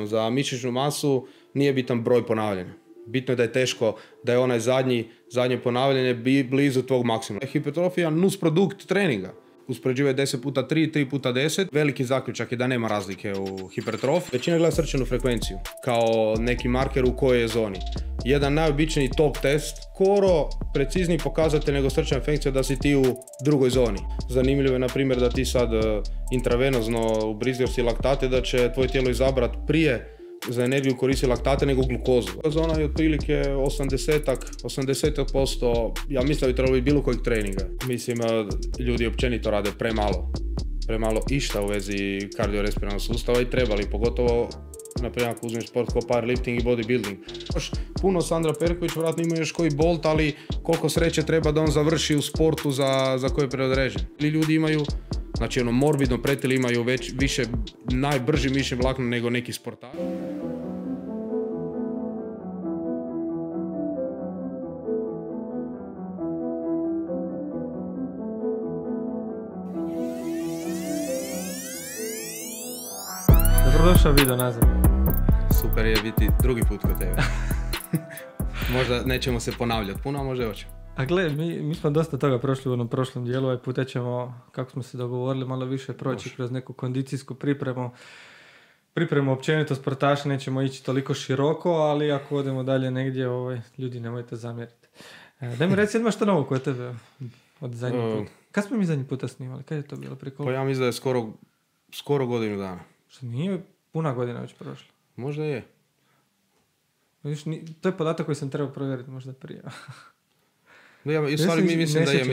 Za mišićnu masu nije bitan broj ponavljanja. Bitno je da je teško, da je onaj zadnje ponavljanje blizu tvog maksimuma. Hipertrofija je nus produkt treninga. Uspoređivaju 10x3, 3x10. Veliki zaključak je da nema razlike u hipertrofiji. Većina gleda srčanu frekvenciju kao neki marker u kojoj je zoni. Jedan najobičniji top test, skoro precizniji pokazatelj nego srčana frekvencija da si ti u drugoj zoni. Zanimljivo je, na primjer, da ti sad intravenozno ubrizgaš si laktate, da će tvoje tijelo izabrati prije za energiju koristi laktate nego glukozu. Zona je otprilike 80%, ja mislim da bi trebalo biti bilo kojeg treninga. Mislim, ljudi općenito rade premalo išta u vezi kardiorespiratornog sustava i trebali, pogotovo na primjer ako uzmeš sport kao powerlifting i bodybuilding. Još puno Sandra Perković, vjerojatno ima još koji Bolt, ali koliko sreće treba da on završi u sportu za koje je predodređen. Ili ljudi imaju, znači morbidno pretili imaju najbrži mišićni vlakna nego neki sportaši. Dobrodošao video nazad. Super je biti drugi put kod tebe. Možda nećemo se ponavljati puno, a možda hoćemo. A gle, mi smo dosta toga prošli u onom prošlom dijelu, ovaj puta ćemo, kako smo se dogovorili, malo više proći kroz neku kondicijsku pripremu općenito sportaša, nećemo ići toliko široko, ali ako odemo dalje negdje, ljudi nemojte zamjeriti. Daj mi reci, imaš što novo kod tebe od zadnji put? Kad smo mi zadnji puta snimali? Kad je to bilo prije koliko? Pa ja mislim da je skoro godinu dana. Što nije puna godina već prošla? Možda je. Vidiš, to je podatak koji sam trebao provjeriti možda prije. U stvari mislim da je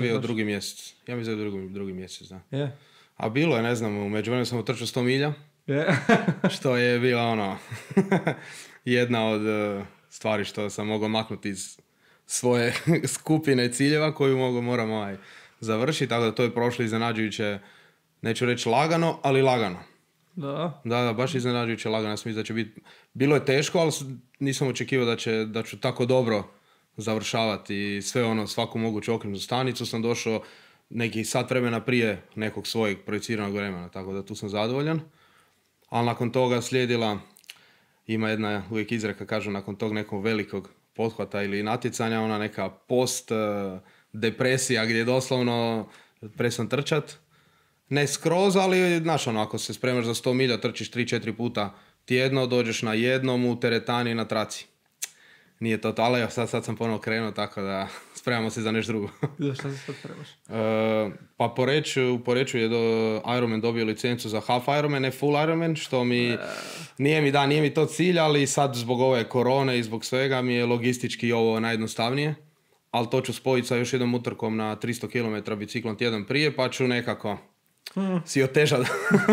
bio drugi mjesec. Ja mislim da je drugi mjesec, da. Yeah. A bilo je, ne znam, u međuvremenu sam utrčao 100 milja. Yeah. Što je bila jedna od stvari što sam mogao maknuti iz svoje skupine ciljeva koju moram završiti. Tako da to je prošlo iznenađujuće, neću reći lagano, ali lagano. Da, baš iznenađujuće lagano. Ja sam mislio da će biti... Bilo je teško, ali nisam očekivao da ću tako dobro završavati sve svaku moguću okrenutnu stanicu. Sam došao neki sat vremena prije nekog svojeg projiciranog vremena, tako da tu sam zadovoljan. Ali nakon toga slijedila, ima jedna uvijek izreka, kažu nakon tog nekog velikog pothvata ili natjecanja, ona neka post depresija gdje doslovno presam trčat. Ne skroz, ali znaš ako se spremaš za 100 milja, trčiš 3-4 puta tjedno, dođeš na jednom u teretani i na traci. Nije to, ali sad sam ponovno krenuo, tako da spremamo se za nešto drugo. Šta se sad spremaš? Pa u Poreču je Ironman dobio licencu za half Ironman, ne full Ironman, što mi nije mi to cilj, ali sad zbog ove korone i zbog svega mi je logistički ovo najjednostavnije. Ali to ću spojiti sa još jednom utrkom na 300 km biciklom tjedan prije, pa ću nekako si otežati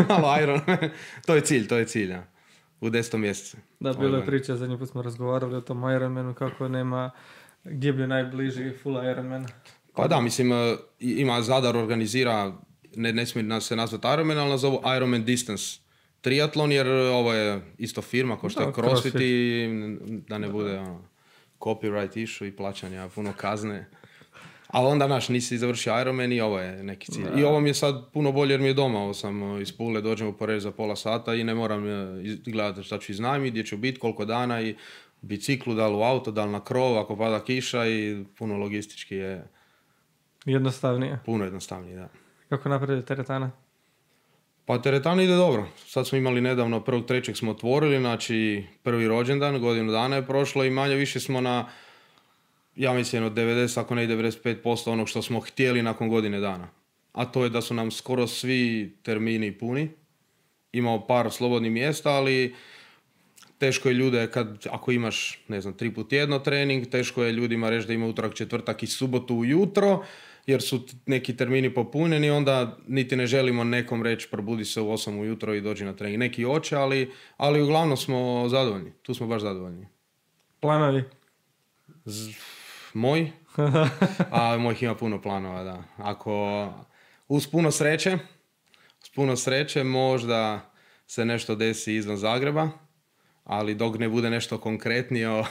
malo Ironman. To je cilj, ja. U 10. mjesecu. Da, bilo je priča, zadnji put smo razgovarali o tom Ironmanu, kako nema, gdje bi najbliži full Ironman. Pa da, mislim, ima Zadar organizira, ne smije se nazvati Ironman, ali nazovu Ironman Distance triatlon, jer ovo je isto firma kao što je CrossFit i da ne bude copyright issue i plaćanja puno kazne. Ali onda, nisi završio Ironman i ovo je neki cilj. I ovo mi je sad puno bolje jer mi je doma. Ovo sam iz Pule, dođem u Poreč za pola sata i ne moram gledati šta ću iznajmiti, gdje ću biti, koliko dana i biciklu, da li u auto, da li na krov, ako pada kiša i puno logistički je... Jednostavnije. Puno jednostavnije, da. Kako napreduje teretana? Pa teretana ide dobro. Sad smo imali nedavno, 1.3. smo otvorili, znači prvi rođendan, godinu dana je prošlo i manje više smo na... Ja mislim od 90, ako ne i 95% onog što smo htjeli nakon godine dana. A to je da su nam skoro svi termini puni. Imamo par slobodnih mjesta, ali teško je ljude, ako imaš, 3 put tjedno trening, teško je ljudima reći da ima utorak, četvrtak i subotu ujutro, jer su neki termini popunjeni, onda niti ne želimo nekom reći probudi se u 8 ujutro i dođi na trening. Neki hoće, ali uglavnom smo zadovoljni. Tu smo baš zadovoljni. Planovi? Moj? Mojih ima puno planova, da. Ako uz puno sreće možda se nešto desi izvan Zagreba, ali dok ne bude nešto konkretnije,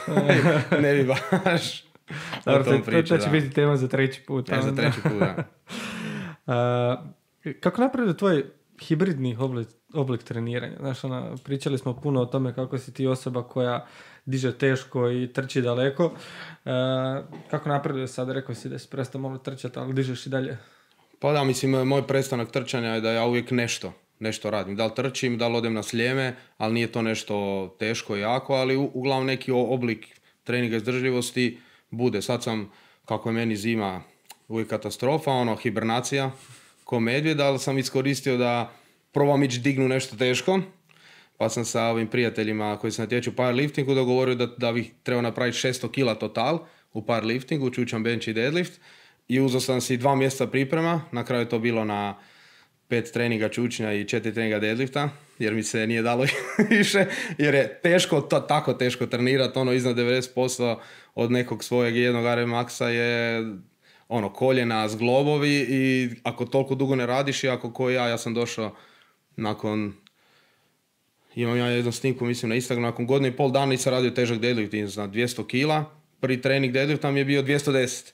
ne bi baš o tom pričao. To će biti tema za treći put. Za treći put, da. Kako napreduje tvoj hibridni oblik treniranja. Znaš, pričali smo puno o tome kako si ti osoba koja diže teško i trči daleko. Kako napreduje sad? Rekao si da si prestao malo trčati, ali dižeš i dalje. Pa da, mislim, moj prestanak trčanja je da ja uvijek nešto radim. Da li trčim, da li odem na sljeme, ali nije to nešto teško i jako, ali uglavnom neki oblik treninga izdržljivosti bude. Sad sam, kako je meni zima uvijek katastrofa, hibernacija ko medvjed, ali sam iskoristio da probam ići dignu nešto teško. Pa sam sa ovim prijateljima koji se natječu u powerliftingu dogovorio da bih trebao napraviti 600 kila total u powerliftingu, čučan bench i deadlift. I uzeo sam si 2 mjeseca priprema, na kraju je to bilo na 5 treninga čučnja i 4 treninga deadlifta, jer mi se nije dalo više, jer je teško, tako teško trenirati, iznad 90% od nekog svojeg jednog RM maksa je koljena, zglobovi i ako toliko dugo ne radiš i ako ko ja sam došao nakon, imam ja jednu snimku mislim na Instagram, nakon 1.5 dana nisam radio težak deadlift, na 200 kila, prvi trening deadlifta mi je bio 210.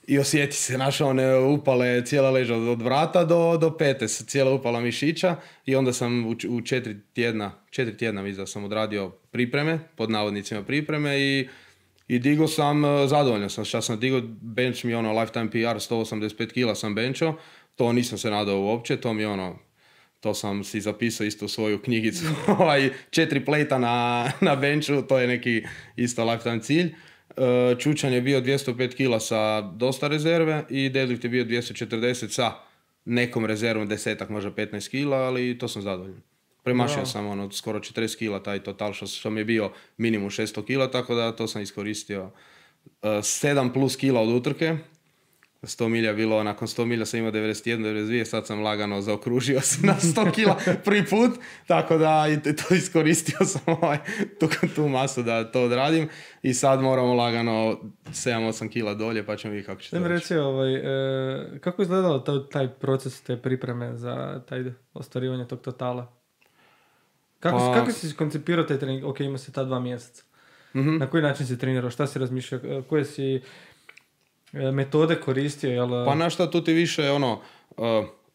I osjeti se, one upale cijela leđa od vrata do pete, cijela upala mišića i onda sam u 4 tjedna mislim da sam odradio pripreme, pod navodnicima pripreme i digo sam, zadovoljan sam šta sam digo, bench mi lifetime PR 185 kila sam benchao, to nisam se nadao uopće, to mi to sam si zapisao isto u svoju knjigicu, 4 plejta na benchu, to je neki isto lifetime cilj. Čučan je bio 205 kila sa dosta rezerve i deadlift je bio 240 sa nekom rezervom, 10-ak, možda 15 kila, ali to sam zadovoljan. Premašio sam skoro 40 kila taj total što mi je bio minimum 600 kila, tako da to sam iskoristio. 7 plus kila od utrke, 100 milja bilo, nakon 100 milja sam imao 91, 92, sad sam lagano zaokružio se na 100 kila prvi put, tako da to iskoristio sam tu masu da to odradim i sad moramo lagano 7-8 kila dolje pa ćemo vidjeti kako će to reći. Kako je izgledalo taj proces te pripreme za taj ostvarivanje tog totala? Kako si koncipirao taj trening? Ok, ima se ta 2 mjeseca. Mm-hmm. Na koji način si trenirao? Šta si razmišljao? Koje si metode koristio, jel? Pa na šta tu ti više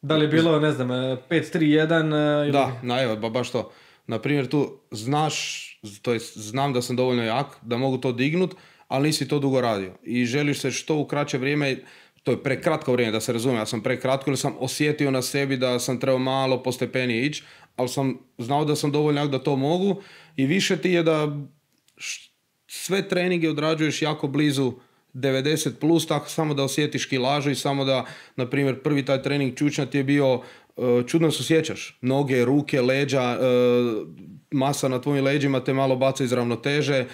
da li je bilo, ne znam, 5-3-1 ili... Da, evo, baš to. Naprimjer, tu znam da sam dovoljno jak, da mogu to dignut, ali nisi to dugo radio. I želiš se što u kraće vrijeme, to je prekratko vrijeme, da se razumije, ja sam prekratko, jer sam osjetio na sebi da sam trebao malo po stepeni ići, ali sam znao da sam dovoljno jak da to mogu i više ti je da sve treninge odrađuješ jako blizu 90 plus, tako samo da osjetiš kilažu i samo da, na primjer, prvi taj trening čučnja ti je bio, čudno se osjećaš, noge, ruke, leđa, masa na tvojim leđima te malo baca iz ravnoteže,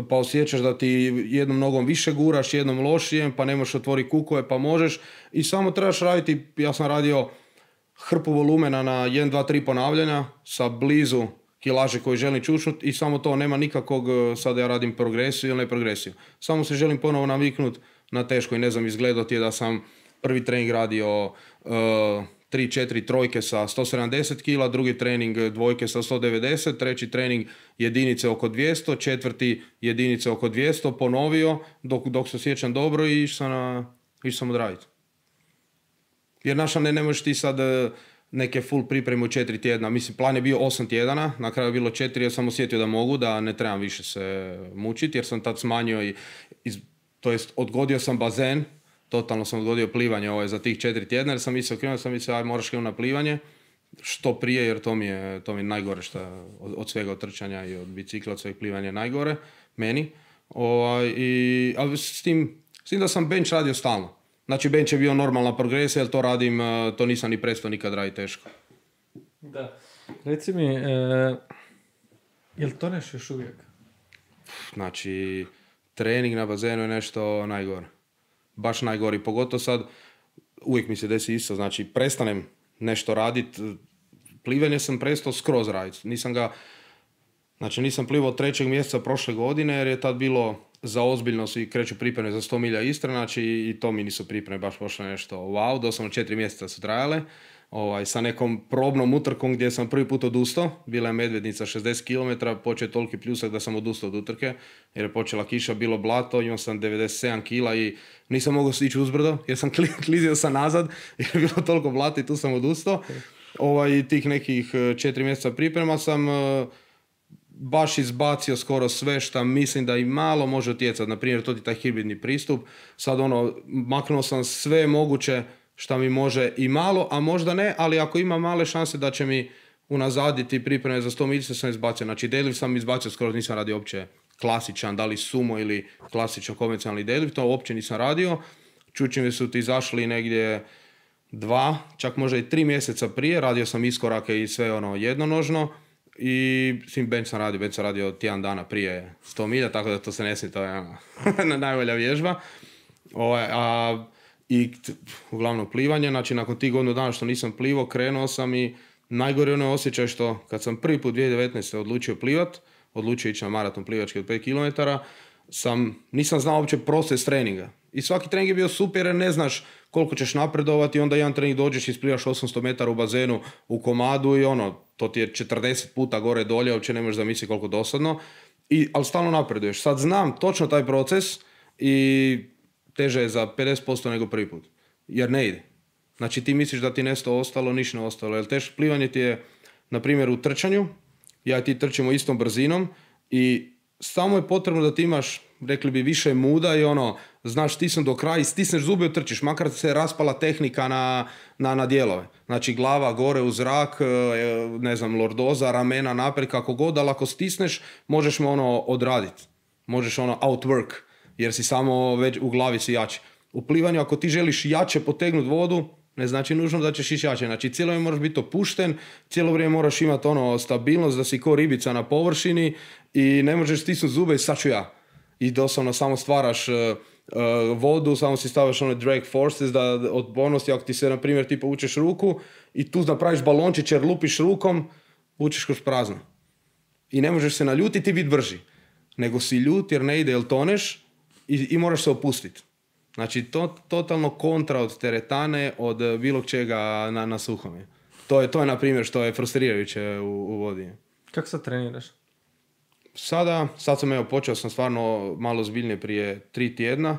pa osjećaš da ti jednom nogom više guraš, jednom lošije, pa ne možeš otvoriti kukove, pa možeš i samo trebaš raditi, ja sam radio hrpu volumena na 1, 2, 3 ponavljanja sa blizu kilaže koji želim čučnut i samo to, nema nikakvog, sada ja radim progresiju ili ne progresiju. Samo se želim ponovo naviknut na teško i ne znam, izgledao ti je da sam prvi trening radio 3-4 trojke sa 170 kila, drugi trening dvojke sa 190, treći trening jedinice oko 200, četvrti jedinice oko 200, ponovio dok se osjećam dobro i išao sam odraditi. Jer naša ne možeš ti sad neke full pripreme u 4 tjedna. Mislim, plan je bio 8 tjedana, na kraju je bilo 4, jer sam osjetio da mogu, da ne trebam više se mučiti, jer sam tad smanjio to jest odgodio sam bazen, totalno sam odgodio plivanje za tih 4 tjedna, jer sam mislio, aj moraš krenuti na plivanje, što prije, jer to mi je najgore od svega, od trčanja i od bicikla, od sveg plivanja je najgore, meni. Ali s tim da sam bench radio stalno. Znači, bench je bio normalna progresija, jer to radim, to nisam ni prestao nikad raditi teško. Da. Reci mi, je li to nešto još uvijek? Znači, trening na bazenu je nešto najgore. Baš najgori. Pogotovo sad, uvijek mi se desi isto. Znači, prestanem nešto raditi. Plivanje sam prestao skroz raditi. Nisam plivao od 3. mjeseca prošle godine, jer je tad bilo za ozbiljnost i kreću pripreme za 100 milja Istra, znači i to mi nisu pripreme baš pošle nešto wow, doslovno 4 mjeseca su trajale, sa nekom probnom utrkom gdje sam prvi put odustao, bila je Medvednica 60 km, počeo je toliki pljusak da sam odustao od utrke, jer je počela kiša, bilo blato, imao sam 97 kila i nisam mogao ići uzbrdo, jer sam klizio sam nazad, jer je bilo toliko blato i tu sam odustao. Tih nekih 4 mjeseca priprema sam baš izbacio skoro sve što mislim da i malo može utjecati. Na primjer, to ti taj hibridni pristup. Sad maknuo sam sve moguće što mi može i malo, a možda ne, ali ako ima male šanse da će mi unazaditi pripreme za 100 miljica sam izbacio. Znači, deadlift sam izbacio, skoro nisam radio uopće klasičan, da li sumo ili klasičan konvencionalni deadlift, to uopće nisam radio. Čučnjevi su ti izašli negdje 2, čak možda i 3 mjeseca prije, radio sam iskorake i sve jednonožno i bench sam radio tjedan dana prije 100 milja, tako da to se ne smije, to je najbolja vježba. Uglavnom plivanje, znači nakon tih godinu dana što nisam plivao, krenuo sam i najgore onaj osjećaj što kad sam prvi put 2019. odlučio ići na maraton plivački od 5 km, nisam znao uopće proces treninga. I svaki trening je bio super jer ne znaš koliko ćeš napredovati, onda jedan trening dođeš i isplivaš 800 metara u bazenu u komadu i to ti je 40 puta gore dolje, uopće ne možeš zamisliti koliko dosadno, ali stalno napreduješ. Sad znam točno taj proces i teže je za 50% nego prvi put, jer ne ide. Znači ti misliš da ti nešto ostalo, ništa ne ostalo, jer teško plivanje ti je, na primjer u trčanju, ja i ti trčimo istom brzinom i samo je potrebno da ti imaš, rekli bi, više muda i znaš stisnuti do kraja i stisneš zube i trčiš, makar se raspala tehnika na dijelove. Znači glava gore u zrak, ne znam, lordoza, ramena naprijed, kako god, ali ako stisneš, možeš me odraditi. Možeš outwork, jer si samo već u glavi si jači. U plivanju, ako ti želiš jače potegnuti vodu, ne znači nužno da ćeš ići jače. Znači cijelo vrijeme moraš biti opušten, cijelo vrijeme moraš imati stabilnost, da si ko ribica na površini i ne možeš stisnuti zube i sad ću ja. I doslovno samo stvaraš vodu, samo si stavljaš drag forces da otpornosti, ako ti se, na primjer, ti povučeš ruku i tu napraviš balončić jer lupiš rukom, vučeš kroz prazno. I ne možeš se naljutiti i biti brži. Nego si ljut jer ne ide, jer toneš i moraš se opustiti. Znači, totalno kontra od teretane, od bilo čega na suhom. To je, na primjer, što je frustrirajuće u vodi. Kako sad treniraš? Sad sam počeo sam stvarno malo zbiljnije prije 3 tjedna.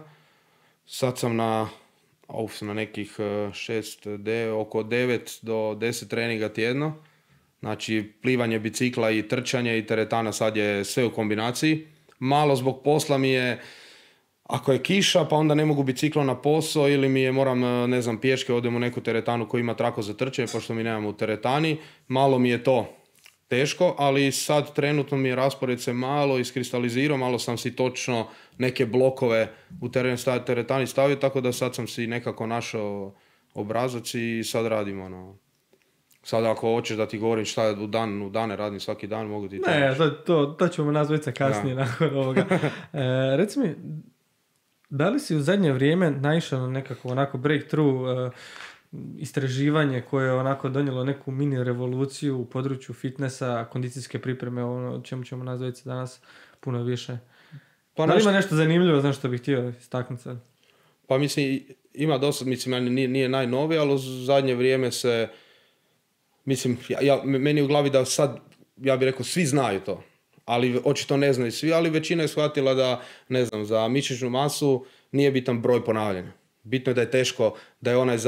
Sad sam na nekih oko 9 do 10 treninga tjedno. Znači, plivanje, bicikla i trčanje i teretana sad je sve u kombinaciji. Malo zbog posla mi je, ako je kiša, pa onda ne mogu biciklo na posao ili moram, ne znam, pješke, odem u neku teretanu koja ima trako za trčanje, pošto mi nemamo u teretani. Malo mi je to teško, ali sad trenutno mi je raspored se malo iskristalizirao, malo sam si točno neke blokove u teretani stavio, tako da sad sam si nekako našao obrazac i sad radim Sad ako hoćeš da ti govorim šta je u dane radim svaki dan, mogu ti to. Ne, to ćemo nazvati kasnije nakon ovoga. Reci mi, da li si u zadnje vrijeme naišao na nekako onako breakthrough istraživanje koje je onako donijelo neku mini revoluciju u području fitnessa, kondicijske pripreme, o čemu ćemo nazvati danas puno više? Pa da li ima nešto zanimljivo, znaš što bih htio istaknuti sad? Pa mislim, ima dosta, nije najnovije, ali u zadnje vrijeme se, meni u glavi da sad, ja bih rekao, svi znaju to. Ali očito ne znaju svi, ali većina je shvatila da, ne znam, za mišićnu masu nije bitan broj ponavljanja. Bitno je da je teško, da je onaj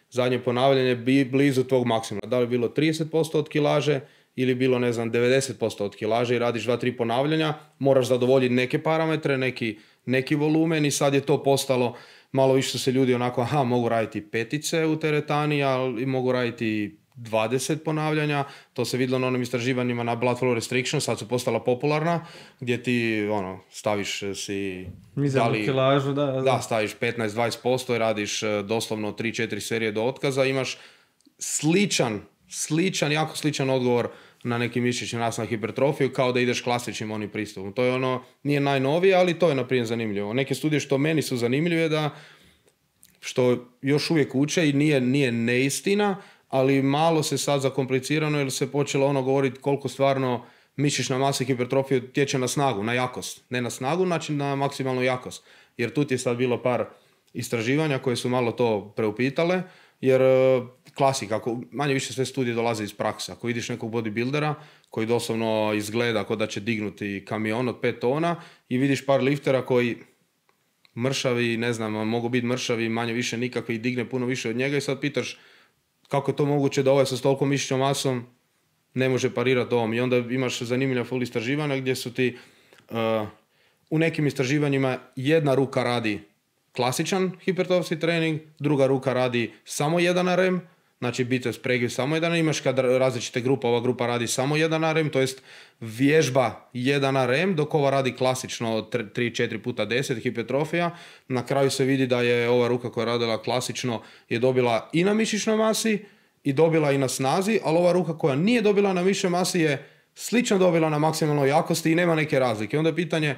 zadnje ponavljanje blizu tvog maksimuma. Da li je bilo 30% od kilaže ili bilo, ne znam, 90% od kilaže i radiš 2-3 ponavljanja, moraš zadovoljiti neke parametre, neki volumen i sad je to postalo, malo više su se ljudi onako, mogu raditi petice u teretani, ali mogu raditi 20 ponavljanja, to se vidjelo na onim istraživanjima na blood flow restriction, sad su postala popularna, gdje ti staviš si mizernu kilažu, da, staviš 15-20% i radiš doslovno 3-4 serije do otkaza, imaš jako sličan odgovor na neki mišićni nas na hipertrofiju, kao da ideš klasičnim onim pristupom. To je nije najnovije, ali to je naprimjer zanimljivo. Neke studije što meni su zanimljive da, što još uvijek uče i nije neistina, ali malo se sad zakomplicirano jer se počelo govoriti koliko stvarno mišićna masa i hipertrofija utječe na snagu, na jakost. Ne na snagu, znači na maksimalnu jakost. Jer tu ti je sad bilo par istraživanja koje su malo to preupitale, jer klasika, manje više sve studije dolaze iz prakse. Ako vidiš nekog bodybuildera koji doslovno izgleda kao da će dignuti kamion od 5 tona i vidiš par liftera koji mršavi, ne znam, mogu biti mršavi, manje više nikakvi i digne puno više od njega i sad pitaš kako je to moguće da ovaj sa toliko mišićnom masom ne može parirati ovom. I onda imaš zanimljiva full istraživanja gdje su ti u nekim istraživanjima jedna ruka radi klasičan hipertrofski trening, druga ruka radi samo 1 RM, znači biceps pregib samo 1 RM, imaš kad različite grupa, ova grupa radi samo 1 RM, to jest vježba 1 RM, dok ova radi klasično 3-4 puta 10 hipertrofija. Na kraju se vidi da je ova ruka koja je radila klasično je dobila i na mišićnoj masi i dobila i na snazi, ali ova ruka koja nije dobila na mišićnoj masi je slično dobila na maksimalnoj jakosti i nema neke razlike. Onda je pitanje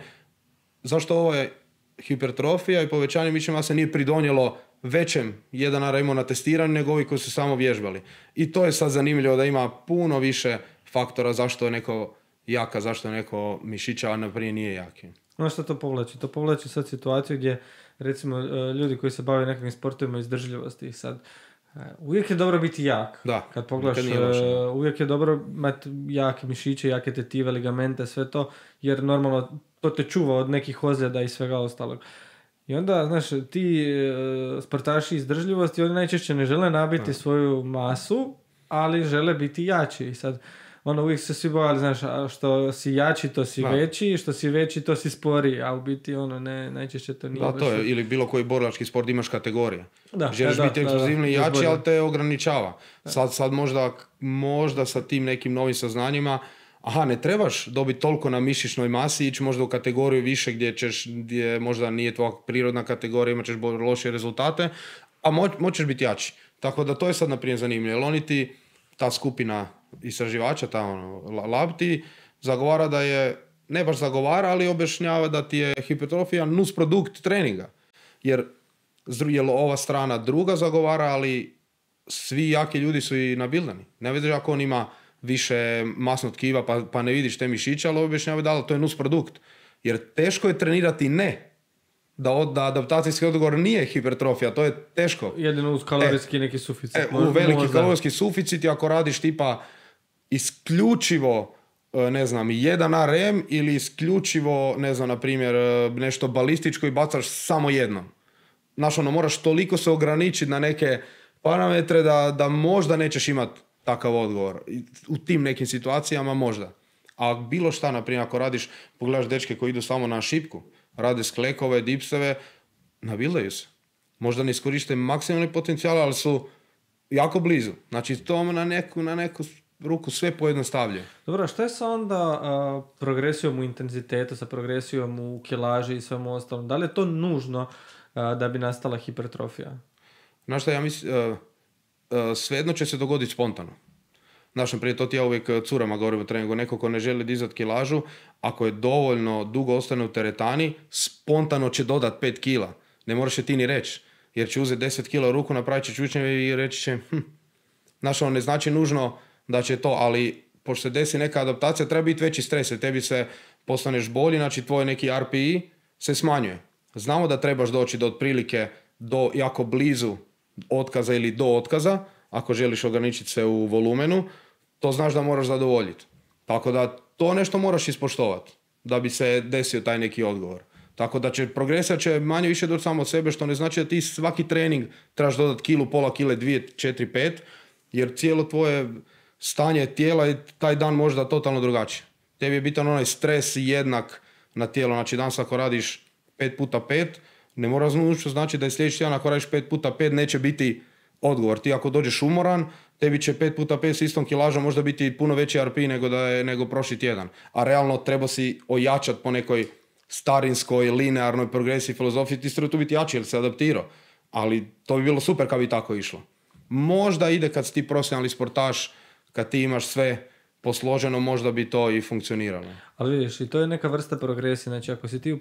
zašto ovo je hipertrofija i povećanje mišićne mase nije pridonijelo većem 1 RM na testiranju nego ovi koji su samo vježbali. I to je sad zanimljivo da ima puno više faktora zašto je neko jaka, zašto je neko mišića, a naprije nije jaki. No što to povlači? To povlači sad situaciju gdje recimo ljudi koji se bave nekakvim sportovima izdržljivosti sad uvijek je dobro biti jak. Da, kad pogledaš, uvijek je dobro imati jake mišiće, jake tetive, ligamente, sve to, jer normalno to te čuva od nekih ozljeda i svega ostalog. I onda, znaš, ti sportaši izdržljivosti, oni najčešće ne žele nabiti svoju masu, ali žele biti jači. I sad, uvijek se svi bojali, znaš, što si jači, to si veći, što si veći, to si sporiji, a u biti, najčešće to nije. Da, to je, ili bilo koji borilački sport imaš kategorije. Želiš biti eksplozivni i jači, ali te ograničava. Sad možda sa tim nekim novim saznanjima, ne trebaš dobiti toliko na mišićnoj masi, ići možda u kategoriju više gdje možda nije tvoja prirodna kategorija, imat ćeš lošije rezultate, a moćeš biti jači. Tako da to je sad naprimjer zanimljivo, jer oni ti, ta skupina istraživača, ta lab ti zagovara da je, ne baš zagovara, ali objašnjava da ti je hipertrofija nusprodukt treninga. Jer ova strana druga zagovara, ali svi jaki ljudi su i nabildani. Ne vidiš ako on ima više masnog tkiva pa ne vidiš te mišiće, ali objašnjava da to je nusprodukt. Jer teško je trenirati da adaptacijski odgovor nije hipertrofija, to je teško. Jedino uz kalorijski neki suficit. U veliki kalorijski suficit, ako radiš tipa isključivo 1 RM ili isključivo, na primjer, nešto balističko i bacaš samo jedno. Znaš, moraš toliko se ograničiti na neke parametre da možda nećeš imati takav odgovor. U tim nekim situacijama možda. A bilo šta, na primjer, ako radiš, pogledaš dečke koji idu samo na šipku, rade sklekove, dipseve, nabildaju se. Možda ne iskoriste maksimalni potencijal, ali su jako blizu. Znači, to na neku ruku sve pojednostavljuje. Dobro, a što je sa onda progresijom u intenzitetu, sa progresijom u kilaži i svemu ostalom? Da li je to nužno da bi nastala hipertrofija? Znaš šta, ja mislim, svejedno će se dogoditi spontano. Znaš, prije to ti ja uvijek curama govorim o treningu, neko ko ne želi dizati kilažu, ako je dovoljno dugo ostane u teretani, spontano će dodat 5 kila. Ne moraš je ti ni reći, jer će uzeti 10 kila u ruku, napravit će čučnjeve i reći će, znaš, ne znači nužno da će to, ali pošto se desi neka adaptacija, treba biti veći stres, jer tebi se postaneš bolji, znači tvoj neki RPI se smanjuje. Znamo da trebaš doći do otprilike do jako blizu otkaza ili do otkaza, ako želiš ograničiti se u volumenu, to znaš da moraš zadovoljiti. Tako da to nešto moraš ispoštovati da bi se desio taj neki odgovor. Tako da progresija će manje više doći samo od sebe, što ne znači da ti svaki trening trebaš dodati kilu, pola kile, 2, 4, 5, jer cijelo tvoje stanje tijela je taj dan možda totalno drugačije. Tebi je bitan onaj stres jednak na tijelo, znači danas ako radiš 5x5, ne mora znači da je sljedeći tjedan ako radiš 5x5 neće biti odgovor. Ti ako dođeš umoran, tebi će 5x5 s istom kilažom možda biti puno veći RPI nego prošli tjedan. A realno treba si ojačati po nekoj starinskoj, linearnoj progresiji filozofiji, ti treba tu biti jači jer se adaptirao. Ali to bi bilo super kad bi tako išlo. Možda ide kad si ti profesionalni sportaš, kad ti imaš sve posloženo, možda bi to i funkcioniralo. Ali vidiš, i to je neka vrsta progresije. Znači ako si ti u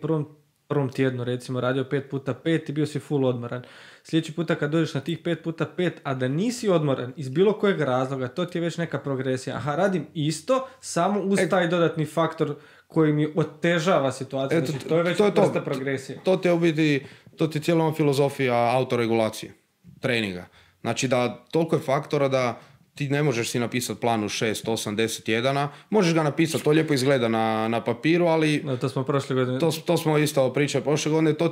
prvom tjednu recimo radio 5x5 i bio si full odmoran. Sljedeći puta kad dođeš na tih 5x5, a da nisi odmoran iz bilo kojeg razloga, to ti je već neka progresija. Aha, radim isto, samo uz taj dodatni faktor koji mi otežava situaciju. Znači, to je već vrsta progresije. To ti je cijela filozofija autoregulacije, treninga. Znači da toliko je faktora da ti ne možeš si napisati plan u 6, 8, 10 tjedana. Možeš ga napisati, to lijepo izgleda na papiru, ali... No, to smo prošle godine. To smo isto pričali prošle godine, to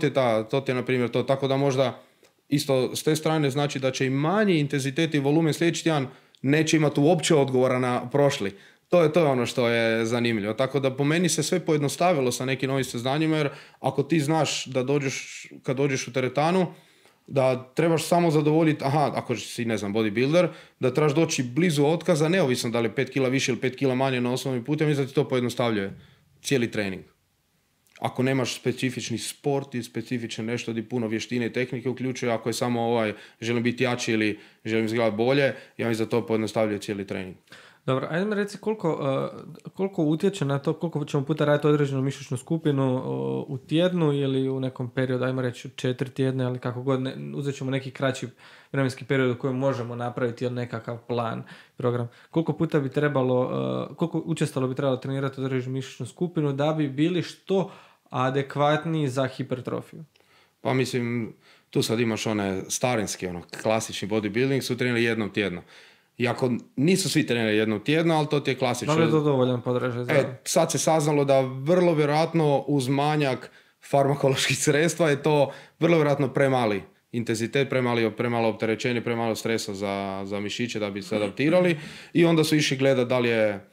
ti je na primjer to. Tako da možda isto s te strane znači da će i manji intenzitet i volumen sljedeći tjedan neće imati uopće odgovora na prošli. To je ono što je zanimljivo. Tako da po meni se sve pojednostavilo sa nekim novim saznanjima, jer ako ti znaš da kad dođeš u teretanu, da trebaš samo zadovoljiti, ako si, ne znam, bodybuilder, da trebaš doći blizu otkaza, neovisno da li je 5 kila više ili 5 kila manje na osnovnim putem, mislim da ti to pojednostavljuje cijeli trening. Ako nemaš specifični sport i specifično nešto gdje puno vještine i tehnike uključuje, ako je samo želim biti jači ili želim izgledati bolje, ja mislim da to pojednostavljuje cijeli trening. Dobro, ajde mi reci koliko utječe na to, koliko ćemo puta raditi određenu mišićnu skupinu u tjednu ili u nekom periodu, ajmo reći 4 tjedne, ali kako god, uzet ćemo neki kraći vremenski period u kojem možemo napraviti nekakav plan, program. Koliko puta bi trebalo, koliko učestalo bi trebalo trenirati određenu mišićnu skupinu da bi bili što adekvatniji za hipertrofiju? Pa mislim, tu sad imaš one starinski, klasični bodybuilding, su trenirali jednom tjedno. Iako nisu svi trenirali jednom tjedno, ali to ti je klasično. Da li je to dovoljan podražaj? Sad se saznalo da vrlo vjerojatno uz manjak farmakoloških sredstva je to vrlo vjerojatno premali intenzitet, premalo opterećenje, premalo stresa za mišiće da bi se adaptirali. I onda su išli gledati da li je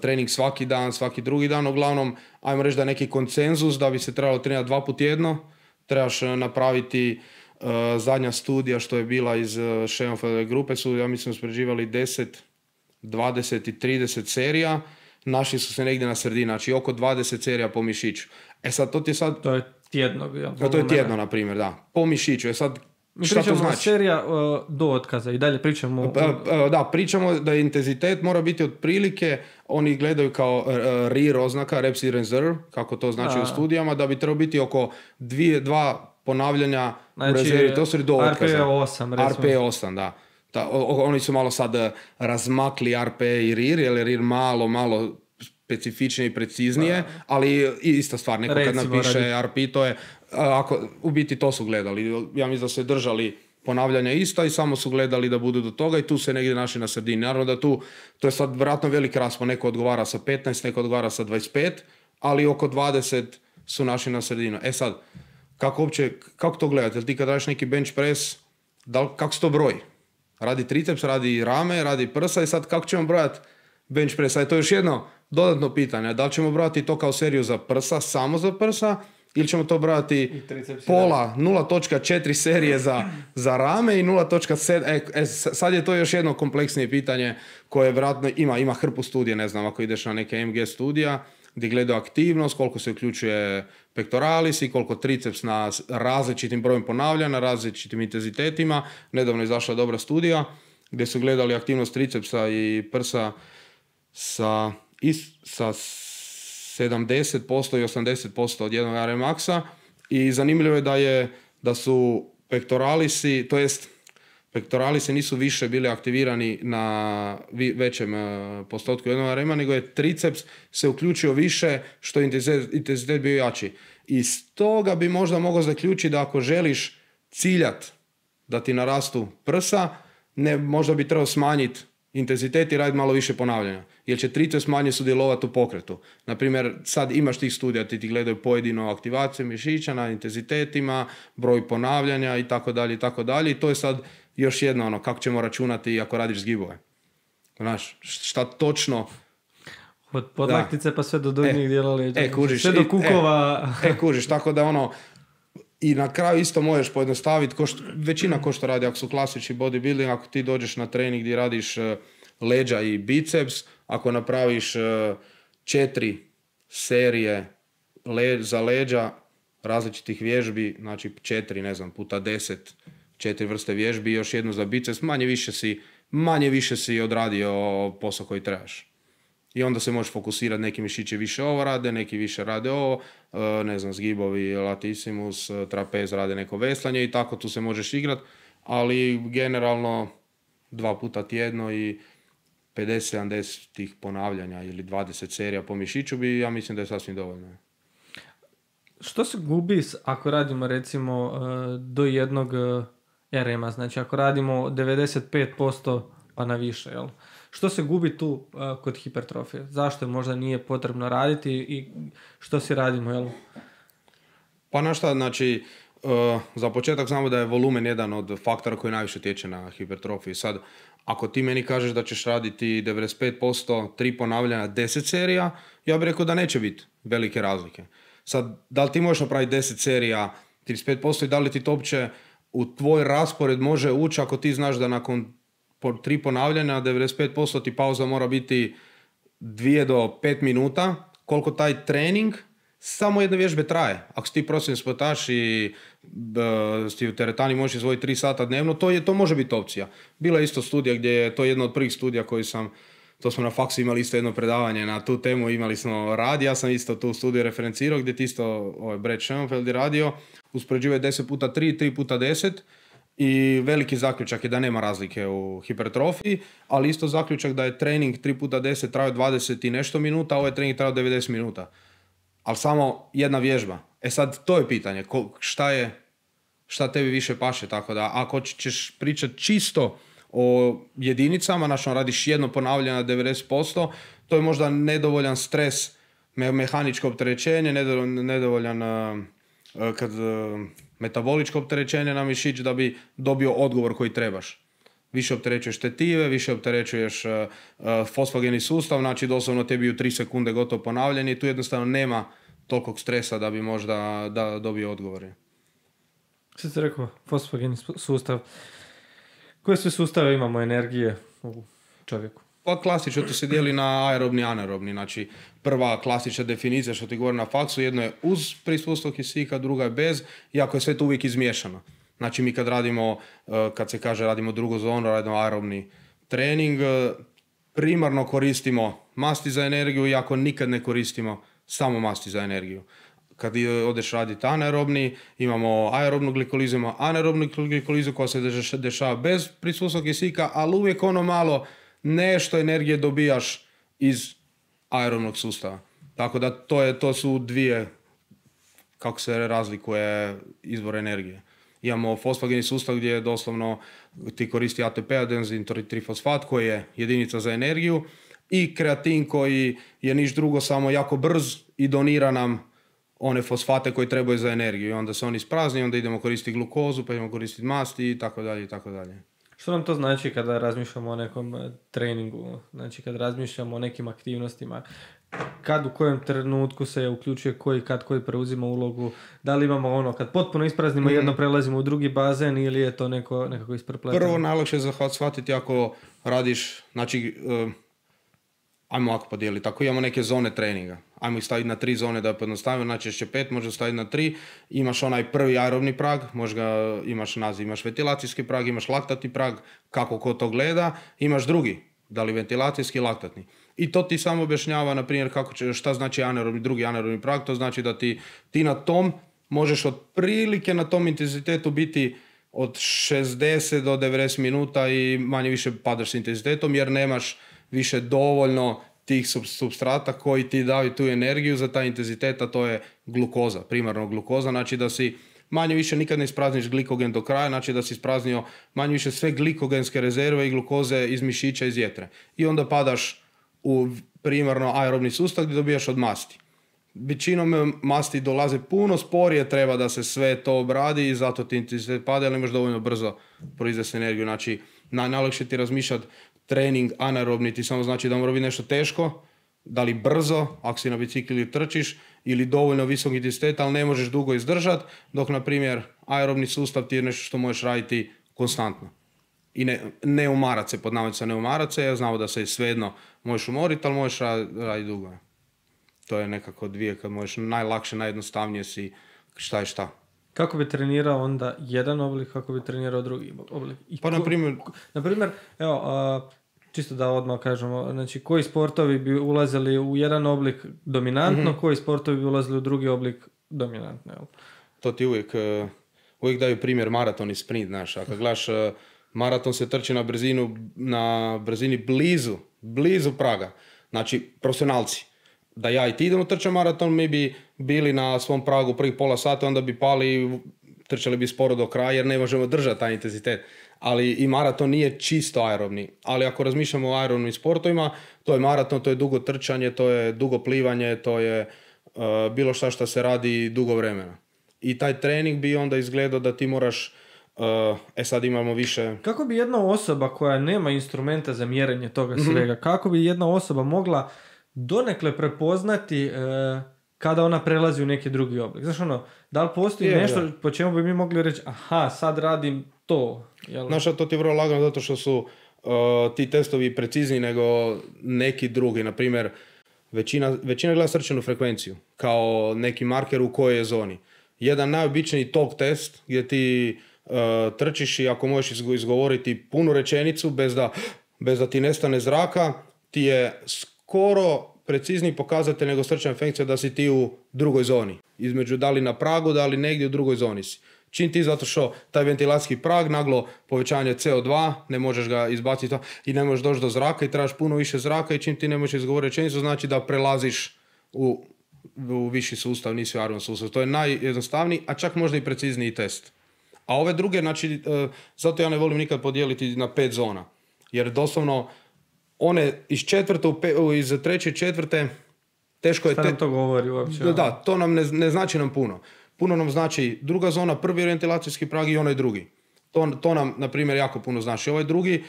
trening svaki dan, svaki drugi dan. Uglavnom, ajmo reći da je neki konsenzus da bi se trebalo trenirati 2 puta tjedno. Trebaš napraviti zadnja studija što je bila iz Schoenfeldove grupe su, ja mislim, uspoređivali 10, 20 i 30 serija. Našli su se negdje na sredini, znači oko 20 serija po mišiću. Sad, to je tjedno. To je tjedno, na primjer, da. Po mišiću. Sad, mi pričamo o serija do otkaza i dalje pričamo... Da, pričamo da intenzitet mora biti otprilike, oni gledaju kao RIR oznaka, Reps in Reserve, kako to znači u studijama, da bi trebalo biti oko 2 ponavljanja u rezervi, to su do otkaza. RP8, da. Oni su malo sad razmakli RP i RIR, jer je RIR malo specifičnije i preciznije, ali ista stvar, neko kad napiše RP, to je, u biti to su gledali. Ja mislim da su držali ponavljanja ista i samo su gledali da budu do toga i tu se negdje našli na sredini. Naravno da to je sad vjerojatno veliki raspon, neko odgovara sa 15, neko odgovara sa 25, ali oko 20 su našli na sredinu. Sad, kako to gledate? Jel ti kad radiš neki bench press, kako se to broji? Radi triceps, radi rame, radi prsa i sad kako ćemo brojati bench press? To je još jedno dodatno pitanje. Da li ćemo brojati to kao seriju za prsa, samo za prsa, ili ćemo to brojati pola, 0.4 serije za rame i 0.7. Sad je to još jedno kompleksnije pitanje koje vjerojatno ima hrpu studije, ne znam, ako ideš na neke MG studija, gdje gledaju aktivnost, koliko se uključuje pectoralis i koliko triceps na različitim brojem ponavljanja, na različitim intenzitetima. Nedavno je izašla dobra studija gdje su gledali aktivnost tricepsa i prsa sa 70% i 80% od jednog RM maxa i zanimljivo je da su pectoralisi, to jest pectoralisi nisu više bili aktivirani na većem postotku jednog RM-a, nego je triceps se uključio više što je intenzitet bio jači. I stoga bi možda mogao zaključiti da ako želiš ciljat da ti narastu prsa, možda bi trebao smanjiti intenzitet i raditi malo više ponavljanja. Jer će triceps manje sudjelovati u pokretu. Naprimjer, sad imaš tih studija, ti gledaju pojedinu aktivaciju mišića na intenzitetima, broj ponavljanja i tako dalje i tako dalje. I to je sad još jedno kako ćemo računati ako radiš zgibove. Znaš, šta točno... Od podlaktice pa sve do donjih dijela leđa. Sve do kukova. Kužiš, tako da i na kraju isto možeš pojednostaviti, većina ko što radi, ako su klasični bodybuilding, ako ti dođeš na trening gdje radiš leđa i biceps, ako napraviš 4 serije za leđa različitih vježbi, znači 4, ne znam, puta 10, 4 vrste vježbi i još jednu za biceps, manje više si odradio posao koji trebaš. I onda se možeš fokusirati, neki mišići više ovo rade, neki više rade ovo, ne znam, zgibovi, latissimus, trapez rade neko veslanje i tako tu se možeš igrati, ali generalno 2 puta tjedno i 50-70 tih ponavljanja ili 20 serija po mišiću ja mislim da je sasvim dovoljno. Što se gubi ako radimo recimo do jednog RM-a, znači ako radimo 95% pa na više, jel? Što se gubi tu kod hipertrofije? Zašto možda nije potrebno raditi i što si radimo, jel? Pa na šta, znači, za početak znamo da je volumen jedan od faktora koji najviše tječe na hipertrofiju. Sad, ako ti meni kažeš da ćeš raditi 95%, 3 ponavljanja, 10 serija, ja bih rekao da neće biti velike razlike. Sad, da li ti možeš napraviti 10 serija 35% i da li ti to uopće u tvoj raspored može ući ako ti znaš da nakon 3 ponavljanja 95% ti pauza mora biti 2 do 5 minuta, koliko taj trening samo jedne vježbe traje. Ako si ti profesionalni sportaš i si u teretani možeš izvojiti 3 sata dnevno, to može biti opcija. Bila je isto studija gdje je, to je jedna od prvih studija koji to smo na faksu imali isto jedno predavanje na tu temu, imali smo rad, ja sam isto tu studiju referencirao gdje ti isto Brad Schoenfeld je radio, uspoređivao 10 puta 3, 3 puta 10 i veliki zaključak je da nema razlike u hipertrofiji, ali isto zaključak da je trening 3 puta 10 trajao 20 i nešto minuta, a ovaj trening trajao 90 minuta. Ali samo jedna vježba. Sad, to je pitanje. Šta tebi više paše? Tako da, ako ćeš pričati čisto o jedinicama, znači radiš jedno ponavljanje na 90%, to je možda nedovoljan stres, mehaničko opterećenje, nedovoljan metaboličko opterećenje na mišić da bi dobio odgovor koji trebaš. Više opterećuješ tetive, više opterećuješ fosfogeni sustav, znači doslovno tebi u 3 sekunde gotovo ponavljanje i tu jednostavno nema tolikog stresa da bi možda dobio odgovore. Što si rekao, fosfogeni sustav. Koje sve sustave imamo energije u čovjeku? Pa klasično to se dijeli na aerobni i anaerobni. Znači prva klasična definicija što ti govori na faksu, jedno je uz prisustvo kisika, druga je bez, iako je sve to uvijek izmiješano. Znači mi kad radimo, kad se kaže radimo drugu zonu, radimo aerobni trening, primarno koristimo masti za energiju, iako nikad ne koristimo samo masti za energiju. Kad odeš raditi anaerobni, imamo aerobnu glikolizu, imamo anaerobnu glikolizu koja se dešava bez prisustva kisika, ali uvijek ono malo nešto energije dobijaš iz aerobnog sustava. Tako da to su dvije, kako se razlikuje izvor energije. Imamo fosfogeni sustav gdje doslovno ti koristi ATP, adenzin trifosfat, koji je jedinica za energiju, i kreatin koji je niš drugo, samo jako brz i donira nam one fosfate koji trebaju za energiju. I onda se oni isprazni, onda idemo koristiti glukozu, pa idemo koristiti masti i tako dalje i tako dalje. Što nam to znači kada razmišljamo o nekom treningu? Znači kada razmišljamo o nekim aktivnostima, kad u kojem trenutku se uključuje koji preuzima ulogu, da li imamo kad potpuno ispraznimo jedno prelazimo u drugi bazen ili je to nekako isprepleteno? Prvo najlakše je shvatiti ako radiš, znači ajmo ovako podijeliti, ako imamo neke zone treninga, ajmo ih staviti na 3 zone da je pojednostavimo, najčešće 5, možda staviti na 3, imaš onaj prvi aerobni prag, možda imaš naziv, imaš ventilacijski prag, imaš laktatni prag, kako ko to gleda, imaš drugi, da li ventilacijski, laktatni. I to ti samo objašnjava, na primjer, šta znači drugi anaerobni prag, to znači da ti na tom možeš otprilike na tom intenzitetu biti od 60 do 90 minuta i manje više padaš s intenzitetom jer nemaš više dovoljno tih supstrata koji ti daju tu energiju za taj intenzitet, a to je glukoza, primarno glukoza, znači da si manje više nikad ne isprazniš glikogen do kraja, znači da si ispraznio manje više sve glikogenske rezerve i glukoze iz mišića, iz jetre. I onda padaš u primarno aerobni sustav gdje dobijaš od masti. Većinom masti dolaze puno sporije, treba da se sve to obradi i zato ti intenzitet pada, ali imaš dovoljno brzo proizvesti energiju. Znači, najlakše ti razmišljati trening anaerobni ti samo znači da mora biti nešto teško, da li brzo, ako si na bicikli ili trčiš, ili dovoljno visok intenzitet, ali ne možeš dugo izdržati, dok, na primjer, aerobni sustav ti je nešto što možeš raditi konstantno. I ne umarat se, pod navodnicima ne umarat se, ja znamo da se svejedno možeš umoriti, ali možeš raditi dugo. To je nekako dvije, kad možeš najlakše, najjednostavnije si šta je šta. Kako bi trenirao onda jedan oblik, kako bi trenirao drugi oblik? Na primjer, evo, čisto da odmah kažemo, znači koji sportovi bi ulazili u jedan oblik dominantno, koji sportovi bi ulazili u drugi oblik dominantno? Evo. To ti uvijek daju primjer maraton i sprint, znaš. Ako gledaš, maraton se trči na brzini blizu praga. Znači, profesionalci. Da ja i ti idemo trčati maraton, mi bi bili na svom pragu prvih pola sata, onda bi pali i trčali bi sporo do kraja jer ne možemo držati taj intenzitet. Ali i maraton nije čisto aerobni. Ali ako razmišljamo o aerobnim sportovima, to je maraton, to je dugo trčanje, to je dugo plivanje, to je bilo šta se radi dugo vremena. i taj trening bi onda izgledao da ti moraš, sad imamo više... Kako bi jedna osoba koja nema instrumenta za mjerenje toga svega, kako bi jedna osoba mogla donekle prepoznati kada ona prelazi u neki drugi oblik? Znaš da li postoji nešto po čemu bi mi mogli reći, aha, sad radim to? Jel? Znaš, to ti je vrlo lagano zato što su ti testovi precizniji nego neki drugi. Naprimjer, većina gleda srčanu frekvenciju kao neki marker u kojoj je zoni. Jedan najobičniji talk test gdje ti trčiš i ako možeš izgovoriti punu rečenicu bez da ti nestane zraka, ti je skoro precizniji pokazatelj nego srčana frekvencija da si ti u drugoj zoni. Između da li na pragu, da li negdje u drugoj zoni si. Čim ti zato što taj ventilacijski prag, naglo povećanje CO2, ne možeš ga izbaciti i ne možeš doći do zraka i trebaš puno više zraka i čim ti ne možeš izgovoriti rečenicu, znači da prelaziš u viši sustav, nisi u aeroban sustav. To je najjednostavniji, a čak možda i precizniji test. A ove druge, znači, zato ja ne volim nikad podijeliti na 5 zona. Jer doslovno one iz treće i četvrte teško je... Šta nam to govori uopće? Da, to nam ne znači nam puno. Puno nam znači druga zona, prvi ventilacijski prag i onaj drugi. To nam, na primjer, jako puno znači. Ovaj drugi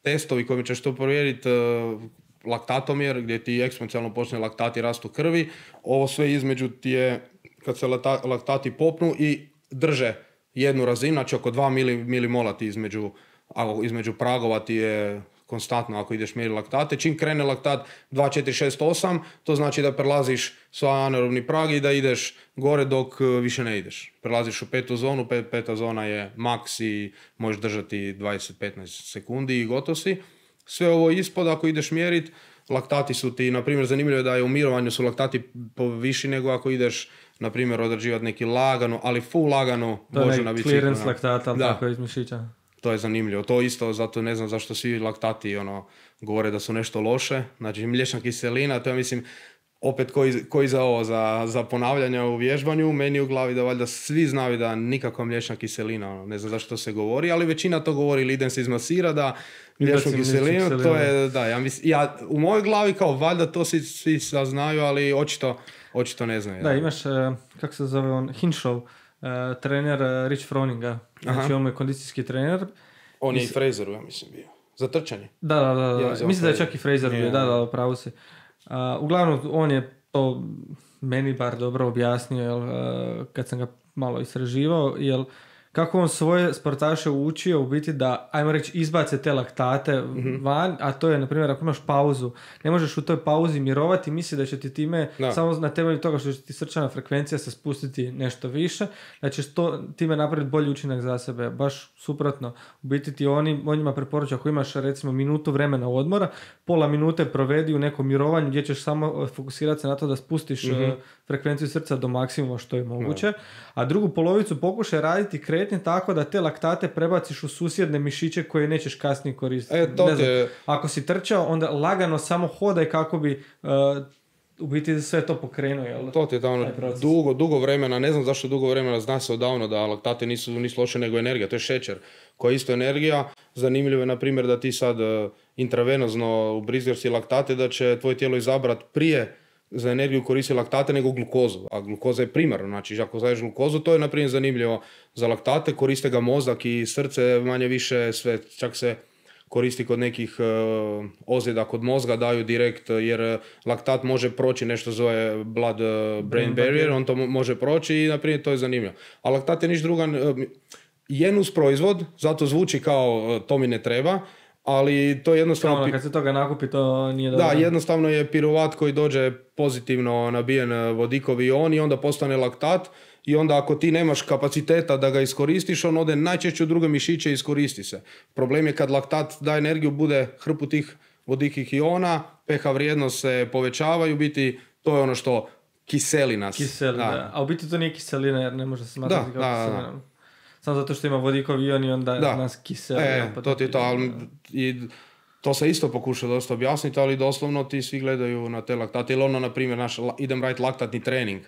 testovi kojim ćeš to provjeriti, laktatomjer, gdje ti eksponencijalno počne laktati rastu krvi. Ovo sve između ti je, kad se laktati popnu i drže jednu razinu, znači oko 2 milimola ti između pragova ti je konstantno ako ideš mjeriti laktate. Čim krene laktat 2, 4, 6, 8, to znači da prelaziš sva anaerobni prag i da ideš gore dok više ne ideš. Prelaziš u 5. zonu, 5. zona je maks i možeš držati 20-15 sekundi i gotov si. Sve ovo ispod, ako ideš mjeriti, laktati su ti, na primjer, zanimljivo je da je u mirovanju su laktati viši nego ako ideš, na primjer, odrađivati neki lagano, ali full lagano vožu na biciklu. Clearance laktata, ali tako iz mišića. To je zanimljivo. To isto, zato ne znam zašto svi laktati govore da su nešto loše. Znači, mliječna kiselina, to je, mislim, opet koji za ovo, za ponavljanje u vježbanju, meni u glavi da valjda svi znaju da nikakva mliječna kiselina, ne znam zašto se govori, ali većina to govori, ili idem se izmasira da mliječnu kiselinu, to je, da, ja u mojoj glavi kao valjda to svi znaju, ali očito ne znaju. Da, imaš, kako se zove on, Hinshaw, trener Rich Froninga, znači on je kondicijski trener. On je i Fraseru, ja mislim, bio. Za trčanje. Da. Mislim da je čak i Fraser bio, da, pravo si. Uglavnom, on je to meni bar dobro objasnio, kad sam ga malo istraživao, kako on svoje sportaše učio u biti da, ajmo reći, izbace te laktate van, a to je, na primjer, ako imaš pauzu, ne možeš u toj pauzi mirovati, misli da će ti time, samo na temelju toga što će ti srčana frekvencija se spustiti nešto više, da ćeš time napraviti bolji učinak za sebe, baš suprotno. U biti ti on njima preporuča, ako imaš recimo minutu vremena odmora, pola minute provedi u nekom mirovanju gdje ćeš samo fokusirati se na to da spustiš frekvenciju srca do maksimuma što je moguće, a drugu polovicu pokušaj raditi kretnje tako da te laktate prebaciš u susjedne mišiće koje nećeš kasnije koristiti. Ako si trčao, onda lagano samo hodaj kako bi u biti sve to pokrenuo. Jel? To ti je dugo vremena, ne znam zašto dugo vremena, zna se odavno da laktate nisu loše nego energija, to je šećer koja je isto energija. Zanimljivo je, na primjer, da ti sad intravenozno ubrizgaš si laktate, da će tvoje tijelo izabrati prije za energiju koristi laktate nego glukozu, a glukoza je primarno, znači ako daješ glukozu, to je na primjer zanimljivo za laktate, koriste ga mozak i srce, manje više sve, čak se koristi kod nekih ozljeda kod mozga, daju direkt, jer laktat može proći, nešto zove blood-brain barrier, on to može proći i na primjer to je zanimljivo. A laktat je niš druga, je nus proizvod, zato zvuči kao to mi ne treba, ali to je jednostavno... kad se toga nakupi, to nije dobro. Da, jednostavno je piruvat koji dođe pozitivno nabijen vodikovi ion i onda postane laktat i onda ako ti nemaš kapaciteta da ga iskoristiš, on ode najčešće u druge mišiće i iskoristi se. Problem je kad laktat da energiju, bude hrpu tih vodikih iona, pH vrijednost se povećava i u biti to je ono što kiseli nas. Da. A u biti to nije kiselina jer ne može se smatrati kao kiselina. Samo zato što ima vodikovi ion i onda nas kiseli. To ti je to, ali to se isto pokuša dosta objasniti, ali doslovno ti svi gledaju na te laktate. Ili na primjer, idem raditi laktatni trening,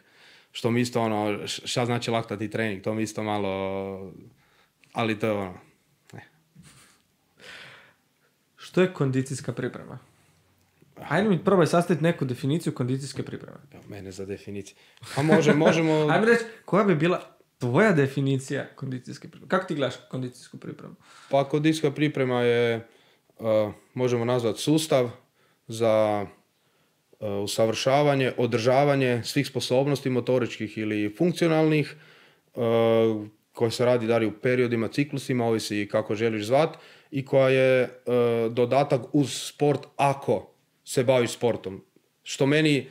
što mi isto šta znači laktatni trening, to mi isto malo, ali to je Što je kondicijska priprema? Ajde mi probaj sastaviti neku definiciju kondicijske pripreme. Mene za definiciju. A možemo... Ajde reći, koja bi bila tvoja definicija kondicijske pripreme? Kako ti gledaš kondicijsku pripremu? Pa kondicijska priprema je, možemo nazvati sustav za usavršavanje, održavanje svih sposobnosti motoričkih ili funkcionalnih, koje se radi dalje u periodima, ciklusima, ovisi kako želiš zvat, i koja je dodatak uz sport ako se baviš sportom. Što meni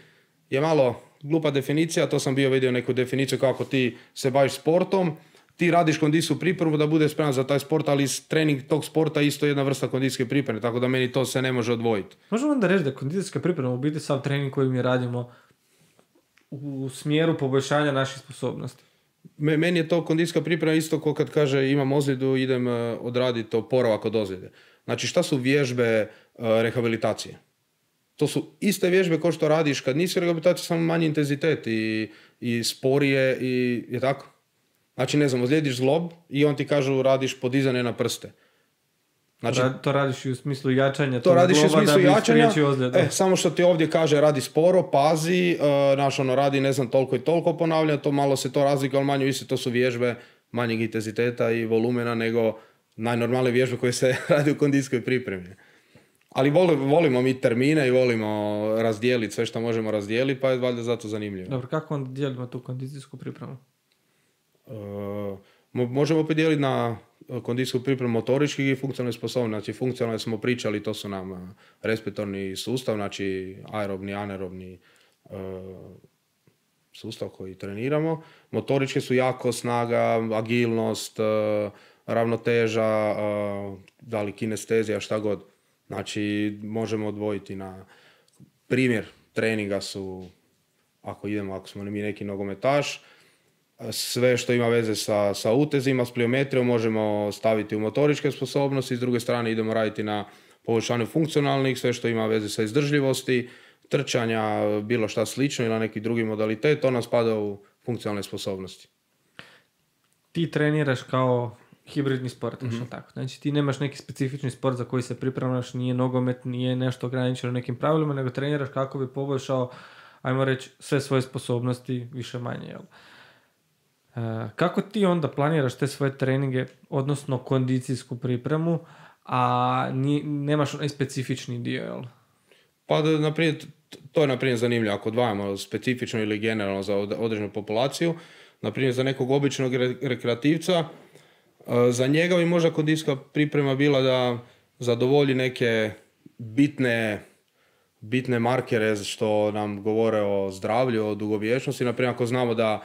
je malo glupa definicija, to sam bio vidio neku definiciju kako ti se baviš sportom, ti radiš kondicijsku pripremu da budeš spreman za taj sport, ali trening tog sporta je isto jedna vrsta kondicijske pripreme, tako da meni to se ne može odvojiti. Možemo onda reći da kondicijska priprema u biti sav trening koji mi radimo u smjeru poboljšanja naših sposobnosti. Meni je to kondicijska priprema isto kao kad kaže imam ozljedu, idem odraditi oporavak od ozljede. Znači šta su vježbe rehabilitacije? To su iste vježbe kao što radiš kad nisi rehabilitacija, samo manji intenzitet i sporije i je tako. Znači ne znam, ozlijediš zglob i on ti kažu radiš podizanje na prste. Znači, to radiš i u smislu jačanja to radiš u smislu jačanja, samo što ti ovdje kaže radi sporo, pazi, radi ne znam toliko i toliko ponavljanja, to malo se to razlika, ali manje više to su vježbe manjeg intenziteta i volumena nego najnormalnije vježbe koje se radi u kondicijskoj pripremi. Ali volimo mi termine i volimo razdijeliti sve što možemo razdijeliti, pa je valjda zato zanimljivo. Dobro, kako onda dijelimo tu kondicijsku pripremu? Možemo podijeliti na kondicijsku pripremu motoričkih i funkcionalne sposobnosti. Znači funkcionalne smo pričali, to su nam respiratorni sustav, znači aerobni, anaerobni sustav koji treniramo. Motoričke su jako snaga, agilnost, ravnoteža, da li kinestezija, šta god. Znači možemo odvojiti na primjer treninga su, ako smo mi neki nogometaš, sve što ima veze sa utezima, s pliometrijom možemo staviti u motoričke sposobnosti, s druge strane idemo raditi na poboljšanju funkcionalnih, sve što ima veze sa izdržljivosti, trčanja, bilo šta slično ili neki drugi modalitet, to nam spada u funkcionalne sposobnosti. Ti treniraš kao hibridni sport, tako. Znači ti nemaš neki specifični sport za koji se pripremaš, nije nogomet, nije nešto ograničeno nekim pravilima, nego treniraš kako bi poboljšao, ajmo reći, sve svoje sposobnosti više manje, jel? Kako ti onda planiraš te svoje treninge, odnosno kondicijsku pripremu, a nemaš onaj specifični dio, jel? Pa, naprijed, to je naprimjer zanimljivo. Ako odvajamo specifično ili generalno za određenu populaciju, naprimjer za nekog običnog rekreativca, za njega bi možda kondicijska priprema bila da zadovolji neke bitne markere što nam govore o zdravlju, o dugovječnosti. Naprimjer, ako znamo da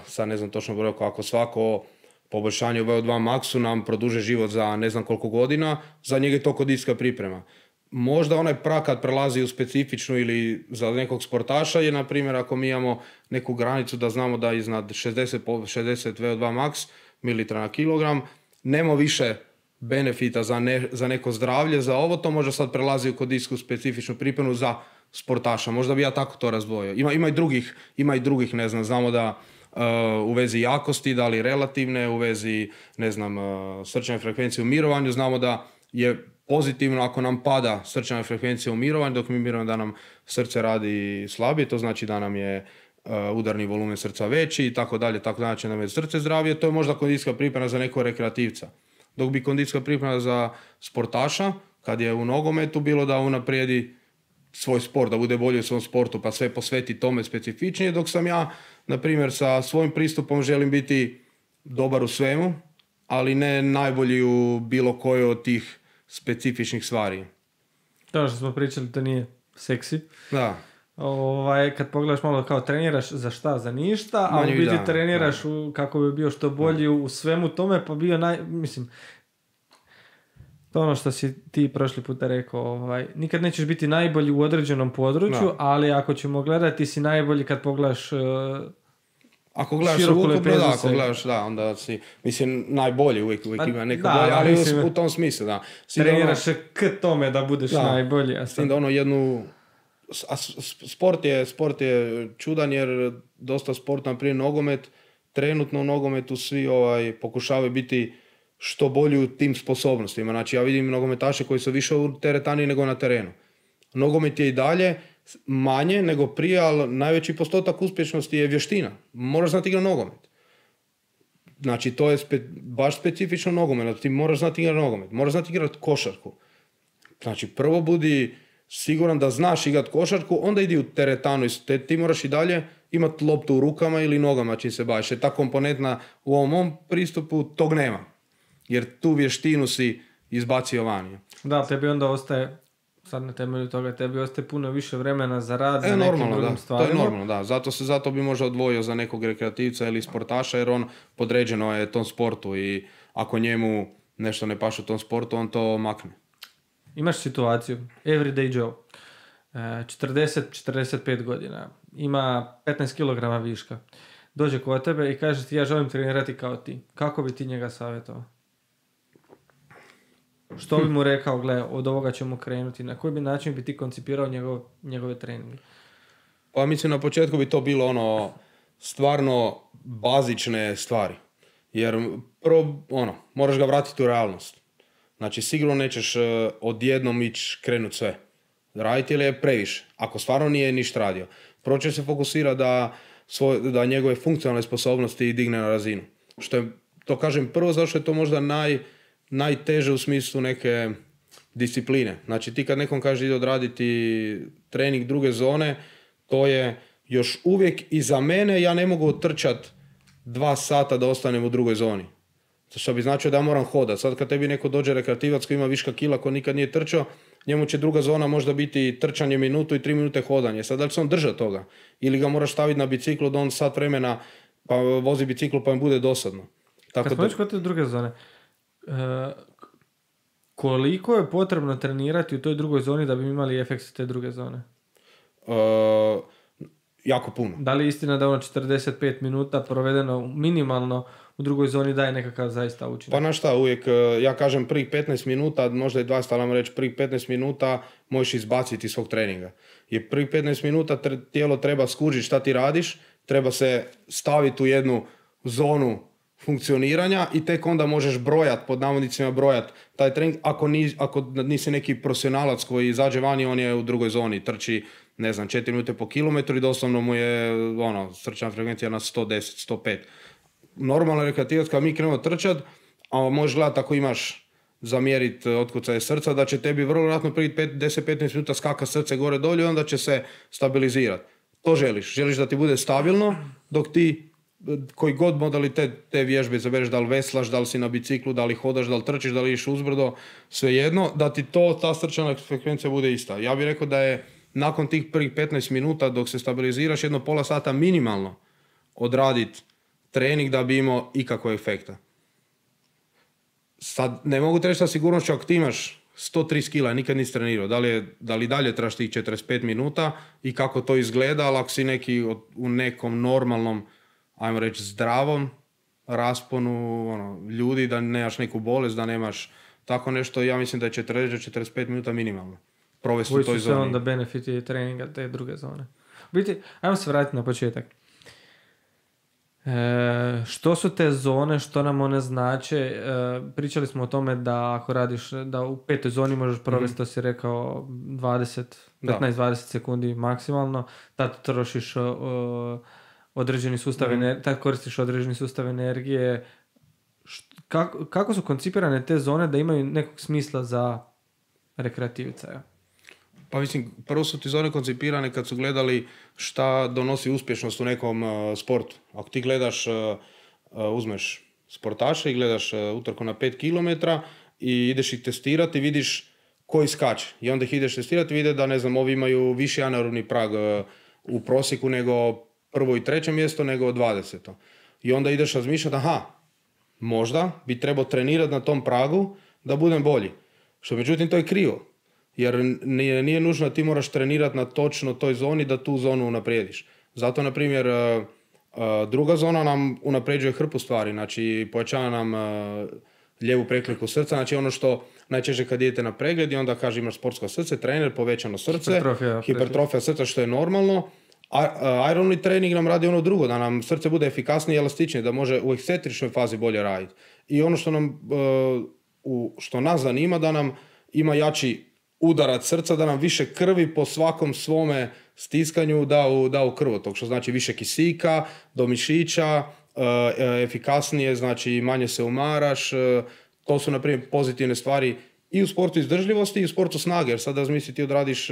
sad ne znam točno broj, ako svako poboljšanje u VO2 maksu nam produže život za ne znam koliko godina, za njega je to kondicijska priprema. Možda onaj prag kad prelazi u specifičnu ili za nekog sportaša je, na primjer, ako mi imamo neku granicu da znamo da iznad 60 VO2 max mililitra na kilogram, nema više benefita za neko zdravlje, za ovo, to možda sad prelazi u kondicijsku specifičnu pripremu za sportaša. Možda bi ja tako to razdvojio. Ima i drugih, ne znam, znamo da u vezi jakosti, da li relativne, u vezi, ne znam, srčane frekvencije u mirovanju, znamo da je pozitivno ako nam pada srčana frekvencija u mirovanju, dok mi mirujemo da nam srce radi slabije, to znači da nam je udarni volumen srca veći i tako dalje, znači nam je srce zdravije, to je možda kondicijska priprema za nekog rekreativca. Dok bi kondicijska priprema za sportaša, kad je u nogometu, bilo da unaprijedi svoj sport, da bude bolji u svom sportu, pa sve posveti tome specifičnije, dok sam ja, na primjer, sa svojim pristupom želim biti dobar u svemu, ali ne najbolji u bilo kojoj od tih specifičnih stvari. To što smo pričali, to nije seksi. Da. Kad pogledaš malo kao treniraš za šta, za ništa, a u biti treniraš kako bi bio što bolji u svemu tome, pa bio to ono što si ti prošli puta rekao, nikad nećeš biti najbolji u određenom području, ali ako ćemo gledati si najbolji kad pogledaš ako gledaš ukupno, onda si, mislim, najbolji, uvijek ima neko bolje, ali u tom smislu, da. Treniraš k tome da budeš najbolji. S tim da sport je čudan jer dosta sporta, naprimjer nogomet, trenutno u nogometu svi pokušavaju biti što bolji u tim sposobnostima. Znači ja vidim nogometaše koji su više u teretani nego na terenu. Nogomet je i dalje manje nego prije, ali najveći postotak uspješnosti je vještina. Moraš znati igrati nogomet. Znači, to je baš specifično nogomet. Ti moraš znati igrati nogomet. Moraš znati igrati košarku. Znači, prvo budi siguran da znaš igrati košarku, onda idi u teretanu. Ti moraš i dalje imati loptu u rukama ili nogama čim se baviš. Ta komponentna u ovom mom pristupu tog nema. Jer tu vještinu si izbacio vani. Da, tebi onda ostaje, sad na temelju toga, tebi ostaje puno više vremena za rad, za nekim drugim stvarima. To je normalno, da. Zato bi možda odvojio za nekog rekreativca ili sportaša, jer on podređeno je tom sportu i ako njemu nešto ne paše u tom sportu, on to makne. Imaš situaciju, everyday Joe, 40-45 godina, ima 15 kg viška, dođe kod tebe i kaže ti ja želim trenirati kao ti. Kako bi ti njega savjetovao? Što bi mu rekao, gle, od ovoga ćemo krenuti, na koji bi način bi ti koncipirao njegove treninge? Pa mislim na početku bi to bilo stvarno bazične stvari. Jer prvo, moraš ga vratiti u realnost. Znači, sigurno nećeš odjednom ići krenuti sve raditi ili je previše. Ako stvarno nije ništa radio. Prvo će se fokusirati da njegove funkcionalne sposobnosti digne na razinu. Što je, to kažem prvo, zato što je to možda najteže u smislu neke discipline. Znači, ti kad nekom kaže ide odraditi trening druge zone, to je još uvijek i za mene, ja ne mogu trčati 2 sata da ostanem u drugoj zoni. Što bi značio da ja moram hodati. Sad kad tebi neko dođe rekreativac koji ima viška kila, ko nikad nije trčao, njemu će druga zona možda biti trčanje minutu i 3 minute hodanje. Sad da li se on drža toga? Ili ga moraš staviti na biciklu da on sat vremena pa vozi biciklu pa im bude dosadno. Tako kad spomenuš kod te druge zone, koliko je potrebno trenirati u toj drugoj zoni da bi imali efekt te druge zone? Jako puno. Da li je istina da 45 minuta provedeno minimalno u drugoj zoni daje nekakav zaista učinak? Pa na šta, uvijek, ja kažem prvih 15 minuta, možda i 20, ali reći prvih 15 minuta možeš izbaciti svog treninga. Jer prvih 15 minuta tijelo treba skužiti šta ti radiš, treba se staviti u jednu zonu funkcioniranja i tek onda možeš pod navodnicima brojati taj trening. Ako nisi neki profesionalac koji izađe vani, on je u drugoj zoni, trči 4 minute po kilometru i doslovno mu je srčana frekvencija na 110, 105. Normalno rekreativac kad mi krenemo trčat, a možeš gledati ako imaš zamjeriti otkucaje srca, da će tebi vrlo vjerojatno prvi 10-15 minuta skaka srce gore dolje i onda će se stabilizirati. To želiš. Želiš da ti bude stabilno dok ti koji god modalitet te vježbe izabereš, da li veslaš, da li si na biciklu, da li hodaš, da li trčiš, da li iš uzbrdo, svejedno, da ti ta srčana frekvencija bude ista. Ja bih rekao da je nakon tih prvih 15 minuta dok se stabiliziraš jedno pola sata minimalno odraditi trening da bi imao ikakvog efekta. Sad ne mogu reći sa sigurnošću ako ti imaš 130 kila, nikad nisi trenirao, da li dalje trebaš tih 45 minuta i kako to izgleda, ali ako si u nekom normalnom, ajmo reći zdravom rasponu ljudi, da nemaš neku bolest, da nemaš tako nešto, ja mislim da je 40-45 minuta minimalno. Provesti u toj zoni. Koji su onda benefiti treninga te druge zone? Biti, ajmo se vratiti na početak. Što su te zone, što nam one znače? Pričali smo o tome da ako radiš, da u 5. zoni možeš provesti, to si rekao, 15-20 sekundi maksimalno, tad trošiš određeni sustav tad koristiš određeni sustav energije. Kako su koncipirane te zone da imaju nekog smisla za rekreativca? Pa mislim, prvo su ti zone koncipirane kad su gledali šta donosi uspješnost u nekom sportu. Ako ti gledaš, uzmeš sportaše i gledaš utrku na 5 km i ideš ih testirati, vidiš koji skače. I onda ih ideš testirati i vide da, ovi imaju viši anaerobni prag u prosjeku nego prvo i treće mjesto nego 20. I onda ideš razmišljati, možda bi trebao trenirati na tom pragu da budem bolji. Što međutim to je krivo. Jer nije nužno da ti moraš trenirati na točno toj zoni da tu zonu unaprijediš. Zato, na primjer, druga zona nam unapređuje hrpu stvari. Znači, pojačava nam lijevu prekliku srca. Znači, ono što najčešće kad idete na pregled i onda kaže imaš sportsko srce, trener, povećano srce, hipertrofija srca što je normalno. Aerobni trening nam radi ono drugo, da nam srce bude efikasnije i elastičnije, da može u ekscentričnoj fazi bolje raditi. I ono što nas zanima, da nam ima jači udarac srca, da nam više krvi po svakom svome stiskanju da u krvotok, što znači više kisika do mišića, efikasnije, znači manje se umaraš. To su, na primjer, pozitivne stvari i u sportu izdržljivosti i u sportu snage, jer sad razmisli ti odradiš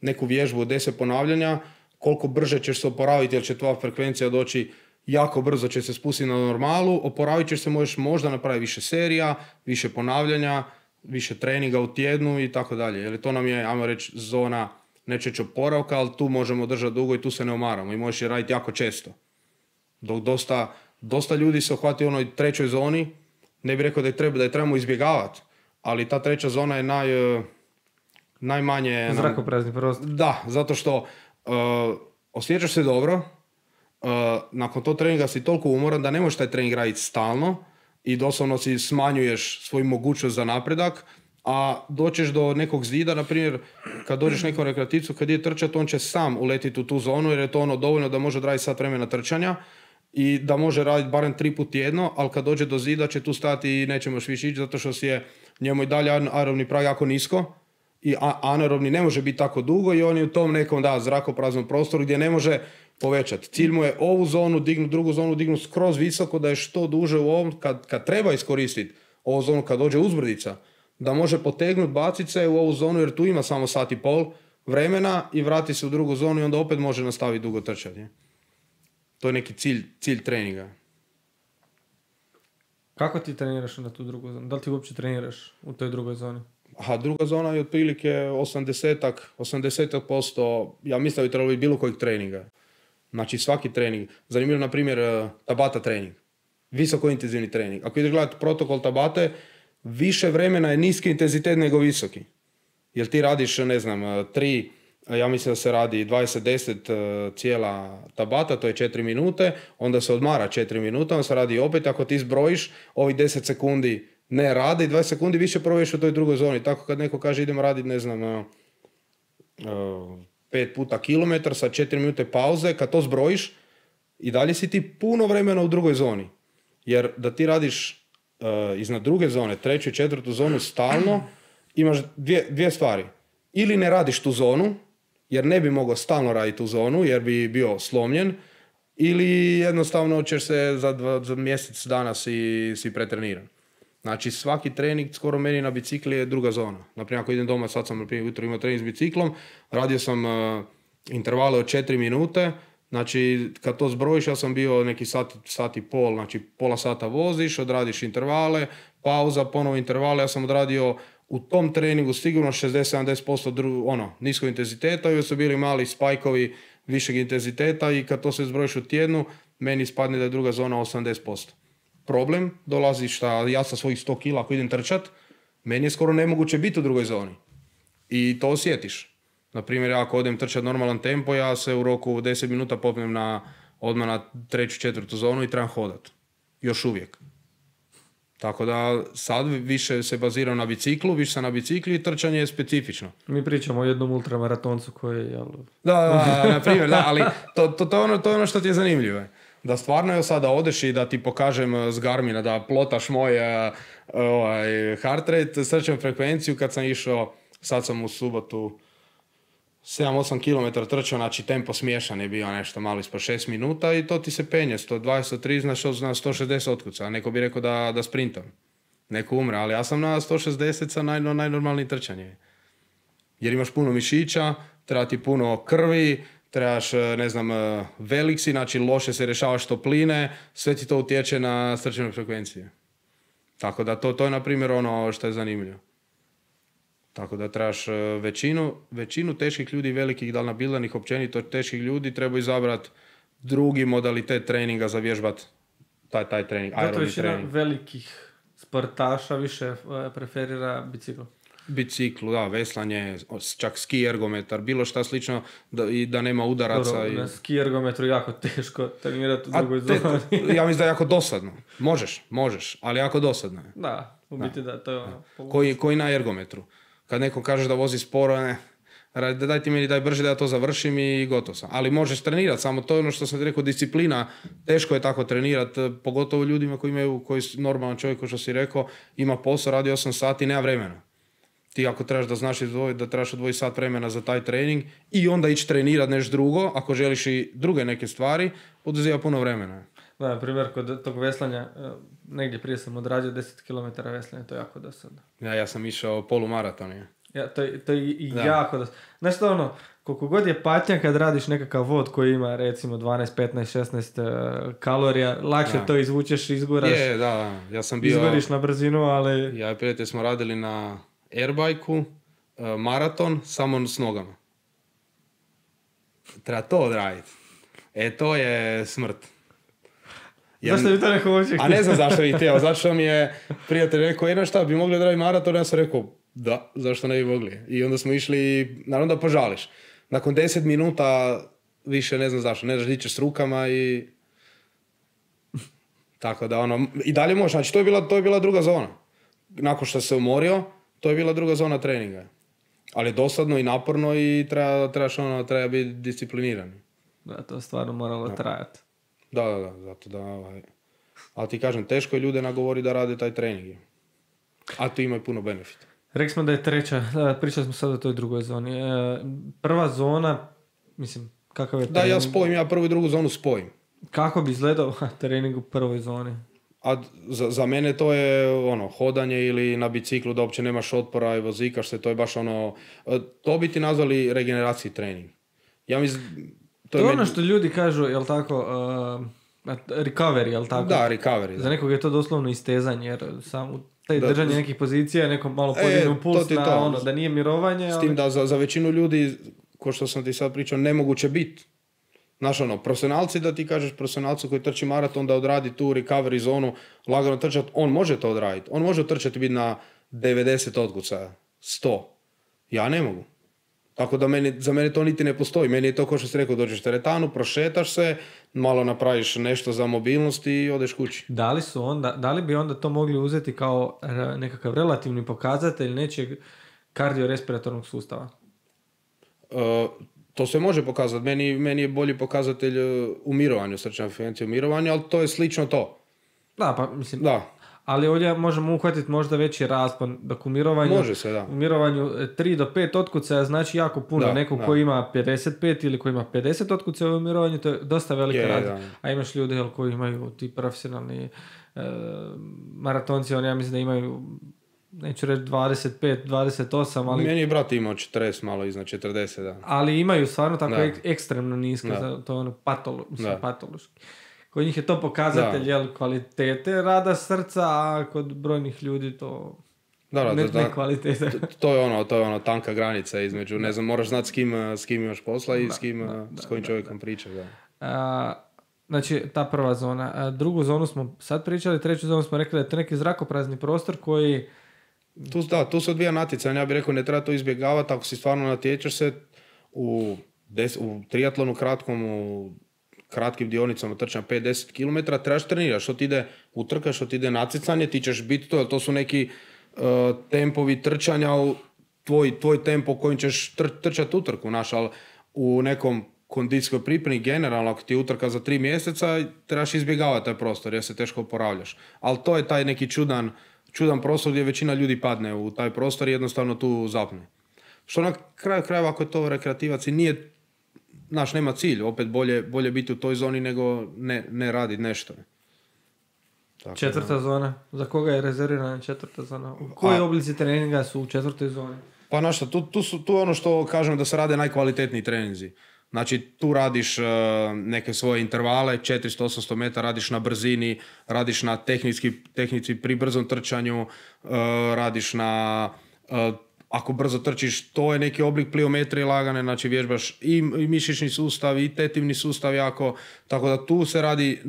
neku vježbu od 10 ponavljanja, koliko brže ćeš se oporaviti, jer će tvoja frekvencija doći jako brzo, će se spustiti na normalu, oporavit ćeš se, možda napraviti više serija, više ponavljanja, više treninga u tjednu i tako dalje. Jer to nam je, ajmo reći, zona nečeg oporavka, ali tu možemo držati dugo i tu se ne umaramo i možeš je raditi jako često. Dok dosta ljudi se uhvati u onoj trećoj zoni, ne bih rekao da je trebamo izbjegavati, ali ta treća zona je najmanje... Zrakoprazni prostor. Da, zato što osjećaš se dobro, nakon tog treninga si toliko umoran da ne možeš taj trening raditi stalno i doslovno si smanjuješ svoju mogućnost za napredak, a doćeš do nekog zida, na primjer, kad dođeš nekom rekreativcu, kad je trčat, on će sam uletiti u tu zonu, jer je to ono dovoljno da može odraditi sat vremena trčanja i da može raditi barem 3 puta tjedno, ali kad dođe do zida će tu stati i neće moći više ići, zato što je njemu i dalje aerobni prag jako nisko i anaerobni ne može biti tako dugo i on je u tom nekom zrakopraznom prostoru gdje ne može povećati. Cilj mu je ovu zonu dignuti, drugu zonu dignuti skroz visoko, da je što duže u ovom, kad treba iskoristiti ovu zonu, kad dođe uzbrdica, da može potegnuti, baciti se u ovu zonu, jer tu ima samo sat i pol vremena i vrati se u drugu zonu i onda opet može nastaviti dugo trčati. To je neki cilj treninga. Kako ti treniraš na tu drugu zonu? Da li ti uopće treniraš u toj drugoj zoni? Druga zona je otprilike 80%, ja mislim da bi trebalo biti bilo kojeg treninga. Znači svaki trening. Zanimljivo, na primjer, Tabata trening. Visoko intenzivni trening. Ako ideš gledati protokol Tabate, više vremena je niski intenzitet nego visoki. Jer ti radiš, ne znam, 3, ja mislim da se radi 20-10 cijela Tabata, to je 4 minute, onda se odmara 4 minuta, onda se radi opet, ako ti zbrojiš, ovih 10 sekundi ne rade i 20 sekundi više provješ u toj drugoj zoni. Tako kad neko kaže idemo raditi, ne znam, 5 puta kilometar sa 4 minute pauze, kad to zbrojiš, i dalje si ti puno vremena u drugoj zoni. Jer da ti radiš iznad druge zone, 3. i 4. zonu stalno, imaš dvije stvari. Ili ne radiš tu zonu, jer ne bi mogao stalno raditi tu zonu, jer bi bio slomljen, ili jednostavno ćeš se za mjesec dana si pretreniran. Znači svaki trening skoro meni na bicikli je druga zona. Naprimjer, ako idem doma, sad sam ujutro imao trening s biciklom, radio sam intervale od 4 minute, znači kad to zbrojiš, ja sam bio neki sat i pol, znači pola sata voziš, odradiš intervale, pauza, ponovo intervale, ja sam odradio u tom treningu sigurno 60-70% niskog intenziteta i su bili mali spajkovi višeg intenziteta i kad to se zbrojiš u tjednu, meni ispadne da je druga zona 80%. Problem dolazi šta ja sa svojih 100 kila ako idem trčat, meni je skoro nemoguće biti u drugoj zoni. I to osjetiš. Naprimjer, ako odem trčat normalan tempo, ja se u roku 10 minuta popnem odmah na 3. 4. zonu i trebam hodat. Još uvijek. Tako da sad više se baziram na biciklu, više sam na bicikli i trčanje je specifično. Mi pričamo o jednom ultramaratoncu koji je... Da, na primjer, da, ali to je ono što ti je zanimljivo. Da stvarno je sada odeš i da ti pokažem s Garmina da plotaš moj heart rate, srčanu frekvenciju kad sam išao, sad sam u subotu 7-8 km trčao, znači tempo smiješan je bio nešto malo ispod 6 minuta i to ti se penje, 120-130 na 160 otkuca, a neko bi rekao da sprintam. Neko umre, ali ja sam na 160 sa najnormalniji trčanje. Jer imaš puno mišića, treba ti puno krvi, trebaš, ne znam, velik si, znači loše se rješavaš topline, sve ti to utječe na srčane frekvencije. Tako da to je, na primjer, ono što je zanimljivo. Tako da trebaš većinu teških ljudi, velikih dalnabildanih, općenito teških ljudi, treba izabrati drugi modalitet treninga za vježbat taj trening, aerobni trening. Većina velikih sportaša više preferira bicikl. Biciklu, da, veslanje, čak ski ergometar, bilo šta slično da nema udaraca. Dobro, na ski ergometru jako teško trenirati u drugoj zoni. Ja mislim da je jako dosadno. Možeš, ali jako dosadno je. Da, u biti da, to je ono. Koji na ergometru. Kad neko kaže da vozi sporo, daj ti meni, daj brže da ja to završim i gotov sam. Ali možeš trenirati, samo to je ono što sam ti rekao, disciplina, teško je tako trenirati, pogotovo ljudima koji normalan čovjek, ko što si rekao, ima posao, radi 8 sati, nema vremena. Ti ako trebaš da znaš izdvojiti, da trebaš odvojiti sat vremena za taj trening i onda ići trenirati nešto drugo, ako želiš i druge neke stvari, oduzima puno vremena. Da, na primjer, kod tog veslanja, negdje prije sam odradio 10 km veslanja, to je jako dosadno. Ja sam išao polumaraton. Ja, to je jako dosadno. Znaš što ono, koliko god je patnja kad radiš nekakav vod koji ima recimo 12, 15, 16 kalorija, lakše to izvučeš, izguraš. Ja sam bio... Izgoriš na brzinu, ali... Ja i prijatelj smo radili na airbajku, maraton, samo s nogama. Treba to odraditi. To je smrt. Zašto bi to neko hoće? A ne znam zašto bi htio. Zašto mi je prijatelj rekao, šta, bi mogli odraditi maraton? Ja sam rekao, da, zašto ne bi mogli? I onda smo išli, naravno da požališ. Nakon 10 minuta više ne znam zašto, ne znaš di ćeš s rukama i... Tako da i dalje možeš, znači to je bila druga zona. Nakon što se umorio, to je bila druga zona treninga. Ali dosadno i naporno i treba biti discipliniran. Da, to stvarno moralo trajati. Da, zato da... Ali ti kažem, teško je ljude nagovori da rade taj trening. A tu imaju puno benefita. Rekli smo da je treća, pričali smo sad o toj drugoj zoni. Prva zona, mislim, kakav je trening? Da, ja prvu i drugu zonu spojim. Kako bi izgledao trening u prvoj zoni? A za mene to je hodanje ili na biciklu da uopće nemaš otpora i vozikaš se, to je baš to bi ti nazvali regeneracijski trening. Ja mislim... To je ono što ljudi kažu, jel tako, recovery, jel tako? Da, recovery. Za nekog je to doslovno istezanje, jer samo držanje nekih pozicija, nekom malo podignu puls da nije mirovanje. S tim da za većinu ljudi, ko što sam ti sad pričao, nemoguće biti. Znaš, profesionalci, da ti kažeš profesionalcu koji trči maraton da odradi tu recovery zonu, lagano trčati, on može to odraditi. On može trčati biti na 90 otkucaja, 100. Ja ne mogu. Tako da za mene to niti ne postoji. Meni je to, kao što si rekao, dođeš teretanu, prošetaš se, malo napraviš nešto za mobilnost i odeš kući. Da li bi onda to mogli uzeti kao nekakav relativni pokazatelj nečeg kardiorespiratornog sustava? To se može pokazati. Meni je bolji pokazatelj u mirovanju, srčana frekvencija u mirovanju, ali to je slično to. Da, pa mislim... Da. Ali ovdje možemo uhvatiti možda veći raspon, dok u mirovanju, može se, da. U mirovanju 3 do 5 otkucaja znači jako puno. Da, neko ko ima 55 ili ko ima 50 otkucaja u mirovanju, to je dosta velika razlika. A imaš ljudi koji imaju ti profesionalni maratonci, oni ja mislim da imaju, neću reći 25, 28, ali... Meni je brat imao 40, malo iznad 40, da. Ali imaju stvarno tako ekstremno niske, to je patološki. Kod njih je to pokazatelj kvalitete rada srca, a kod brojnih ljudi to ne kvalitete. To je tanka granica između, ne znam, moraš znati s kim imaš posla i s kojim čovjekom pričaš. Znači, ta prva zona. Drugu zonu smo sad pričali, treću zonu smo rekli da je to neki zrakoprazni prostor koji... Tu se odvija natjecanje, ja bih rekao, ne treba to izbjegavati, ako si stvarno natječeš se u triatlonu kratkom, u kratkim dionicama trčanja 5-10 km, trebaš trenirati, što ti ide utrka, što ti ide natjecanje, ti ćeš biti to, jer to su neki tempovi trčanja, tvoj tempo kojim ćeš trčati utrku, ali u nekom kondicijskoj pripremi generalno, ako ti je utrka za 3 mjeseca, trebaš izbjegavati taj prostor jer se teško oporavljaš. Ali to je taj neki čudan prostor gdje većina ljudi padne u taj prostor i jednostavno tu zapne. Što na kraju krajeva, ako je to rekreativac i nije, nema cilj, opet bolje biti u toj zoni nego ne raditi nešto. Tako, četvrta zona, za koga je rezervirana četvrta zona? U koji oblici treninga su u četvrtoj zoni? Pa tu ono što kažem da se rade najkvalitetniji treninzi. Znači, tu radiš neke svoje intervale, 400-800 metara, radiš na brzini, radiš na tehnici pri brzom trčanju, radiš na... Ako brzo trčiš, to je neki oblik pliometrije lagane, znači vježbaš i mišićni sustav i tetivni sustav jako, tako da tu se radi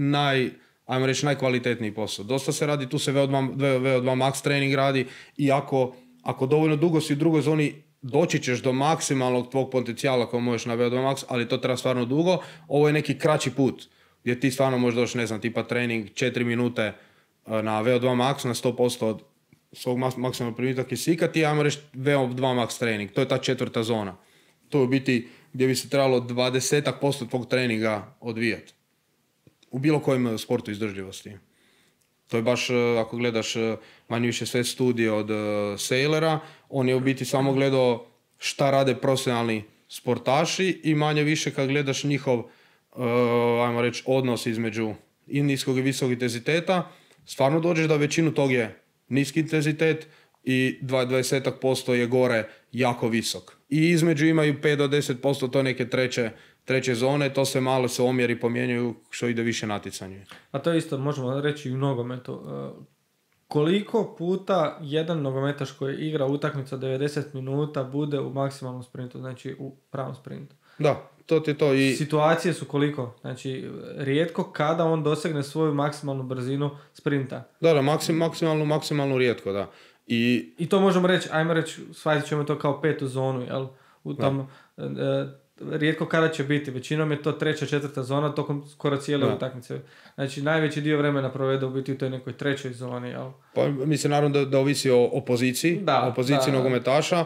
ajmo reći, najkvalitetniji posao. Dosta se radi, tu se VO2 max trening radi i ako dovoljno dugo si u drugoj zoni, doći ćeš do maksimalnog tvog potencijala koji možeš na VO2 max, ali to treba stvarno dugo. Ovo je neki kraći put gdje ti stvarno možeš doći, ne znam, tipa trening 4 minute na VO2 max na 100% od svog maksimalnog primitka kisika, ti ajmo reći VO2 max trening. To je ta četvrta zona. To je u biti gdje bi se trebalo 20% tvog treninga odvijati. U bilo kojem sportu izdržljivosti. To je baš, ako gledaš manje više sve studije od Sailora, on je u biti samo gledao šta rade profesionalni sportaši i manje više kad gledaš njihov, ajmo reći, odnos između i niskog i visokog intenziteta, stvarno dođeš da većinu tog je niski intenzitet i 20% je gore jako visok. I između imaju 5 do 10% to neke treće zone, to se malo se omjeri pomjenjuju što ide više natjecanje. A to isto možemo reći i u nogometu. Koliko puta jedan nogometaš koji igra utakmicu 90 minuta bude u maksimalnom sprintu, znači u pravom sprintu? Da, to ti je to. I situacije su koliko? Znači, rijetko kada on dosegne svoju maksimalnu brzinu sprinta. Da, maksimalnu rijetko, da. I to možemo reći, ajmo reći, shvatit ćemo to kao petu zonu, jel? U tom, rijetko kada će biti, većinom je to treća, četvrta zona tokom skoro cijele utakmice. Znači, najveći dio vremena provede u biti u toj nekoj trećoj zoni, jel? Pa mislim naravno da ovisi o poziciji, o poziciji nogometaša.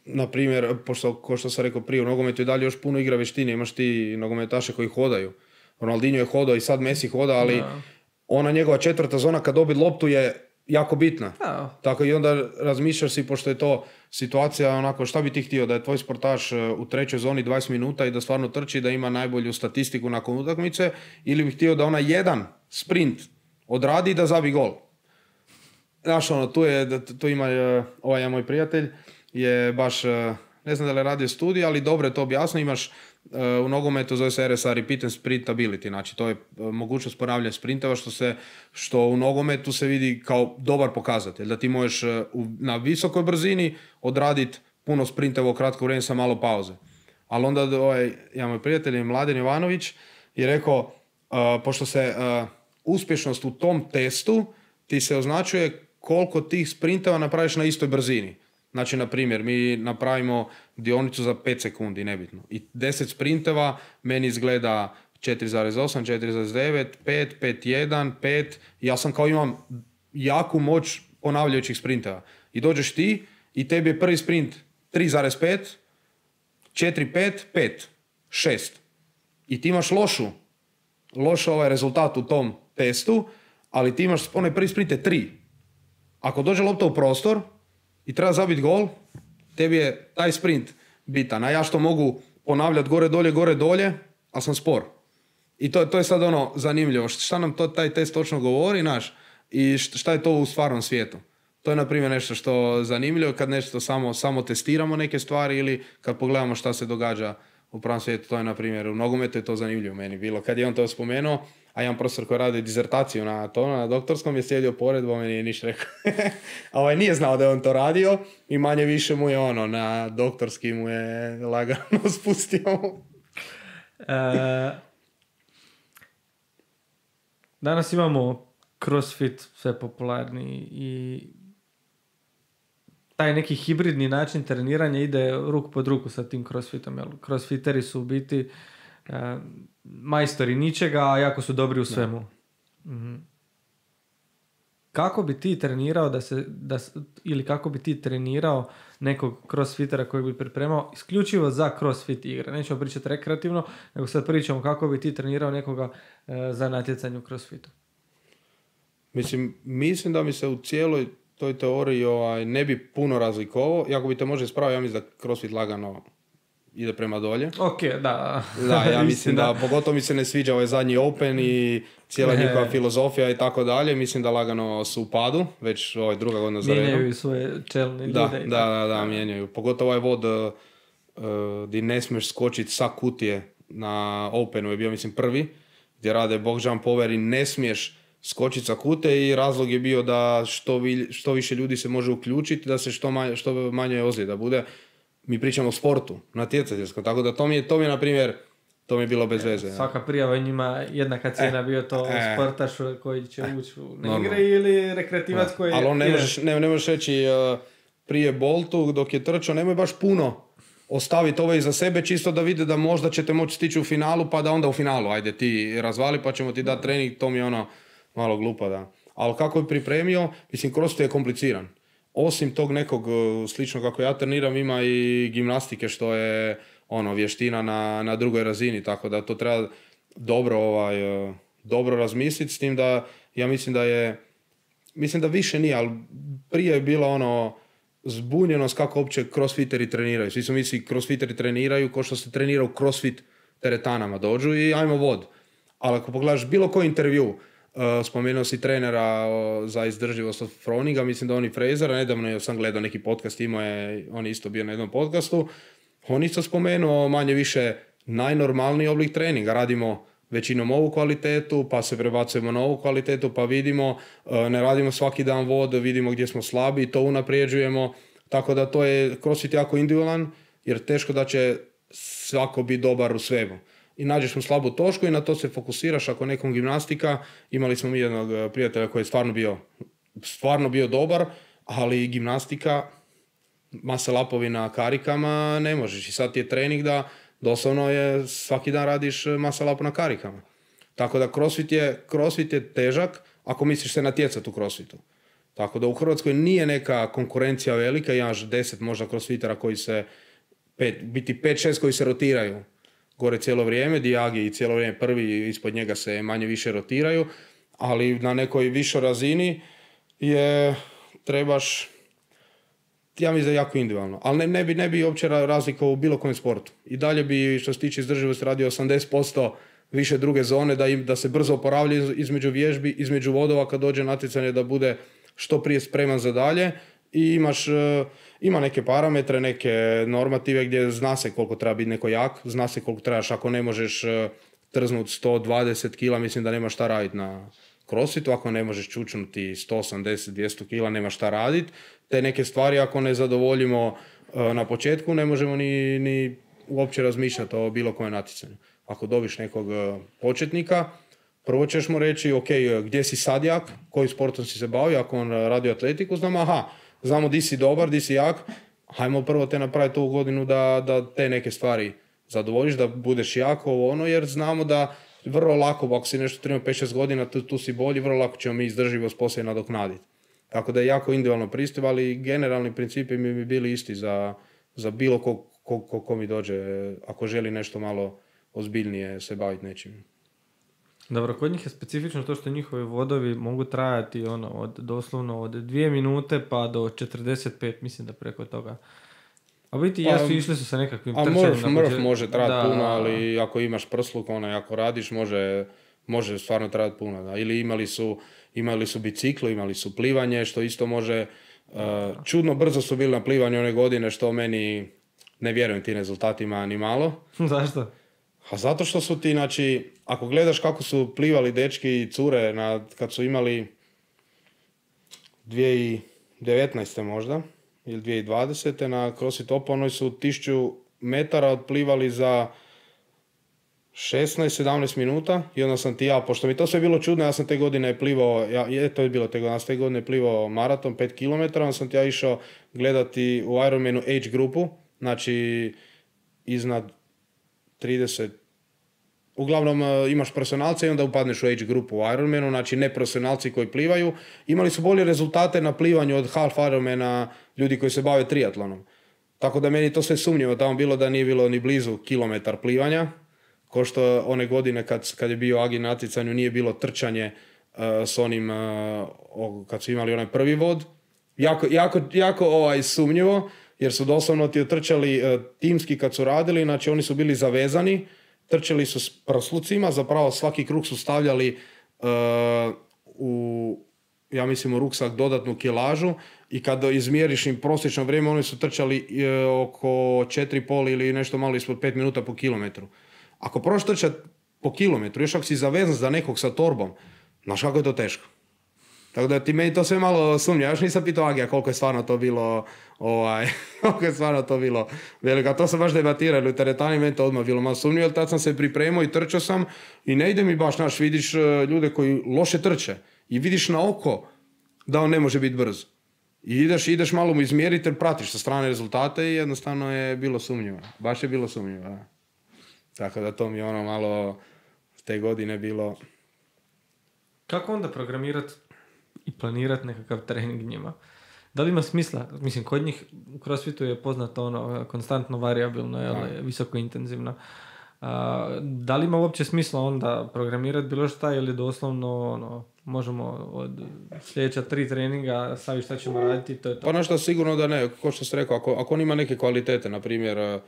Na primjer, ko što sam rekao prije, u nogometu i dalje još puno igra vještine, imaš ti nogometaše koji hodaju. Ronaldinho je hodao i sad Messi hoda, ali ona njegova četvrta zona kad dobi loptu je jako bitna. Tako i onda razmišljaš si, pošto je to situacija onako, šta bi ti htio, da je tvoj sportaš u trećoj zoni 20 minuta i da stvarno trči, da ima najbolju statistiku nakon utakmice, ili bi htio da ona jedan sprint odradi i da zabi gol. Znaš, tu ima ovaj moj prijatelj, je baš, ne znam da li radio studij, ali dobro je to objasno, imaš u nogometu zove se RSA, Repeat and Sprint Ability, znači to je mogućnost ponavljanja sprinteva što u nogometu se vidi kao dobar pokazatelj, da ti možeš na visokoj brzini odraditi puno sprinteva u kratko vrijeme sa malo pauze. Ali onda ja moj prijatelj Mladen Jovanović je rekao, pošto se uspješnost u tom testu ti se označuje koliko tih sprinteva napraviš na istoj brzini. Znači, na primjer, mi napravimo dionicu za 5 sekundi, nebitno. I 10 sprinteva meni izgleda 4,8, 4,9, 5, 5,1, 5. Ja sam kao imam jaku moć ponavljajućih sprinteva. I dođeš ti i tebi je prvi sprint 3,5, 4, 5, 5, 6. I ti imaš loš rezultat u tom testu, ali ti imaš, onaj prvi sprint je 3. Ako dođe lopta u prostor i treba zabiti gol, tebi je taj sprint bitan. A ja što mogu ponavljati gore, dolje, ali sam spor. I to je sad zanimljivo. Šta nam taj test točno govori, i šta je to u stvarnom svijetu. To je, na primjer, nešto što zanimljivo kad nešto samo testiramo neke stvari ili kad pogledamo šta se događa u pravom svijetu. To je, na primjer, u nogometu je to zanimljivo meni bilo. Kad je on to spomenuo, a jedan profesor koji radi dizertaciju na doktorskom je sjedio pored, bo mi nije ništa rekao. A nije znao da je on to radio i manje više mu je na doktorski mu je lagano spustio. Danas imamo CrossFit sve popularni i taj neki hibridni način treniranja ide ruku pod ruku sa tim CrossFitom. CrossFiteri su u biti majstori ničega, a jako su dobri u svemu. Mm-hmm. Kako bi ti trenirao ili kako bi ti trenirao nekog crossfitera koji bi pripremao isključivo za crossfit igre? Nećemo pričati rekreativno, nego sad pričamo kako bi ti trenirao nekoga za natjecanje u crossfitu. Mislim da mi se u cijeloj toj teoriji ne bi puno razlikovao. Iako bi te može ispraviti, ja mislim da crossfit lagano ide prema dolje. Ok, da. Da, ja mislim da pogotovo mi se ne sviđa ovaj zadnji Open i cijela njihova filozofija i tako dalje. Mislim da lagano su u padu, već druga godina za redom. Mijenjaju svoje čelne ljude. Da, mijenjaju. Pogotovo ovaj vod gdje ne smiješ skočiti sa kutije na Openu je bio, mislim, prvi, gdje rade box jump over i ne smiješ skočiti sa kute i razlog je bio da što više ljudi se može uključiti, da se što manje ozljeda bude. Mi pričamo o sportu, natjecateljskom, tako da to mi je, na primjer, to mi je bilo bez veze. Svaka prijava njima jednaka cijena, bio to sportaš koji će ući u igre ili rekreativac koji... Ali on ne možeš reći prije Boltu dok je trčao, nemoj baš puno ostaviti ovo iza sebe, čisto da vide da možda ćete moći stići u finalu, pa da onda u finalu, ajde ti razvali pa ćemo ti dati trening, to mi je malo glupo, da. Ali kako je pripremio, mislim, CrossFit je kompliciran. Osim tog nekog slično kako ja treniram, ima i gimnastike što je vještina na drugoj razini, tako da to treba dobro razmisliti, s tim da Ja mislim da više nije, ali prije je bilo ono zbunjenost kako uopće crossfiteri treniraju. Svi su misli crossfiteri treniraju kao što se trenira u crossfit teretanama. Dođu i ajmo vod. Ali ako pogledaš bilo koji intervju, spomenuo si trenera za izdrživost od Froninga, mislim da on i Frasera, nedavno sam gledao neki podcast, on je isto bio na jednom podcastu, on isto spomenuo manje više najnormalniji oblik treninga. Radimo većinom ovu kvalitetu, pa se prebacujemo na ovu kvalitetu, pa vidimo, ne radimo svaki dan vod, vidimo gdje smo slabi, to unaprijeđujemo. Tako da to je CrossFit jako individualan, jer teško da će svako biti dobar u svemu. I nađeš mu slabu točku i na to se fokusiraš. Ako nekom gimnastika, imali smo mi jednog prijatelja koji je stvarno bio dobar, ali gimnastika, masa lapovi na karikama ne možeš. I sad ti je trening doslovno je svaki dan radiš masa lapo na karikama. Tako da crossfit je težak ako misliš se natjecati u crossfitu. Tako da u Hrvatskoj nije neka konkurencija velika, imaš 10 možda crossfitera koji se, biti 5-6 koji se rotiraju gore cijelo vrijeme, Dijagi i cijelo vrijeme prvi, ispod njega se manje više rotiraju, ali na nekoj višoj razini trebaš, ja mislim da je jako individualno, ali ne bi uopće razlika u bilo kojem sportu. I dalje bi, što se tiče izdrživosti, radio 80% više druge zone, da se brzo oporavlja između vježbi, između vodova kad dođe natjecanje, da bude što prije spreman za dalje. I ima neke parametre, neke normative gdje zna se koliko treba biti neko jak, zna se koliko trebaš, ako ne možeš trznuti 120 kila, mislim da nema šta raditi na crossfitu, ako ne možeš čučnuti 180-200 kila, nema šta raditi. Te neke stvari ako ne zadovoljimo na početku, ne možemo ni uopće razmišljati o bilo kojem natjecanju. Ako dobiš nekog početnika, prvo ćeš mu reći, ok, gdje si sad jak, koji sportom si se bavio, ako on radi atletiku, znamo di si dobar, di si jak, hajmo prvo te napraviti ovu godinu da te neke stvari zadovoljiš, da budeš jak, jer znamo da vrlo lako, ako si nešto trenirao 5-6 godina, tu si bolji, vrlo lako ćemo mi izdrživost poslije nadoknaditi. Tako da je jako individualno pristup, ali generalni principi bi bili isti za bilo ko mi dođe, ako želi nešto malo ozbiljnije se baviti nečim. Dobro, kod njih je specifično to što njihovi vodovi mogu trajati doslovno od 2 minute pa do 45, mislim da preko toga. A biti išli su sa nekakvim trčanjem. Mrf može trajati puno, ali ako imaš prsluk, ako radiš, može stvarno trajati puno. Da. Ili imali su biciklo, imali su plivanje, što isto može. Čudno brzo su bili na plivanju one godine, što meni ne vjerujem tim rezultatima ni malo. Zašto? A zato što su ti, znači, ako gledaš kako su plivali dečki i cure kad su imali 2019. možda, ili 2020. na CrossFit Openoj su 1000 metara otplivali za 16-17 minuta i onda sam pošto mi to sve bilo čudno, ja sam te godine plivao, to je bilo te godine, ja sam te godine plivao maraton 5 km, onda sam išao gledati u Ironmanu age grupu, znači iznad 30, uglavnom imaš profesionalce i onda upadneš u age grupu u Ironmanu, znači ne profesionalci koji plivaju. Imali su bolje rezultate na plivanju od half Ironmana ljudi koji se bave triatlonom. Tako da meni to sve sumnjivo tamo bilo da nije bilo ni blizu kilometar plivanja, ko što one godine kad je bio Agi na natjecanju nije bilo trčanje s onim, kad su imali onaj prvi vod. Jako sumnjivo, jer su doslovno ti trčali timski kad su radili, znači oni su bili zavezani, trčali su s prslucima, zapravo svaki krug su stavljali u ruksak dodatnu kilažu i kada izmjeriš im prosječno vrijeme, oni su trčali oko 4,5 ili nešto malo ispod 5 minuta po kilometru. Ako proš trčati po kilometru, još ako si zavezan za nekog sa torbom, znaš kako je to teško. Tako da ti meni to sve malo sumnja. Ja još nisam pitao Agija koliko je stvarno to bilo veliko. A to sam baš debatirali u teretani, meni to odmah bilo malo sumnjivo, jer tad sam se pripremao i trčao sam i ne ide mi baš, vidiš ljude koji loše trče i vidiš na oko da on ne može biti brz. I ideš malo mu izmjeriti jer pratiš sa strane rezultate i jednostavno je bilo sumnjivo. Baš je bilo sumnjivo. Da. Tako da to mi je malo te godine bilo. Kako onda programirati i planirati nekakav trening njima? Da li ima smisla? Mislim, kod njih u CrossFitu je poznato konstantno variabilno, visoko intenzivno. Da li ima uopće smisla onda programirati bilo šta ili doslovno možemo od sljedeća 3 treninga staviti šta ćemo raditi, to je to. Pa nešto sigurno da ne, kao što sam rekao, ako on ima neke kvalitete, na primjer,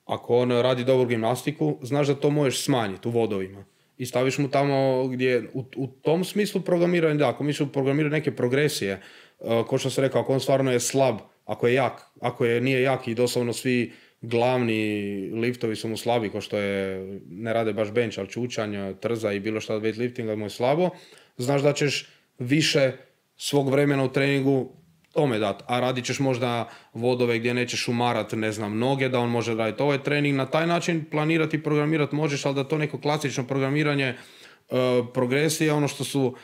ako on radi dobru gimnastiku, znaš da to možeš smanjiti u vodovima. I staviš mu tamo gdje, u tom smislu programiranja, da, ako misliš programirati neke progresije, kao što sam rekao, ako on stvarno je slab, ako je jak, nije jak i doslovno svi glavni liftovi su mu slabi, kao što je, ne rade baš bench, ali čučanj, trza i bilo šta od weightliftinga mu je slabo, znaš da ćeš više svog vremena u treningu tome dati, a radit ćeš možda vodove gdje nećeš umarat, ne znam, noge, da on može raditi ovaj trening, na taj način planirati i programirati možeš, ali da to neko klasično programiranje progresije, ono što su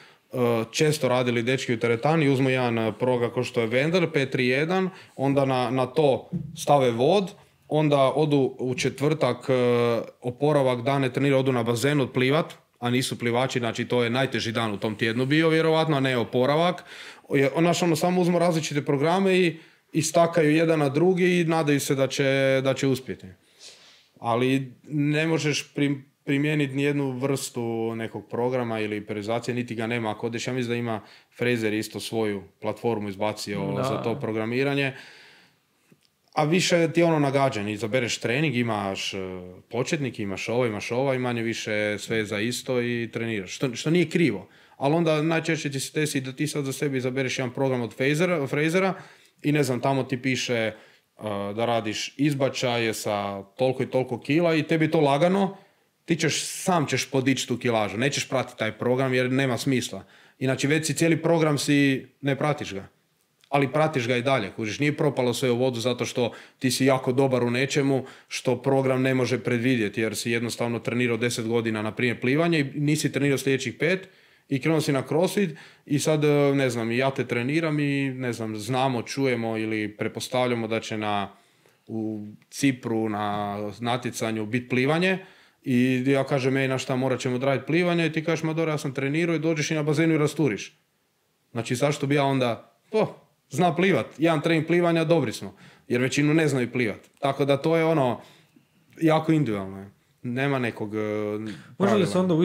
često radili dečki u teretani, uzmu jedan program kao što je Wendel, P31, onda na to stave vod, onda odu u četvrtak oporavak dane trenira, odu na bazen odplivat, a nisu plivači, znači to je najteži dan u tom tjednu bio vjerovatno, a ne oporavak. Samo uzmu različite programe i stakaju jedan na drugi i nadaju se da će uspjeti. Ali ne možeš primijeniti nijednu vrstu nekog programa ili periodizacije, niti ga nema. Ako odeš, ja mislim da ima Fraser isto svoju platformu izbacio za to programiranje. A više ti je ono nagađanje, izabereš trening, imaš početnik, imaš ovo i manje više sve za isto i treniraš. Što nije krivo. Ali onda najčešće ti se desi da ti sad za sebe izabereš jedan program od Frasera i ne znam, tamo ti piše da radiš izbačaje sa toliko i toliko kila i tebi to lagano, ti sam ćeš podići tu kilažu, nećeš pratiti taj program jer nema smisla. Inače već si cijeli program ne pratiš ga. Ali pratiš ga i dalje, kužiš, nije propalo sve u vodu zato što ti si jako dobar u nečemu što program ne može predvidjeti jer si jednostavno trenirao 10 godina na primjer plivanje i nisi trenirao sljedećih 5 i krenuo si na crossfit i sad, ne znam, ja te treniram i ne znam, znamo, čujemo ili pretpostavljamo da će u Cipru na natjecanju biti plivanje i ja kažem, na šta morat ćemo odraditi plivanje i ti kažeš, ma dobro, ja sam trenirao i dođeš i na bazenu i rasturiš. Znači, zašto bi ja onda, zna plivat, jedan trening plivanja, dobri smo, jer većinu ne znaju plivat. Tako da to je jako individualno. Nema nekog pravila. Može li se onda u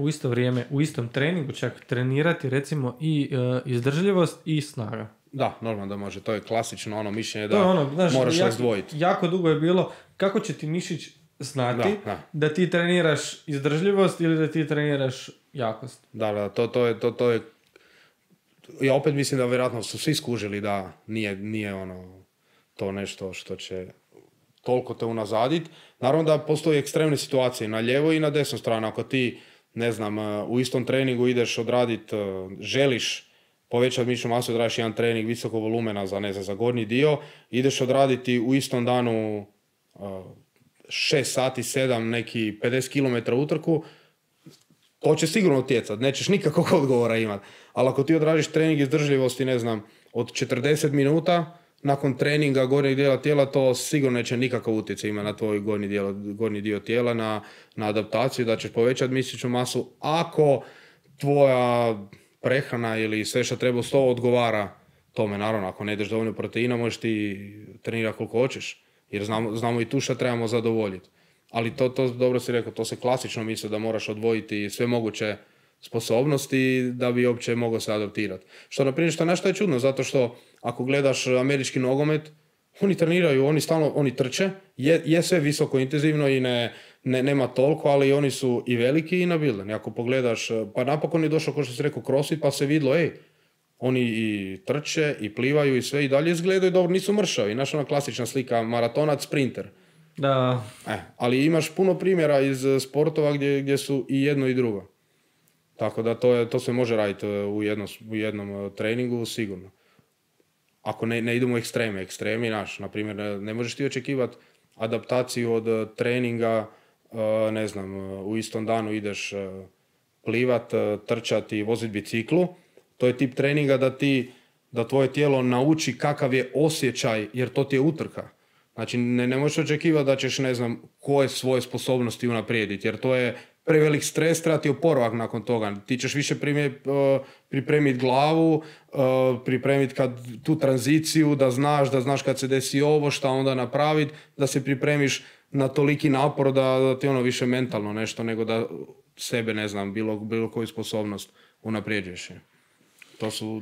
isto vrijeme, u istom treningu čak trenirati recimo i izdržljivost i snaga? Da, normalno da može. To je klasično mišljenje da moraš razdvojiti. Jako dugo je bilo kako će ti mišić znati da ti treniraš izdržljivost ili da ti treniraš jakost. Da, to je ja opet mislim da vjerojatno su svi skužili da nije to nešto što će toliko te unazaditi. Naravno da postoje ekstremne situacije na lijevo i na desnu stranu. Ako ti, ne znam, u istom treningu ideš odraditi, želiš povećati mišićnu masu, odradiš jedan trening visokog volumena za gornji dio, ideš odraditi u istom danu 6 sati, 7, neki 50 km utrku, to će sigurno utjecati, nećeš nikakvog odgovora imati. Ali ako ti odradiš trening izdržljivosti, ne znam, od 40 minuta, nakon treninga gornjeg dijela tijela, to sigurno neće nikakav utjecaj imati na tvoj gornji dio tijela, na adaptaciju, da ćeš povećati mišićnu masu. Ako tvoja prehrana ili sve što treba uz to odgovara tome, naravno, ako ne ideš dovoljno proteina, možeš ti trenirati koliko hoćeš, jer znamo i tu što trebamo zadovoljiti. Ali to dobro si rekao, to se klasično misli da moraš odvojiti sve moguće sposobnosti da bi uopće mogao se adaptirati. Što na primjer, nešto je čudno, zato što ako gledaš američki nogomet, oni treniraju, oni trče, je sve visoko intenzivno i nema toliko, ali oni su i veliki i nabildani. Ako pogledaš, pa napokon je došao, kao što si rekao, crossfit, pa se vidlo, oni i trče i plivaju i sve i dalje izgledaju dobro, nisu mršavi. Znaš, ona klasična slika, maratonac, sprinter. Da. Ali imaš puno primjera iz sportova gdje su i jedno i drugo. Tako da to se može raditi u jednom treningu sigurno. Ako ne idemo u ekstremi, na primjer, ne možeš ti očekivati adaptaciju od treninga, ne znam, u istom danu ideš plivat, trčati, voziti biciklu. To je tip treninga da tvoje tijelo nauči kakav je osjećaj, jer to ti je utrka. Znači, ne možeš očekivati da ćeš, ne znam, koje svoje sposobnosti unaprijediti, jer to je prevelik stres, treba ti oporavak nakon toga. Ti ćeš više pripremiti glavu, pripremiti tu tranziciju, da znaš kad se desi ovo, šta onda napraviti, da se pripremiš na toliki napor da ti više mentalno nešto, nego da sebe, ne znam, bilo koju sposobnost unaprijeđuješ je.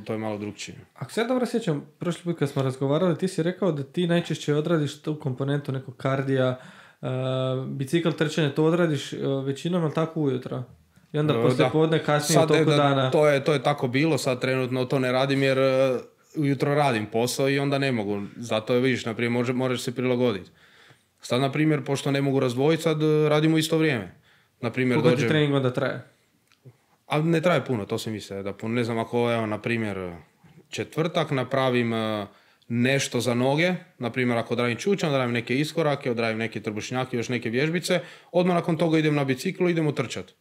To je malo drugčije. Ako se ja dobro sjećam, prošli put kad smo razgovarali, ti si rekao da ti najčešće odradiš tu komponentu nekog kardija, bicikl trčanje, to odradiš većinom, ali tako ujutro? I onda poslije podne kasnije sad, toliko dana... To je tako bilo, sad trenutno to ne radim jer ujutro radim posao i onda ne mogu. Zato vidiš, naprimjer, moraš se prilagoditi. Sad, na primjer, pošto ne mogu razdvojiti, sad radimo isto vrijeme. Koliko ti trening onda traje? A ne traje puno, to se misle da puno. Ne znam, ako evo, na primjer, četvrtak napravim nešto za noge, na primjer, ako odradim čučan, odradim neke iskorake, odradim neke trbušnjake, još neke vježbice, odmah nakon toga idem na biciklu, idemo trčati.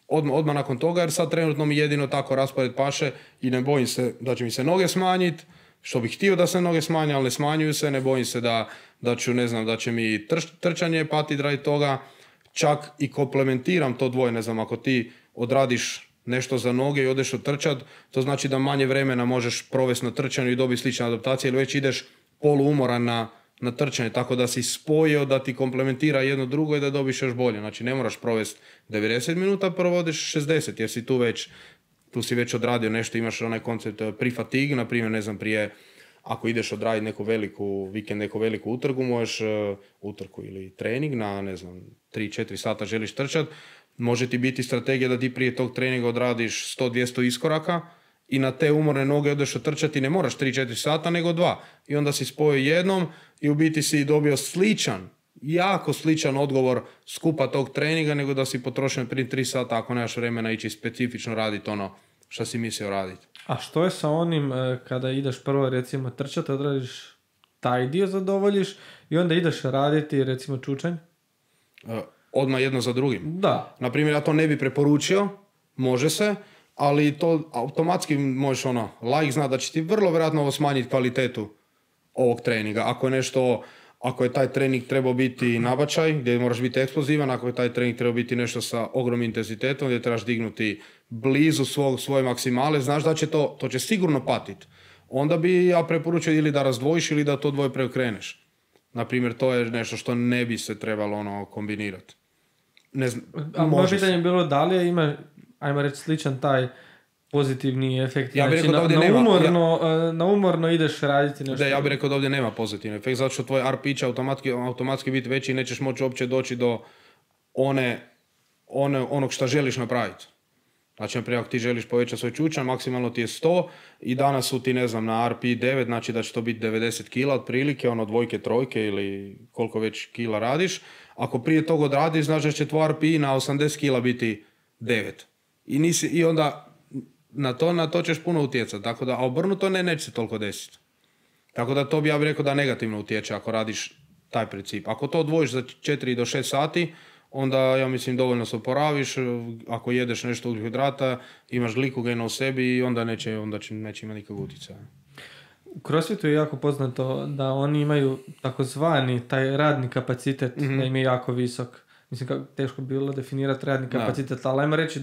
Odmah nakon toga, jer sad trenutno mi jedino tako raspored paše i ne bojim se da će mi se noge smanjiti, što bih htio da se noge smanje, ali ne smanjuju se, ne bojim se da će mi trčanje patiti radi toga, čak i komplementiram to dvoje, ne znam, ako ti odradiš nešto za noge i odeš otrčat, to znači da manje vremena možeš provesti na trčanju i dobiti slične adaptacije, ili već ideš poluumoran na trčanje, tako da si spojio da ti komplementira jedno drugo i da dobiš još bolje. Znači ne moraš provesti 90 minuta, provodiš 60, jer si tu si već odradio nešto, imaš onaj koncept pre-fatigue, na primjer, ne znam, prije, ako ideš odraditi neku veliku utrku, možeš utrku ili trening na, ne znam, 3-4 sata želiš trčati, može ti biti strategija da ti prije tog treninga odradiš 100-200 iskoraka i na te umorne noge odeš otrčati, ne moraš 3-4 sata, nego 2. I onda si spojio jednom i u biti si dobio jako sličan odgovor skupa tog treninga, nego da si potrošio prije 3 sata ako nemaš vremena ići specifično raditi ono što si mislio raditi. A što je sa onim kada ideš prvo recimo trčati, odradiš taj dio zadovoljiš i onda ideš raditi recimo čučanj? Odmah jedno za drugim. Da. Naprimjer, ja to ne bi preporučio, može se, ali to automatski možeš laik zna da će ti vrlo vjerojatno ovo smanjiti kvalitetu ovog treninga. Ako je taj trening trebao biti nabačaj, gdje moraš biti eksplozivan, ako je taj trening trebao biti nešto sa ogromnim intenzitetom, gdje trebaš dignuti blizu svoje maksimale, znaš da će to će sigurno patiti. Onda bi ja preporučio ili da razdvojiš ili da to dvoje preokreneš. Naprimjer, to je nešto što ne bi se trebalo kombinirati. Ne znam, moje pitanje je bilo da li ima, ajmo reći, sličan taj pozitivni efekt. Ja bih znači, rekao da na umorno ideš raditi nešto. Ja bih rekao da ovdje nema pozitivni efekt, zato što tvoj RP će automatski biti veći i nećeš moći uopće doći do onog što želiš napraviti. Znači, naprijed, ako ti želiš povećati svoj čučan, maksimalno ti je 100 i danas su ti, ne znam, na RP 9, znači da će to biti 90 kila otprilike, dvojke, trojke ili koliko već kila radiš. Ako prije toga odradiš, znači da će tvoj RP na 80 kila biti 9. I onda na to ćeš puno utjecati, tako da, a obrnuto neće se toliko desiti. Tako da to bi ja bih rekao da negativno utječe ako radiš taj princip. Ako to odvojiš za 4 do 6 sati, onda ja mislim dovoljno se oporaviš, ako jedeš nešto ugljikohidrata, imaš glikogena u sebi i onda neće imati nikakvog utjecaja. U CrossFitu je jako poznato da oni imaju takozvani taj radni kapacitet, da im je jako visok. Mislim, kako teško bi bilo definirati radni kapacitet, ali ajmo reći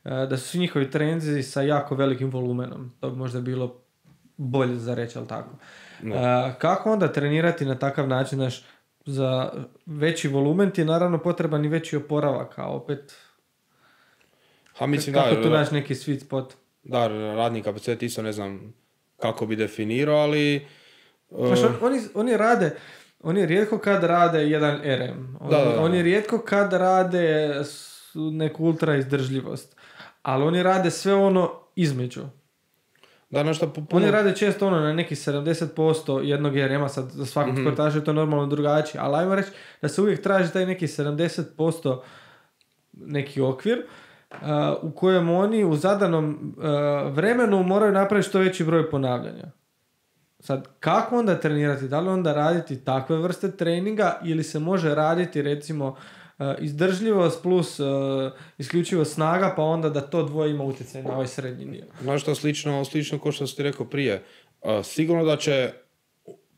da su svi njihovi treninzi sa jako velikim volumenom. To bi možda bilo bolje za reći, ali tako. Kako onda trenirati na takav način, za veći volumen ti je naravno potreban i veći oporavak, a opet kako tu naći neki sweet spot? Da, radni kapacitet isto ne znam kako bi definirao, ali... Oni rijetko kad rade jedan RM. Oni rijetko kad rade neku ultra izdržljivost. Ali oni rade sve između. Oni rade često na neki 70% jednog RM-a, sad za svakog sportaša je to normalno drugačije, ali ajmo reći da se uvijek traži taj neki 70% neki okvir u kojem oni u zadanom vremenu moraju napraviti što veći broj ponavljanja. Sad, kako onda trenirati? Da li onda raditi takve vrste treninga ili se može raditi recimo izdržljivost plus isključivo snaga, pa onda da to dvoje ima utjecaj na ovaj srednji dio. Znaš što, slično kao što si rekao prije. Sigurno da će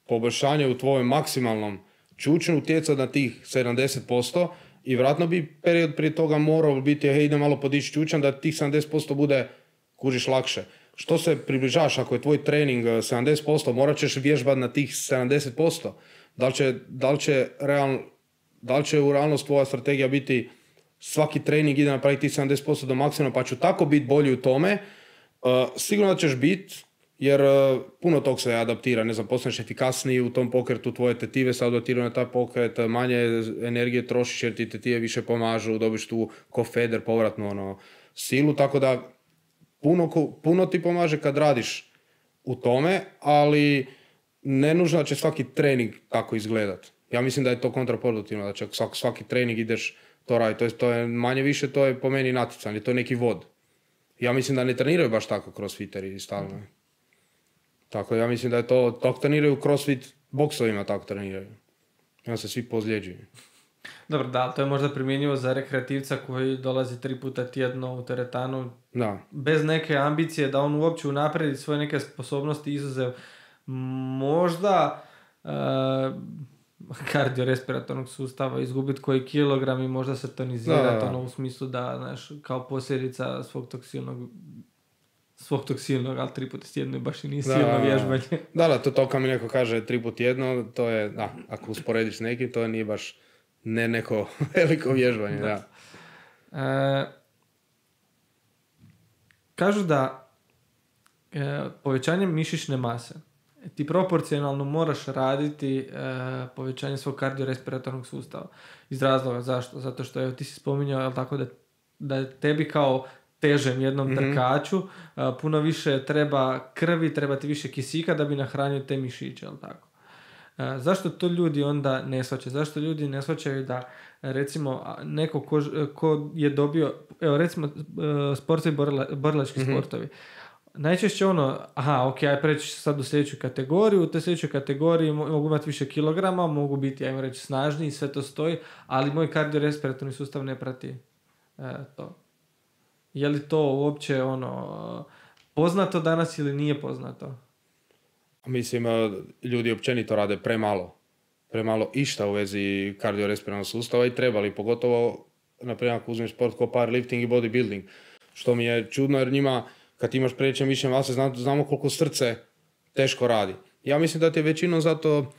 poboljšanje u tvojom maksimalnom čučnju utjecati na tih 70% i vjerojatno bi period prije toga morao biti ide malo podići čučan da tih 70% bude kužiš lakše. Što se približavaš, ako je tvoj trening 70%, morat ćeš vježbati na tih 70%. Da li će u realnost tvoja strategija biti svaki trening ide napraviti 70% do maksimuma, pa ću tako biti bolji u tome, sigurno da ćeš biti, jer puno tog se adaptira, ne znam, postaneš efikasniji u tom pokretu, tvoje tetive se adaptiraju na taj pokret, manje energije trošiš jer ti tetive više pomažu, dobiš tu ko feder povratnu silu, tako da puno ti pomaže kad radiš u tome, ali ne nužno da će svaki trening tako izgledat. Ja mislim da je to kontraproduktivno, da će svaki trening ideš to raditi. To je manje više, to je po meni natjecanje, to je neki vod. Ja mislim da ne treniraju baš tako crossfiteri stalno. Tako ja mislim da je to, tako treniraju crossfit boksovima, tako treniraju. I onda se svi pozljeđuju. Dobro, da, to je možda primjenjivo za rekreativca koji dolazi 3 puta tjedno u teretanu. Da. Bez neke ambicije da on uopće unapredi svoje neke sposobnosti, izuzev možda kardiorespiratornog sustava, izgubiti koji kilogram i možda se tonizirati u smislu da, znaš, kao posljedica svog toksilnog, ali 3 puta tjedno baš i nije silno vježbanje. Da, to kao mi neko kaže 3 puta tjedno, to je, ako usporediš s nekim, to nije baš neko veliko vježbanje, da. Kažu da povećanjem mišićne mase ti proporcionalno moraš raditi povećanje svog kardiorespiratornog sustava. Iz razloga zašto? Zato što ti si spominjao tako da je tebi kao težem jednom trkaču puno više treba krvi, treba ti više kisika da bi nahranio te mišiće, jel tako? Zašto to ljudi onda ne shvaćaju? Zašto ljudi ne shvaćaju da recimo neko ko je dobio, evo recimo sportovi, borilački sportovi, najčešće aj preći sad u sljedeću kategoriju, u toj sljedećoj kategoriji mogu imati više kilograma, mogu biti, ajmo reći, snažniji, sve to stoji, ali moj kardiorespiratorni sustav ne prati to. Je li to uopće poznato danas ili nije poznato? Mislim, ljudi općenito rade premalo išta u vezi kardiorespiratornog sustava i trebali, pogotovo, naprimjer, ako uzmem sport kao powerlifting i bodybuilding, što mi je čudno jer njima, kad imaš preveće mišićne mase, znamo koliko srce teško radi. Ja mislim da ti je većinom zato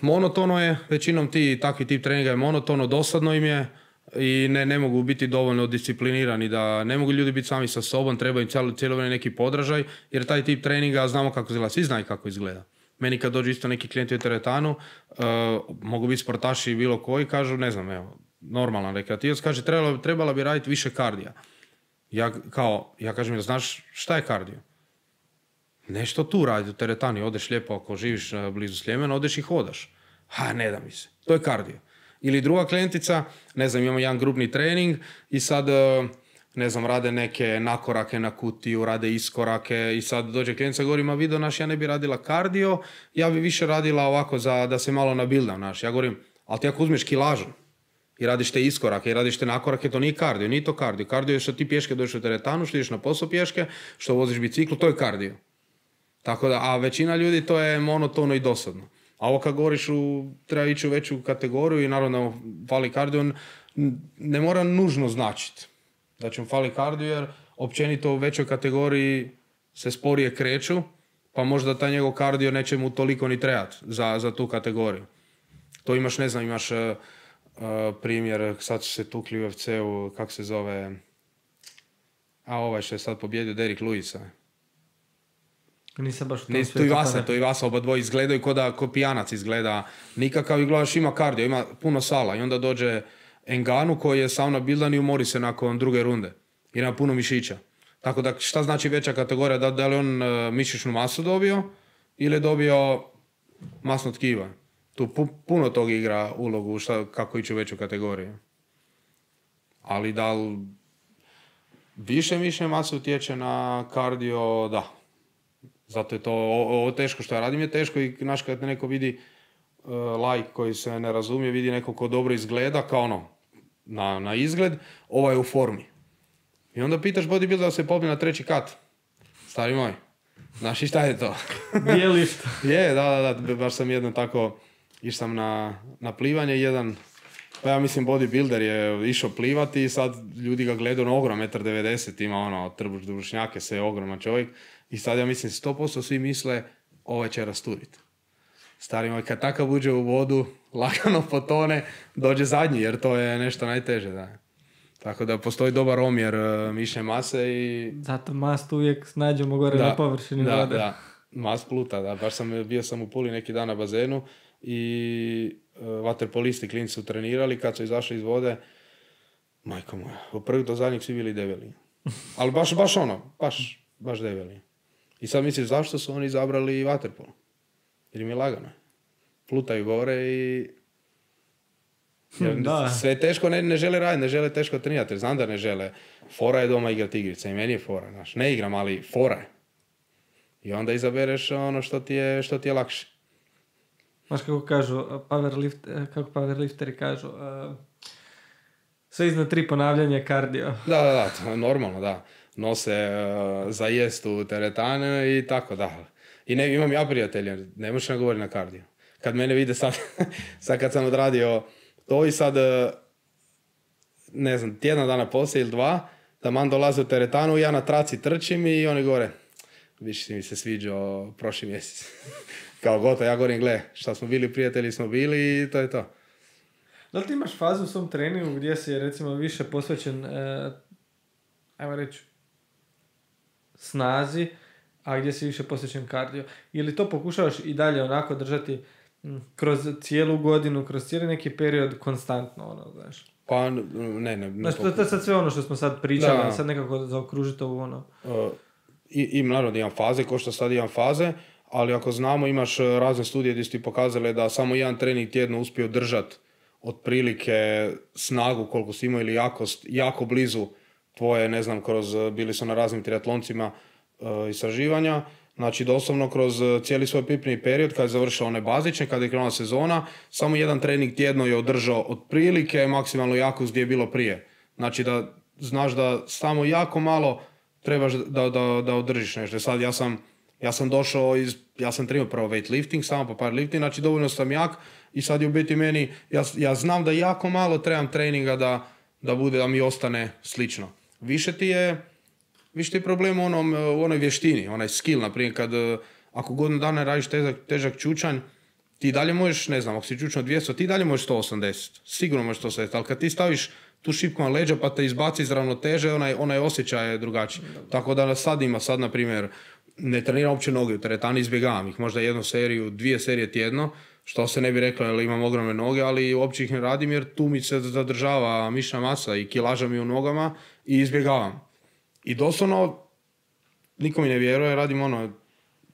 monotono je, većinom takvi tip treninga je monotono, dosadno im je i ne mogu biti dovoljno disciplinirani, da ne mogu ljudi biti sami sa sobom, treba im cijelo vrijeme neki podražaj, jer taj tip treninga znamo kako izgleda, svi znaju kako izgleda. Meni kad dođu isto neki klijenti u teretanu, mogu biti sportaši bilo koji, kažu, ne znam, evo, normalan rekreativac, kaže, trebala bi raditi više kardija. Ja kažem, znaš šta je kardio? Nešto tu radi u teretani, odeš lijepo, ako živiš blizu Sljemena, odeš i hodaš. Ne da mi se, to je kardio. Ili druga klijentica, ne znam, imamo jedan grupni trening i sad, ne znam, rade neke nakorake na kutiju, rade iskorake i sad dođe klijentica i govori, ma vidio naš, ja ne bi radila kardio, ja bi više radila ovako da se malo nabildam naš. Ja govorim, ali ti ako uzmeš kilažu i radiš te iskorake i radiš te nakorake, to nije kardio, nije to kardio. Kardio je što ti pješke dođeš u teretanu, što ideš na posao pješke, što voziš biciklu, to je kardio. Tako da, a većina ljudi to je monotono i dosadno. A ovo kad govoriš treba ići u veću kategoriju i naravno fali kardio, ne mora nužno značiti da će mu fali kardio, jer općenito u većoj kategoriji se sporije kreću, pa možda taj njegov kardio neće mu toliko ni trebati za tu kategoriju. To imaš, ne znam, imaš primjer, sad su se tukli u UFC-u, kako se zove, ovaj što je sad pobjedio, Derrick Lewisa. Nisam baš to i Vasa, oba dvoje izgledaju ko pijanac izgleda nikakav i gledaš ima kardio, ima puno sala i onda dođe Enganu koji je sauna bildan i umori se nakon druge runde i ima puno mišića. Tako da šta znači veća kategorija, da li on mišićnu masu dobio ili je dobio masno tkiva. Tu puno tog igra ulogu kako ići u veću kategoriju. Ali da li više mišićne mase utječe na kardio, da. Zato je to ovo teško što ja radim je teško i znaš kad neko vidi laik koji se ne razumije, vidi neko ko dobro izgleda kao na izgled, ovaj je u formi. I onda pitaš bodybuilder da se popne na 3. kat. Stari moj, znaš i šta je to? Bijelišta. Je, da, baš sam jedno tako, išao sam na plivanje, pa ja mislim bodybuilder je išao plivati i sad ljudi ga gledaju ogrom, 1,90 m, ima trbuš dušnjake, sve je ogroman čovjek. I sad ja mislim 100% svi misle ovaj će rasturiti. Stari moj, kad takav uđe u vodu, lagano potone, dođe zadnji, jer to je nešto najteže, da. Tako da postoji dobar omjer mišne mase i... Zato mast uvijek snađemo gore na površini vode. Da, mast pluta, da. Baš bio sam u Puli neki dan na bazenu i vaterpolisti klinci su trenirali, kad su izašli iz vode, majko moja, od prvih do zadnjih svi bili debeli. Ali baš debeli. I sad misliš zašto su oni izabrali vaterpol? Jer im je lagano. Plutaju gore i... Sve teško ne žele raditi, ne žele teško trenirati. Znam da ne žele. Fora je doma igrati igrice i meni je fora. Znaš. Ne igram, ali fora je. I onda izabereš ono što ti je lakše. Znaš kako kažu, kako powerlifteri kažu, sve iznad 3 ponavljanja je kardio. Da, to je normalno, da. Nose za jest u teretane i tako, da. I imam ja prijatelje, ne možeš govoriti na kardio. Kad mene vide sad kad sam odradio to i sad, ne znam, tjedan dana poslije ili 2, da man dolaze u teretanu, ja na traci trčim i oni gore, više si mi se sviđao prošli mjesec. Kao gotovo, ja govorim, gle, šta smo bili prijatelji, smo bili i to je to. Da li ti imaš fazu u svom treningu gdje si recimo više posvećen, ajmo reći, snazi, a gdje si više posvećen kardio? Ili to pokušavaš i dalje onako držati kroz cijelu godinu, kroz cijeli neki period konstantno, znaš? Pa ne. Znači, to je sad sve ono što smo sad pričali, da. Sad nekako zaokružiti ovo I naravno imam faze, ko što sad imam faze, ali ako znamo, imaš razne studije gdje su ti pokazale da samo jedan trening tjedno uspije držati otprilike snagu koliko si imao ili jakost, jako blizu tvoje, ne znam, bili su na raznim triatloncima istraživanja. Znači, doslovno kroz cijeli svoj pripremni period, kad je završila one bazične, kad je krenula sezona, samo jedan trening tjedno je održao otprilike maksimalnu jakost gdje je bilo prije. Znači, da znaš da samo jako malo trebaš da održiš nešto. Sad ja sam došao ja sam trenirao prvo weightlifting, samo po powerlifting, znači dovoljno sam jak i sad je u biti meni, ja znam da jako malo trebam treninga da mi ostane slično. Više ti je problem u onoj vještini, onaj skill, naprimjer, ako godinu dana radiš težak čučanj, ti dalje možeš, ne znam, ako si čučao 200, ti dalje možeš 180, sigurno možeš 180, ali kad ti staviš tu šipku na leđa pa te izbaci iz ravnoteže, onaj osjećaj je drugačiji. Tako da sad, na primjer, ne treniram uopće noge u teretani, izbjegavam ih, možda 2 serije tjedno, što se ne bi reklo jer imam ogromne noge, ali uopće ih ne radim jer tu mi se zadržava mišna masa i kilaža mi u nogama i izbjegavam. I doslovno, niko mi ne vjeruje, radim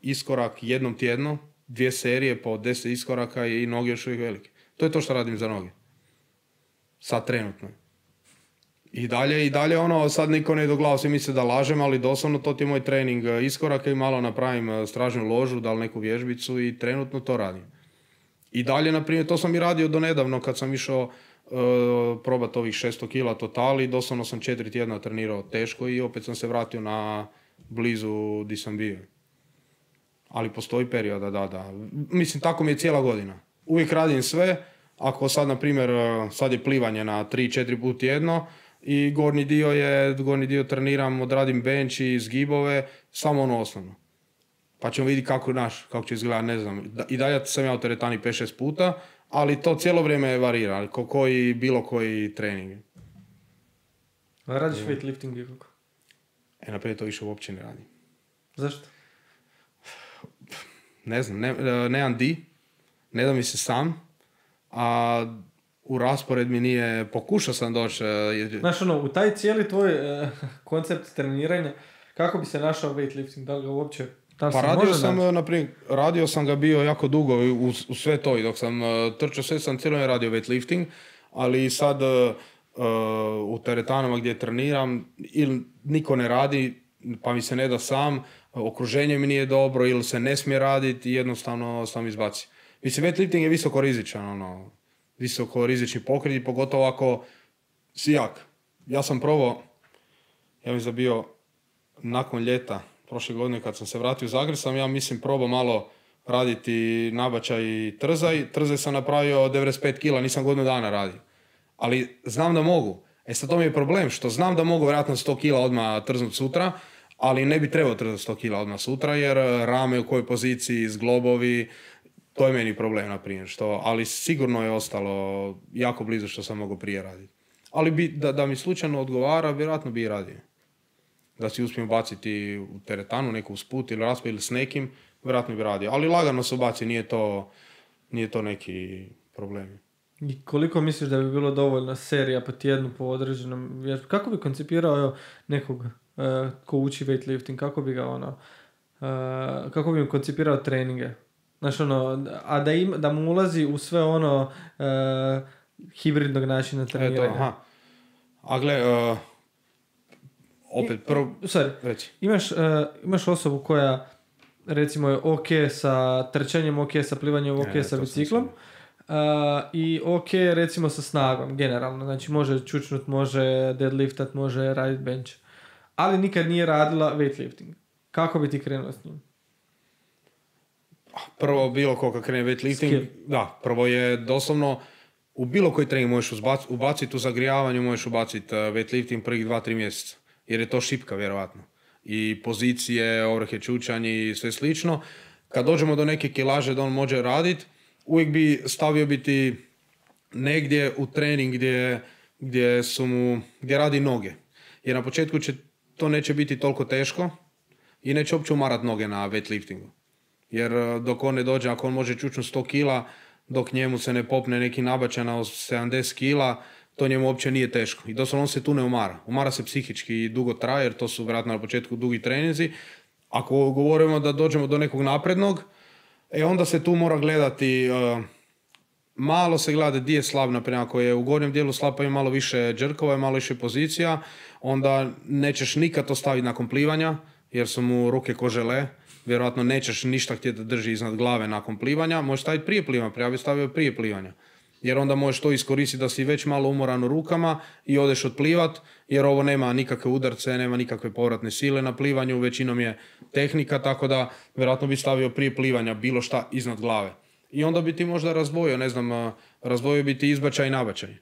iskorak jednom tjedno, 2 serije po 10 iskoraka i noge još uvijek velike. To je to što radim za noge. Sad trenutno. I dalje sad niko ne doglavao, svi misle da lažem, ali doslovno to ti je moj trening iskoraka i malo napravim stražnju ložu, da li neku vježbicu i trenutno to radim. I dalje, na primjer, to sam i radio do nedavno kad sam išao probati ovih 600 kila totali, doslovno sam 4 tjedna trenirao teško i opet sam se vratio na blizu di sam bio. Ali postoji perioda, da. Mislim, tako mi je cijela godina. Uvijek radim sve, ako sad, na primjer, sad je plivanje na 3-4 put tjedno i gornji dio treniram, odradim bench i zgibove, samo osnovno. Pa ćemo vidjeti kako će izgledati, ne znam. I dalje sam ja u teretani 5-6 puta, ali to cijelo vrijeme varira, bilo koji trening. A radiš weightlifting i kako? Naprijed to više uopće ne radim. Zašto? Ne znam, nemam di, ne da mi se sam, a u raspored mi nije, pokušao sam doći. Znaš, u taj cijeli tvoj koncept treniranja, kako bi se našao weightlifting, da li ga uopće... radio sam ga bio jako dugo u sve to i dok sam trčao sve sam cijelo radio weightlifting, ali sad u teretanama gdje treniram ili niko ne radi pa mi se ne da sam, okruženje mi nije dobro ili se ne smije raditi i jednostavno sam izbacio. Mislim, weightlifting je visoko rizični pokret i pogotovo ako si jak. Ja sam probao, ja mislim da bio nakon ljeta prošle godine kad sam se vratio u Zagreb, probao malo raditi nabačaj i trzaj. Trzaj sam napravio 95 kila, nisam godinu dana radio. Ali znam da mogu. Sad to mi je problem, što znam da mogu vjerojatno 100 kila odmah trznuti sutra, ali ne bi trebao trznuti 100 kila odmah sutra, jer rame u kojoj poziciji, zglobovi, To je meni problem, na primjer, ali sigurno je ostalo jako blizu što sam mogao prije raditi. Ali da mi slučajno odgovara, vjerojatno bi i radio. Da si uspijem baciti u teretanu, neku usput ili raspad ili s nekim, vjerojatno bi radio. Ali lagano se baci, nije to neki problem. I koliko misliš da bi bilo dovoljno serija po tjednu po određenom vježbu? Kako bi koncipirao nekog ko uči weightlifting? Kako bi ga kako bi mu koncipirao treninge? Znaš, a da mu ulazi u sve hibridnog načina treniranja. Aha. A gle, opet prvo... Reći. Imaš osobu koja recimo je ok sa trčanjem, ok sa plivanjem, ok sa biciklom. I ok recimo sa snagom, generalno. Znači može čučnut, može deadliftat, može radit bench. Ali nikad nije radila weightlifting. Kako bi ti krenuo s njim? Prvo, bilo ko krene weightlifting, da, prvo je doslovno u bilo koji trening možeš ubaciti u zagrijavanju, možeš ubaciti weightlifting prvih 2-3 mjeseca, jer je to šipka vjerovatno. I pozicije, overhead čučanj i sve slično. Kad dođemo do neke kilaže da on može raditi, uvijek bi stavio biti negdje u trening gdje radi noge. Jer na početku to neće biti toliko teško i neće uopće umarat noge na weightliftingu. Jer dok on ne dođe, ako on može čučnuti 100 kila, dok njemu se ne popne neki nabačaj na 70 kila, to njemu uopće nije teško. I doslovno on se tu ne umara. Umara se psihički i dugo traje, jer to su vjerojatno na početku dugi treninzi. Ako govorimo da dođemo do nekog naprednog, onda se tu mora gledati, malo se gleda gdje je slab, naprimjer, ako je u gornjem dijelu slab pa ima malo više džrkova, malo više pozicija, onda nećeš nikad to staviti nakon plivanja, jer su mu ruke ko žele, vjerojatno nećeš ništa htjeti da drži iznad glave nakon plivanja, možeš staviti prije plivanja, ja bih stavio prije plivanja. Jer onda možeš to iskoristiti da si već malo umoran u rukama i odeš odplivat, jer ovo nema nikakve udarce, nema nikakve povratne sile na plivanju, većinom je tehnika, tako da vjerojatno bi stavio prije plivanja bilo šta iznad glave. I onda bi ti možda razdvojio, razdvojio bi ti izbačaj i nabačaj.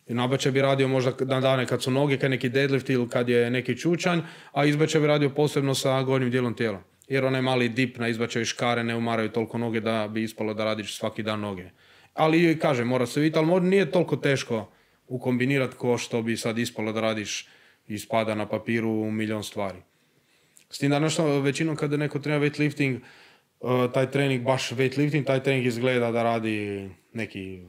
I nabačaj bi radio možda na dane kad su noge, kad neki deadlift ili kad je neki čučanj, a izbačaj bi radio posebno sa gornjim dijelom tijela. Jer onaj mali dip na izbačaju škare ne umaraju toliko noge da bi ispalo da radiš svaki dan noge. Ali, kažem, mora se vidjeti, ali nije toliko teško ukombinirati ko što bi sad ispalo da radiš i spada na papiru milion stvari. S tim da nešto, većinom kada neko trenira weightlifting, taj trening, baš weightlifting, taj trening izgleda da radi neki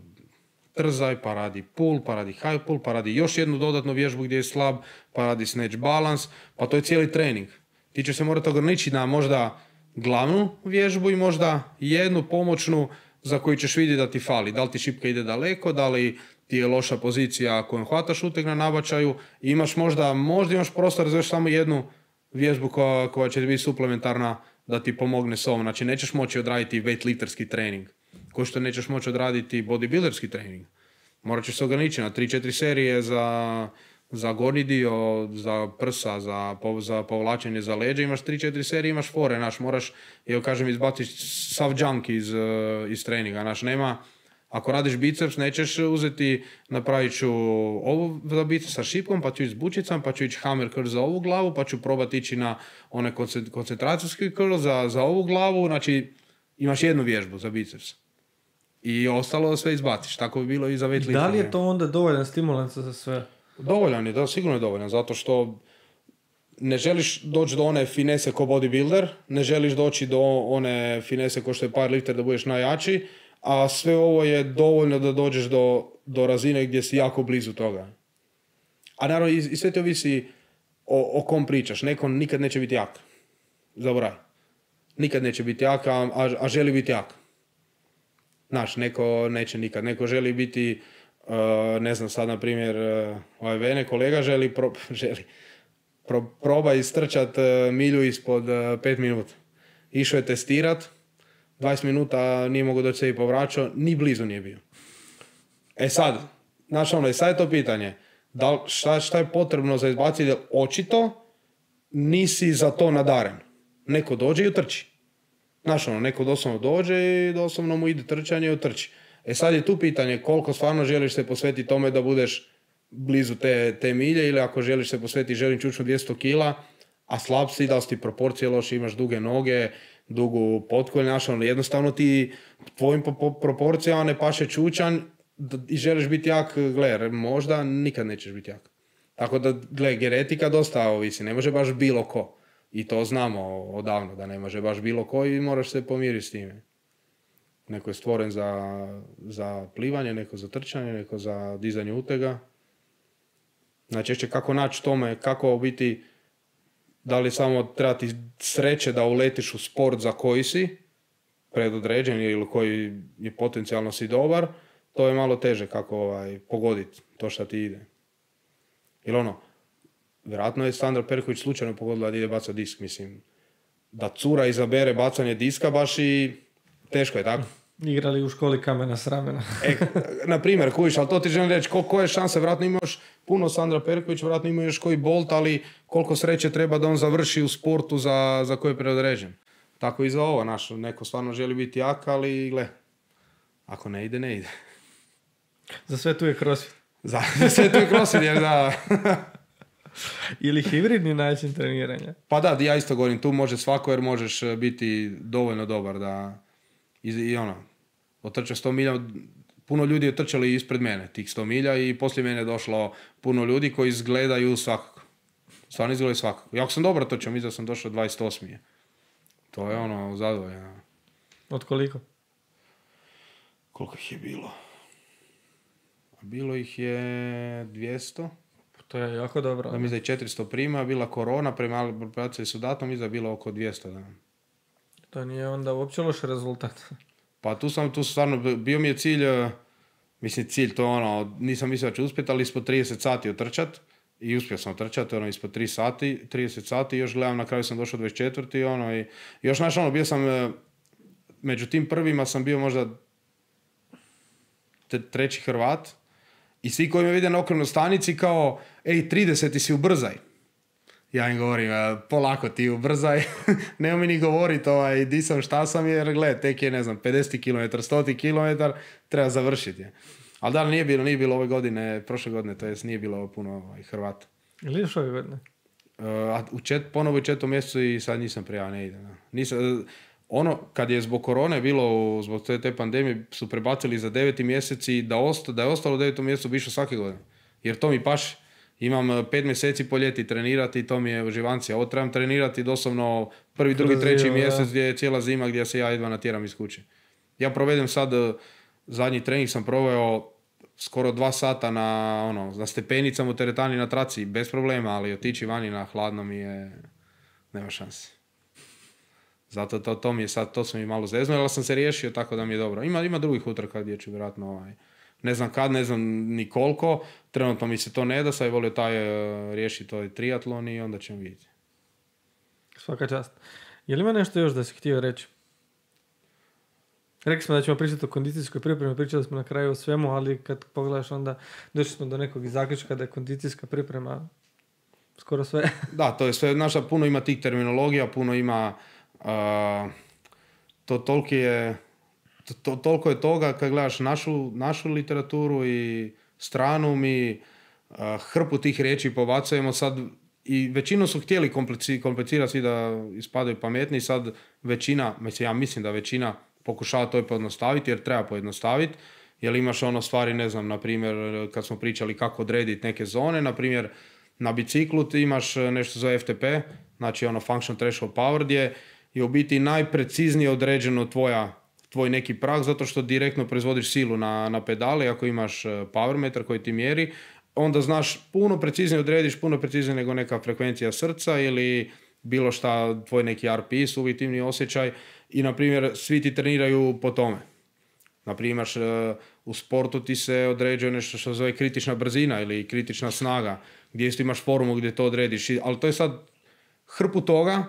trzaj, pa radi pull, pa radi high pull, pa radi još jednu dodatnu vježbu gdje je slab, pa radi snatch balance, pa to je cijeli trening. Ti će se morati ograničiti na možda glavnu vježbu i možda jednu pomoćnu za koju ćeš vidjeti da ti fali. Da li ti šipka ide daleko, da li ti je loša pozicija kojom hvataš uteg na nabačaju. Imaš možda imaš prostor za još samo jednu vježbu koja će biti suplementarna da ti pomogne s ovom. Znači nećeš moći odraditi weightlifterski trening, kao što nećeš moći odraditi bodybuilderski trening. Morat ćeš se ograničiti na 3-4 serije za gornji dio, za prsa, za povlačenje za leđa, imaš 3-4 serije, imaš fore, moraš, izbaciti sav junk iz treninga, nema, ako radiš biceps, nećeš uzeti, napravit ću ovo za biceps sa šipkom, pa ću ići s bučicom, pa ću ići hammer curl za ovu glavu, pa ću probati ići na one koncentracijski curl za ovu glavu, znači imaš jednu vježbu za biceps. I ostalo sve izbaciš, tako bi bilo i za weightlifting. Da li je to onda dovoljan stimulans za sve? Dovoljan je, da, sigurno je dovoljan, zato što ne želiš doći do one finese ko bodybuilder, ne želiš doći do one finese ko što je powerlifter da budeš najjači, a sve ovo je dovoljno da dođeš do razine gdje si jako blizu toga. A naravno i sve te ovisi o kom pričaš, neko nikad neće biti jak, zaboravi. Nikad neće biti jak, a želi biti jak. Znaš, neko neće nikad, neko želi biti... ne znam, sad na primjer Vene kolega želi proba istrčat milju ispod 5 minuta. Išao je testirat, 20 minuta nije mogao doći se i povraćao, ni blizu nije bio. Sad, znaš sad je to pitanje, šta je potrebno za izbaciti, očito nisi za to nadaren. Neko dođe i utrči. Znaš neko doslovno dođe i doslovno mu ide trčanje i utrči. Sad je tu pitanje koliko stvarno želiš se posvetiti tome da budeš blizu te milje, ili ako želiš se posvetiti, želim čučnu 200 kila, a slab si, da li si ti proporcije loše, imaš duge noge, dugu potkolj, znaš, ono, jednostavno ti tvojim proporcijama ne paše čučanj i želiš biti jak, gle, možda nikad nećeš biti jak. Tako da, gle, genetika dosta ovisi, ne može baš bilo ko. I to znamo odavno, da ne može baš bilo ko i moraš se pomiriti s time. Neko je stvoren za plivanje, neko za trčanje, neko za dizanje utega. Najčešće kako naći tome, kako biti, da li samo treba ti sreće da uletiš u sport za koji si predodređen ili koji je potencijalno si dobar, to je malo teže kako pogoditi to što ti ide. Ili ono, vjerojatno je Sandra Perković slučajno pogodila da ide bacati disk, mislim. Da cura izabere bacanje diska baš i teško je, tako? Igrali u školi kamena s ramena. Na primjer, kuviš, ali to ti želim reći, koje šanse, vjerojatno imaš puno Sandra Perković, vjerojatno ima još koji Bolt, ali koliko sreće treba da on završi u sportu za koje je predodređen. Tako i za ovo, neko stvarno želi biti jak, ali gle, ako ne ide, ne ide. Za sve tu je crossfit. Za sve tu je crossfit, jer da... Ili hibridni način treniranja. Pa da, ja isto govorim, tu može svako jer možeš biti dovoljno dobar da... I ono, otrčao 100 milja, puno ljudi je trčali ispred mene, tih 100 milja i poslije mene je došlo puno ljudi koji izgledaju svakako. Stvarno izgledaju svakako. Jako sam dobro trčao, mislim da sam došao 28. To je ono, zadovoljno. Od koliko? Koliko ih je bilo? Bilo ih je 200. To je jako dobro. Da mi za 400 prima, bila korona, premali su datom, mi za bilo oko 200. Da. To nije onda uopće loš rezultat. Pa tu stvarno, bio mi je cilj, cilj to ono, nisam mislio da ću uspjeti, ali ispod 30 sati otrčat. I uspio sam otrčati, ono, ispod 30 sati, još gledam, na kraju sam došao 24. Ono, i još bio sam, među tim prvima sam bio možda treći Hrvat. I svi koji me vide na okrenoj stanici kao, 30 si ubrzaj. Ja im govorim, polako ti ubrzaj, nema mi ni govoriti di sam, šta sam, jer gled, tek je, 50 km, 100 km, treba završiti. Ali da, nije bilo ove godine, prošle godine, to jest nije bilo puno Hrvata. Ili još ove godine? Ponovo u 4. mjesecu i sad nisam prijavio, ne ide. Kad je zbog korone bilo, zbog te pandemije, su prebacili za 9. mjesec i da je ostalo u 9. mjesecu bi išao svake godine. Jer to mi paše. Imam 5 mjeseci po ljeti trenirati i to mi je uživancija. Ovo trebam trenirati doslovno 1., 2., 3. mjesec gdje je cijela zima gdje se ja jedva natjeram iz kuće. Ja provedem sad, zadnji trening sam proveo skoro 2 sata na stepenicama u teretani na traci, bez problema, ali otići vani na hladno mi je, nema šanse. Zato to mi je sad, to sam i malo zeznuo, ali sam se riješio tako da mi je dobro. Ima drugih utrka gdje ću vjerojatno, ne znam kad, ne znam ni koliko, trenutno mi se to ne da, sad je volio riješiti ovaj triatlon i onda ćemo vidjeti. Svaka čast. Je li ima nešto još da si htio reći? Rekli smo da ćemo pričati o kondicijskoj pripremi, pričali smo na kraju o svemu, ali kad pogledaš onda došli smo do nekog zaključka da je kondicijska priprema skoro sve. Da, to je sve, puno ima tih terminologija, puno ima toliko je toga kad gledaš našu literaturu i stranu, mi hrpu tih riječi pobacujemo sad i većinu su htjeli komplicirati svi da ispadaju pametni, sad većina, ja mislim da većina pokušava to pojednostaviti jer treba pojednostaviti, jer imaš stvari, ne znam, na primjer kad smo pričali kako odrediti neke zone, na primjer na biciklu ti imaš nešto za FTP, znači Function Threshold Power, gdje je u biti najpreciznije određeno tvoj neki prag, zato što direktno proizvodiš silu na pedale. Ako imaš power meter koji ti mjeri, onda znaš puno preciznije odrediš, puno preciznije nego neka frekvencija srca ili bilo šta, tvoj neki RPI, subjektivni osjećaj i, na primjer, svi ti treniraju po tome. Na primjer, u sportu ti se određuje nešto što se zove kritična brzina ili kritična snaga, gdje isto imaš formu gdje to odrediš, ali to je sad hrpu toga.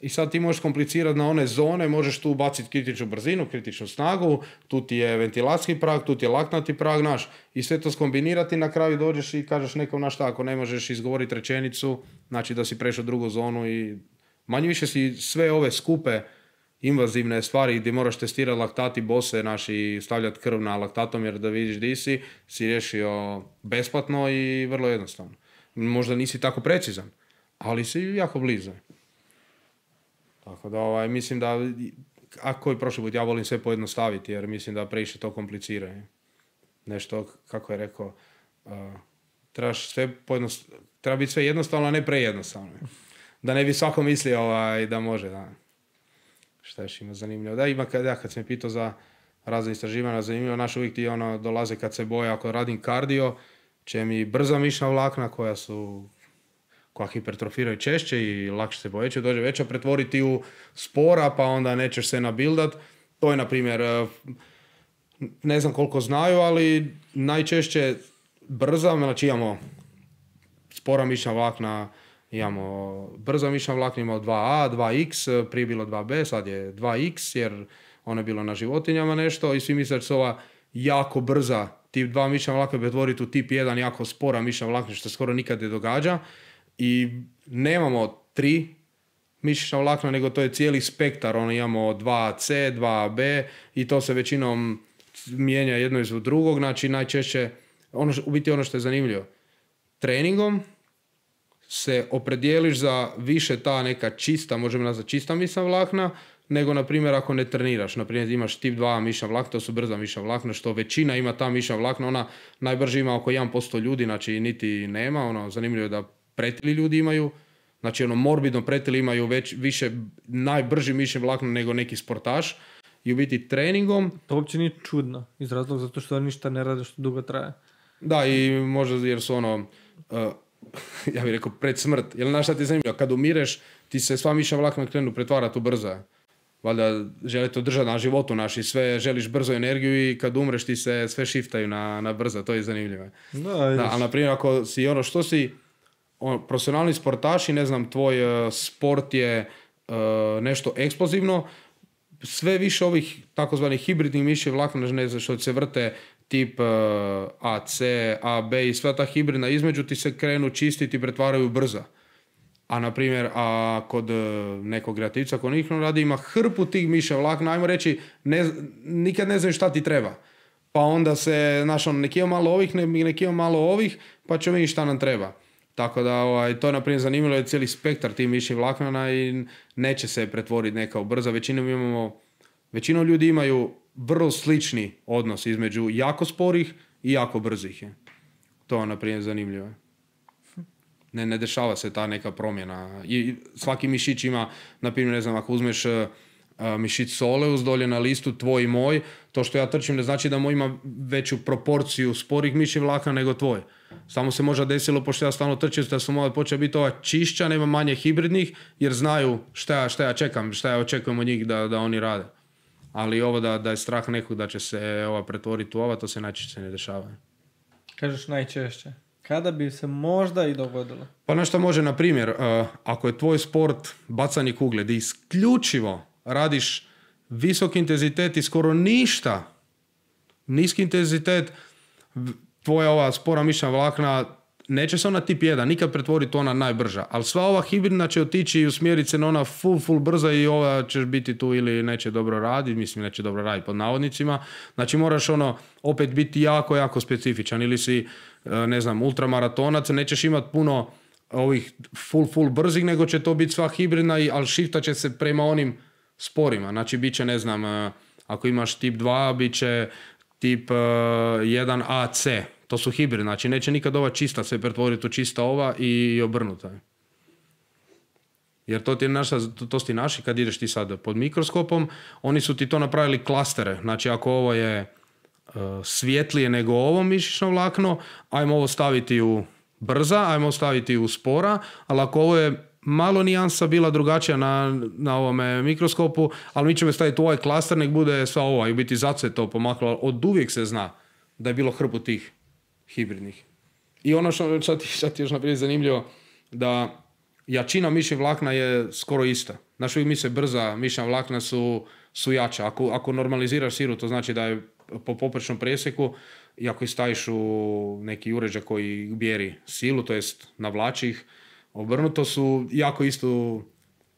I sad ti možeš komplicirati na one zone, možeš tu baciti kritičnu brzinu, kritičnu snagu, tu ti je ventilacijski prag, tu ti je laktnati prag, i sve to skombinirati, na kraju dođeš i kažeš nekom ako ne možeš izgovoriti rečenicu, znači da si prešao drugu zonu i manje više si sve ove skupe invazivne stvari gdje moraš testirati laktati bose i stavljati krv na laktatomjer da vidiš di si riješio besplatno i vrlo jednostavno. Možda nisi tako precizan, ali si jako blizu. Tako da mislim da, ako je prošli put, ja volim sve pojednostaviti jer mislim da previše to komplicira. Nešto, kako je rekao, treba biti sve jednostavno, a ne prejednostavno. Da ne bi svako mislio da može. Da. Šta još ima zanimljivo? Da, ima kad sam pitao za razne istraživanja, zanimljivo, naš uvijek ti dolaze kad se boje, ako radim kardio, će mi brza mišićna vlakna koja hipertrofiraju češće i lakše se povećaju, dođe veća, pretvoriti u spora, pa onda nećeš se nabildat. To je, na primjer, ne znam koliko znaju, ali najčešće brza, znači imamo spora mišićna vlakna, imamo brza mišićna vlakna, imamo 2A, 2X, prije bilo 2B, sad je 2X, jer ono je bilo na životinjama nešto i svi misle da se ova jako brza tip 2 mišićna vlakna pretvoriti u tip 1 jako spora mišićna vlakna, što skoro nikad ne događa. I nemamo 3 mišićna vlakna, nego to je cijeli spektar. Imamo 2C, 2B i to se većinom mijenja jedno iz drugog. Znači najčešće, u biti ono što je zanimljivo, treningom se opredijeliš za više ta neka čista, možemo nazvati čista mišićna vlakna, nego, na primjer, ako ne treniraš. Na primjer, imaš tip 2 mišićna vlakna, to su brza mišićna vlakna, što većina ima ta mišićna vlakna, ona najbrže ima oko 1% ljudi, znači niti nema. Zanimljivo je da pretili ljudi imaju, znači morbidno pretili imaju više najbrži mišićni vlakna nego neki sportaš. I u biti treningom... To uopće nije čudno, iz razloga zato što ništa ne rade što dugo traje. Da, i možda jer su ja bih rekao pred smrt. Jer znaš šta ti je zanimljivo, kad umireš, ti se sva mišićna vlakna krenu pretvarati u brza. Valjda želite održati na životu naši, sve želiš brzo energiju i kad umreš ti se sve shiftaju na brzo, to je zanimljivo. Da, ali na primjer ako si što si profesionalni sportaši, ne znam, tvoj sport je nešto eksplozivno, sve više ovih takozvanih hibridnih mišićnih vlakna, ne znam što se vrte tip AC, AB i sva ta hibridna između ti se krenu čistiti i pretvaraju brza. A na primjer, kod nekog kreativca ko nikno radi ima hrpu tih mišićnih vlakna, ajmo reći, nikad ne znaju šta ti treba. Pa onda se, neki ima malo ovih, neki ima malo ovih, pa ćemo vidjeti šta nam treba. Tako da to je, na primjer, zanimljivo je cijeli spektar tih mišićnih vlakana i neće se pretvoriti neka u brza. Većinom ljudi imaju vrlo slični odnos između jako sporih i jako brzih. To je, na primjer, zanimljivo. Ne dešava se ta neka promjena. I svaki mišić ima, na primjer, ne znam, ako uzmeš mišić soleus dolje na listu tvoj i moj, to što ja trčim ne znači da moj ima veću proporciju sporih mišićnih vlakna nego tvoj. Samo se možda desilo, pošto ja stalno trčim, da su moja počela biti ova čišća, nema manje hibridnih, jer znaju šta ja čekam, šta ja očekujem od njih da oni rade. Ali ovo da je strah nekog da će se pretvoriti u ova, to se najčešće ne dešava. Kažeš najčešće. Kada bi se možda i dogodilo? Pa nešto može, na primjer, ako je tvoj sport bacanje kugle, da isključivo radiš visok intenzitet i skoro ništa, niski intenzitet, tvoja ova spora mišićna vlakna neće se ona tip 1 nikad pretvoriti ona najbrža, ali sva ova hibridna će otići i usmjeriti se na ona full brza i ova ćeš biti tu ili neće dobro raditi, mislim neće dobro raditi pod navodnicima, znači moraš opet biti jako specifičan ili si, ne znam, ultramaratonac, nećeš imati puno ovih full brzih, nego će to biti sva hibridna, ali shiftat će se prema onim sporima, znači bit će, ne znam, ako imaš tip 2, bit će tip 1 AC, to su hibridni, znači neće nikad ova čista se pretvoriti u čista ova i obrnuta. Jer to su ti naši, kad ideš ti sad pod mikroskopom, oni su ti to napravili klastere, znači ako ovo je svjetlije nego ovo mišićno vlakno, ajmo ovo staviti u brza, ajmo ovo staviti u spora, ali ako ovo je malo nijansa bila drugačija na ovome mikroskopu, ali mi ćemo staviti u ovaj klaster, nek bude sva ova i biti zato se to pomaklo. Od uvijek se zna da je bilo hrpu tih hibridnih. I ono što ti još naprijed zanimljivo, da jačina mišićnih vlakna je skoro ista. Znaš, uvijek misle brza mišićna vlakna su jača. Ako normaliziraš siru, to znači da je po poprečnom presjeku i ako ih staviš u neki uređaj koji mjeri silu, to jest navlači ih, obrnuto su jako istu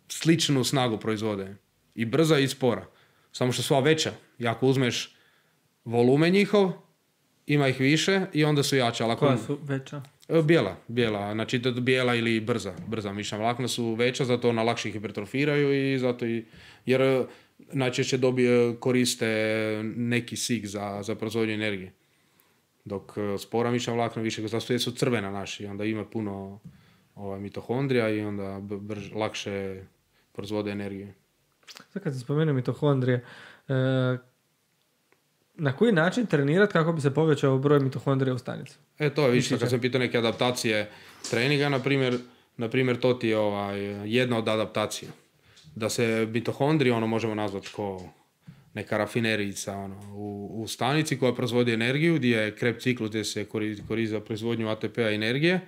sličnu snagu proizvode. I brza i spora. Samo što su veća. I ako uzmeš volumen njihov, ima ih više i onda su jače. Koja su veća? Bijela, znači bijela ili brza mišićna vlakna su veća, zato ona lakše hipertrofiraju i zato jer najčešće koriste neki kisik za proizvodnju energije. Dok spora mišićna vlakna više, zato su crvena naši, onda ima puno mitohondrija i onda lakše proizvode energije. Sad kad se spomenuo mitohondrije, na koji način trenirati kako bi se povećao broj mitohondrija u stanici? To je više, kad sam pitao neke adaptacije treninga, na primjer to ti je jedna od adaptacija. Da se mitohondriji, možemo nazvati kao neka rafinerijica u stanici koja proizvodi energiju, gdje je Krebs ciklus gdje se koristi za proizvodnju ATP-a energije.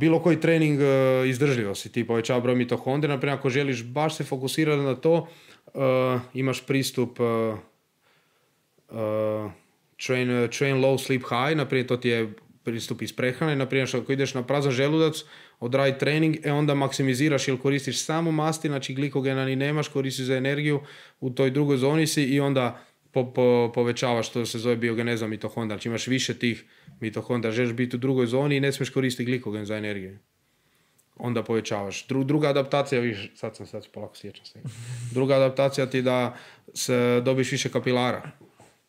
Bilo koji trening izdržljivosti, ti povećava broj mitohondrija, naprimjer ako želiš baš se fokusirati na to, imaš pristup train low, sleep high, naprimjer to ti je pristup iz prehrane, naprimjer ako ideš na prazan želudac, odradi trening, onda maksimiziraš ili koristiš samo masti, znači glikogena ni nemaš, koristiš za energiju, u toj drugoj zoni si i onda povećavaš, što se zove biogeneza mitohondrija, znači imaš više tih mitohondrija, želiš biti u drugoj zoni i ne smiješ koristiti glikogen za energiju. Onda povećavaš. Druga adaptacija, sad se polako sjećam se. Druga adaptacija ti da dobiš više kapilara.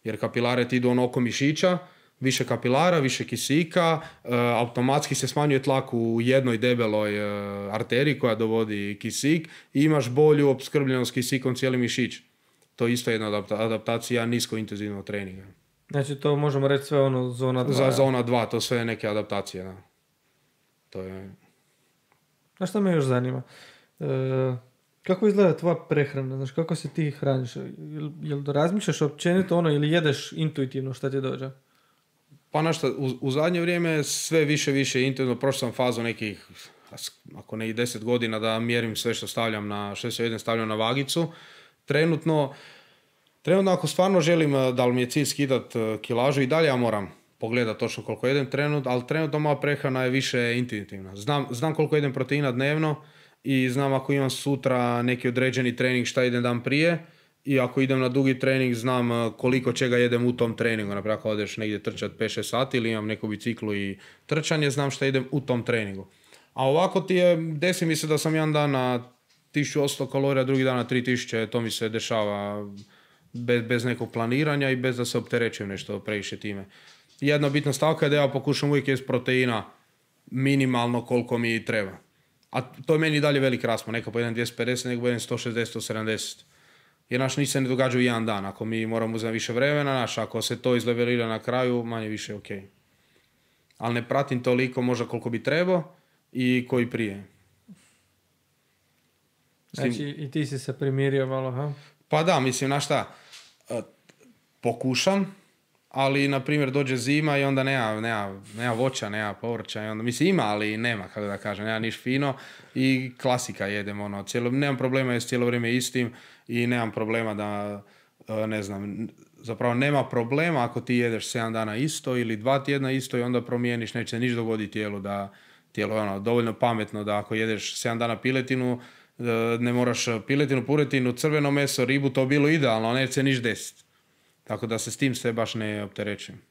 Jer kapilare ti idu oko mišića, više kapilara, više kisika, automatski se smanjuje tlak u jednoj debeloj arteriji koja dovodi kisik i imaš bolju opskrbljenost kisikom cijeli mišić. To je isto jedna adaptacija niskointenzivnog treninga. Znači to možemo reći sve zona 2. Za zona 2, to sve neke adaptacije. Da. To je... A što me još zanima? Kako izgleda tvoja prehrana? Znači, kako se ti hraniš? Jel razmišljaš općenito ili jedeš intuitivno šta ti dođe? Pa nešto, u zadnje vrijeme sve više intuitivno. Prošao sam fazu nekih, ako ne i 10 godina, da mjerim sve što stavljam na vagicu. Trenutno ako stvarno želim, da li mi je cilj skidat kilažu, i dalje ja moram pogledati točno koliko jedem ali trenutno moja prehrana je više intuitivna. Znam koliko jedem proteina dnevno i znam ako imam sutra neki određeni trening šta idem dan prije i ako idem na dugi trening znam koliko čega jedem u tom treningu. Naprijed ako odeš negdje trčati 5-6 sati ili imam neku biciklu i trčanje, znam šta idem u tom treningu. A ovako desi mi se da sam jedan dan na 1800 kalorija, drugi dan na 3000, to mi se dešava bez nekog planiranja i bez da se opterećujem nešto previše time. Jedna bitna stavka je da ja pokušam uvijek jesti proteina minimalno koliko mi treba. A to je meni dalje velik raspon. Neka pojedem 250, nego pojedem 160-170. Jer ništa se ne događa u jedan dan. Ako mi moramo uzeti više vremena, ako se to izlevelira na kraju, manje više ok. Ali ne pratim toliko možda koliko bi trebao i koji prije. Znači i ti si se primirio malo, ha? Pa da, mislim, pokušam, ali, na primjer, dođe zima i onda nema voća, nema povrća, i onda, mislim, ima, ali nema, kako da kažem, nema niš fino i klasika jedem, nemam problema jer cijelo vrijeme istim i nemam problema da, zapravo nema problema ako ti jedeš 7 dana isto ili 2 tjedna isto i onda promijeniš, neće se niš dogoditi tijelu da, dovoljno pametno da ako jedeš 7 dana piletinu, ne moraš piletinu, puretinu, crveno meso, ribu, to bilo idealno, neće se niš desiti. Tako da se s tim sve baš ne opterećujem.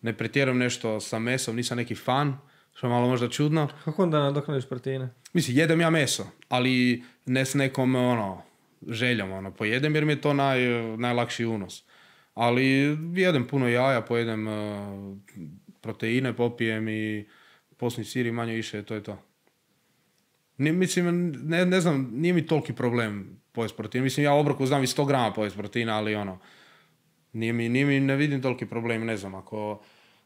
Ne pretjerujem nešto sa mesom, nisam neki fan, što je malo možda čudno. Kako onda nadoknadiš proteine? Mislim, jedem ja meso, ali ne s nekom željom. Pojedem jer mi je to najlakši unos. Ali jedem puno jaja, pojedem proteine, popijem i posni sir i manje više, to je to. Mislim, ne znam, nije mi toliki problem pojesti proteina. Mislim, ja u obroku znam i 100 grama pojesti proteina, ali ne vidim toliki problem, ne znam, ako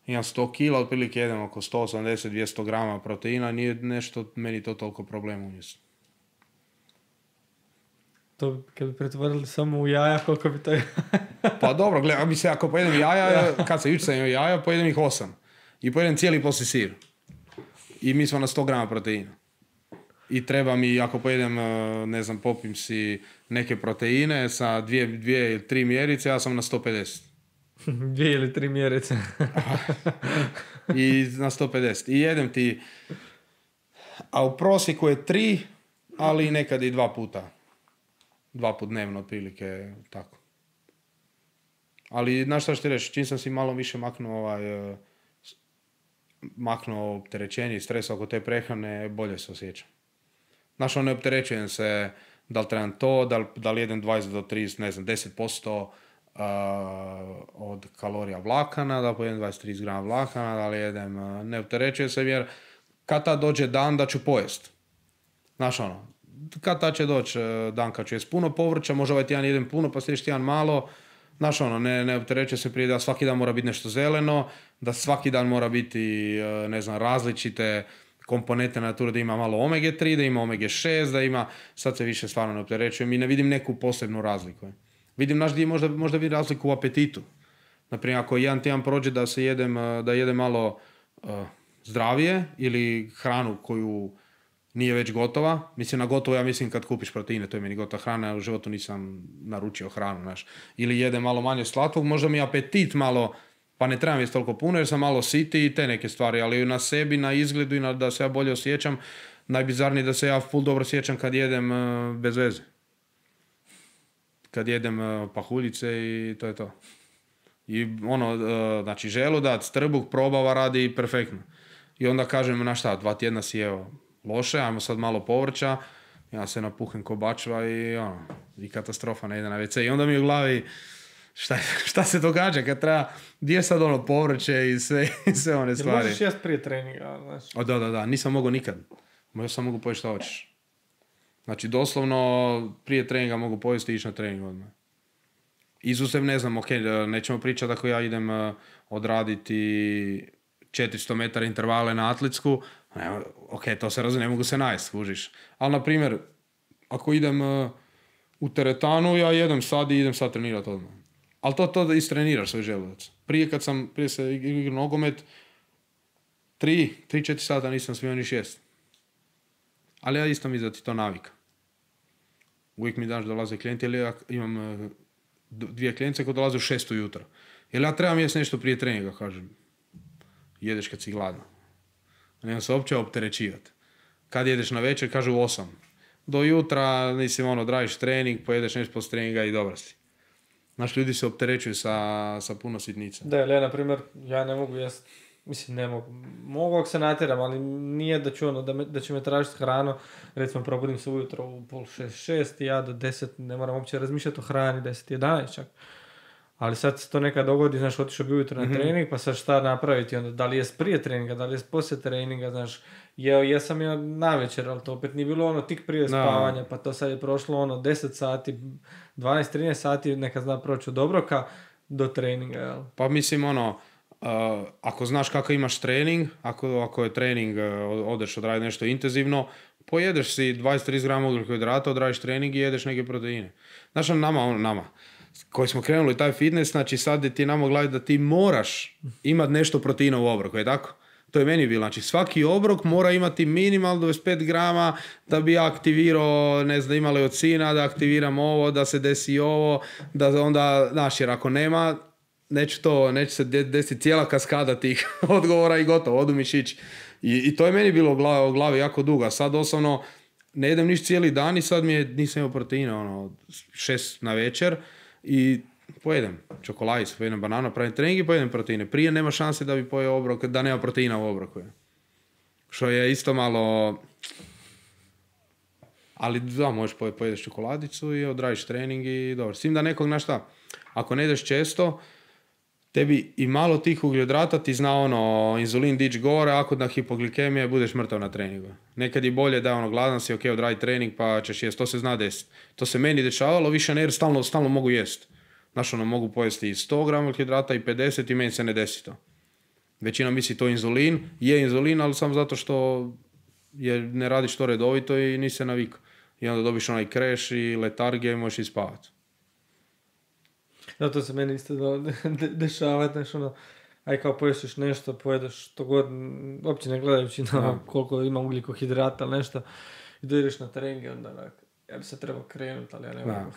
imam 100 kila, otprilike jedem oko 180-200 grama proteina, nije nešto, meni to toliko problem umjesto. To kad bi pretvorili samo u jaja, koliko bi to... Pa dobro, gledaj, mislim, ako pojedem jaja, kad se jučer sam jaja, pojedem ih 8. I pojedem cijeli poslije sir. I mi smo na 100 grama proteina. I treba mi, ako pojedem, popim si neke proteine sa 2 ili 3 mjerice, ja sam na 150. 2 ili 3 mjerice. I na 150. I jedem ti, a u prosjeku je 3, ali nekad i 2 puta. 2 put dnevno, otprilike, tako. Ali, znaš šta ću ti reći, čim sam si malo više maknuo maknuo opterećenje i stres oko te prehrane, bolje se osjećam. Znaš, ne opterećujem se da li trebam to, da li jedem 20 do 30, ne znam, 10% od kalorija vlakana, da li pojedem 20-30 grama vlakana, da li jedem, ne opterećujem se jer kad tad dođe dan da ću pojest. Znaš, kad tad će doći dan kad ću jest puno povrća, možda ovaj tjedan jedem puno, pa sljedeći tjedan malo. Znaš, ne opterećuje se prije da svaki dan mora biti nešto zeleno, da svaki dan mora biti, ne znam, različite komponente nature, da ima malo omega 3, da ima omega 6, da ima, sad se više stvarno ne opterećujem i ne vidim neku posebnu razliku. Vidim, znaš, možda vidim razliku u apetitu. Naprimjer, ako jedan tjedan prođe da jedem malo zdravije ili hranu koju nije već gotova. Mislim, na gotovo ja mislim kad kupiš proteine, to je meni gotova hrana, u životu nisam naručio hranu, znaš. Ili jedem malo manje slatkog, možda mi apetit malo, pa ne trebam jesti toliko puno jer sam malo siti i te neke stvari, ali na sebi, na izgledu i da se ja bolje osjećam, najbizarnije da se ja full dobro osjećam kad jedem bez veze. Kad jedem pahuljice i to je to. I znači želudac, trbuh, probava radi perfektno. I onda kažem, na šta, 2 tjedna si jeo loše, ajmo sad malo povrća, ja se napuhem ko bačva i katastrofa ne ide na WC. I onda mi u glavi, šta se događa kad treba, gdje je sad povrće i sve one stvari. Jel možeš jesti prije treninga? Znači? Da, nisam mogao nikad. Možda sam mogu pojesti šta hoćeš. Znači, prije treninga mogu pojesti i ići na trening odmah. Izuzev, ne znam, nećemo pričati ako ja idem odraditi 400 metara intervale na atletsku, to se razumije, ne mogu se najest, skužiš. Ali, na primjer, ako idem u teretanu, ja jedem sad i idem sad trenirati odmah. Ali to da istreniraš svoj želudac. Prije se igrao nogomet, 3-4 sata nisam smio ni šest. Ali ja isto mi da ti to navika. Uvijek mi daš dolaze klijenti, ili ja imam 2 klijence koje dolaze u 6 ujutro. Jer ja trebam jesti nešto prije treninga, kažem. Jedeš kad si gladna. Nemam se uopće opterećivati. Kad jedeš na večer, kažu 8. Do jutra, odradiš trening, pojedeš nešto post treninga i dobro si. Znaš, ljudi se opterećuju sa puno sitnica. Da, ali ja, na primjer, ja ne mogu jesti. Mislim, ne mogu. Mogu ako se natjeram, ali nije da ću da će me tražiti hranu. Recimo, probudim se ujutro u 5:30, i ja do 10 ne moram uopće razmišljati o hrani, 10-11 čak. Ali sad se to nekad dogodi, znaš, otišao bi ujutro na trening, pa sad šta napraviti, onda da li je prije treninga, da li je poslije treninga, znaš, jesam ja navečer, ali to opet nije bilo tik prije spavanja, pa to sad je prošlo 10 sati, 12-13 sati, neka zna proći od obroka do treninga, jel? Pa mislim, ako znaš kako imaš trening, ako je trening, odeš odraditi nešto intenzivno, pojedeš si 20-30 grama ugljikohidrata, odradiš trening i jedeš neke proteine. Znaš, nama, koji smo krenuli taj fitness, znači sad ti nama glavi da ti moraš imati nešto proteina u obroku, je tako? To je meni bilo, znači svaki obrok mora imati minimalno 25 grama da bi aktivirao, ne znam, ima leucina, da aktiviram ovo, da se desi ovo, da onda, znaš, jer ako nema, neće se desiti cijela kaskada tih odgovora i gotovo, odu mišići. I to je meni bilo u glavi jako dugo. Sad osobno ne jedem niš cijeli dan i sad nisam imao proteina, 6 na večer i pojedem čokoladicu, pojedem bananu, pravim trening i pojedem proteine. Prije nema šanse da bi pojeo obrok, da nema proteina u obroku. Što je isto malo... Ali da, možeš pojedeš čokoladicu i odradiš trening i dobro. S tim da nekog, znaš šta, ako ne ideš često, tebi i malo tih ugljohidrata ti zna inzulin dići gore, ako na hipoglikemije budeš mrtav na treningu. Nekad je bolje da gladan si, odradi trening pa ćeš jesti, to se zna desiti. To se meni dešavalo, više ne jer stalno mogu jesti. Znaš, mogu pojesti i 100 grama ugljohidrata i 50 i meni se ne desi to. Većina misli to inzulin, je inzulin, ali samo zato što ne radiš to redovito i nisi se navikao. I onda dobiš onaj kreš i letargije i možeš i spavati. Da, to se meni isto dešava, znaš, aj kao pojestiš nešto, pojedeš to god, uopće ne gledajući na koliko ima ugljikohidrata ili nešto, i dojdeš na trening i onda ja bi se trebao krenuti, ali ja ne mogu.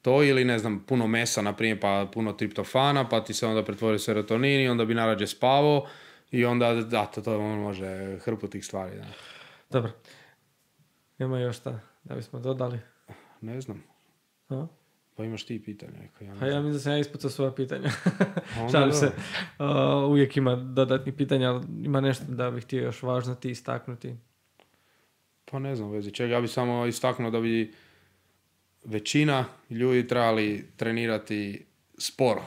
To ili, ne znam, puno mesa, na primjer, pa puno triptofana, pa ti se onda pretvori serotonin i onda bi narađe spavao i onda, to može hrpu tih stvari. Da. Dobro. Ima još šta da bismo dodali? Ne znam. A? Pa imaš ti pitanja. Pa ja mislim da sam ja ispucao svoja pitanja. Onda Šalim da. se. Uvijek ima dodatnih pitanja, ali ima nešto da bih htio još važno ti istaknuti. Pa ne znam u vezi čega. Ja bih samo istaknuo da bi većina ljudi trebali trenirati sporo.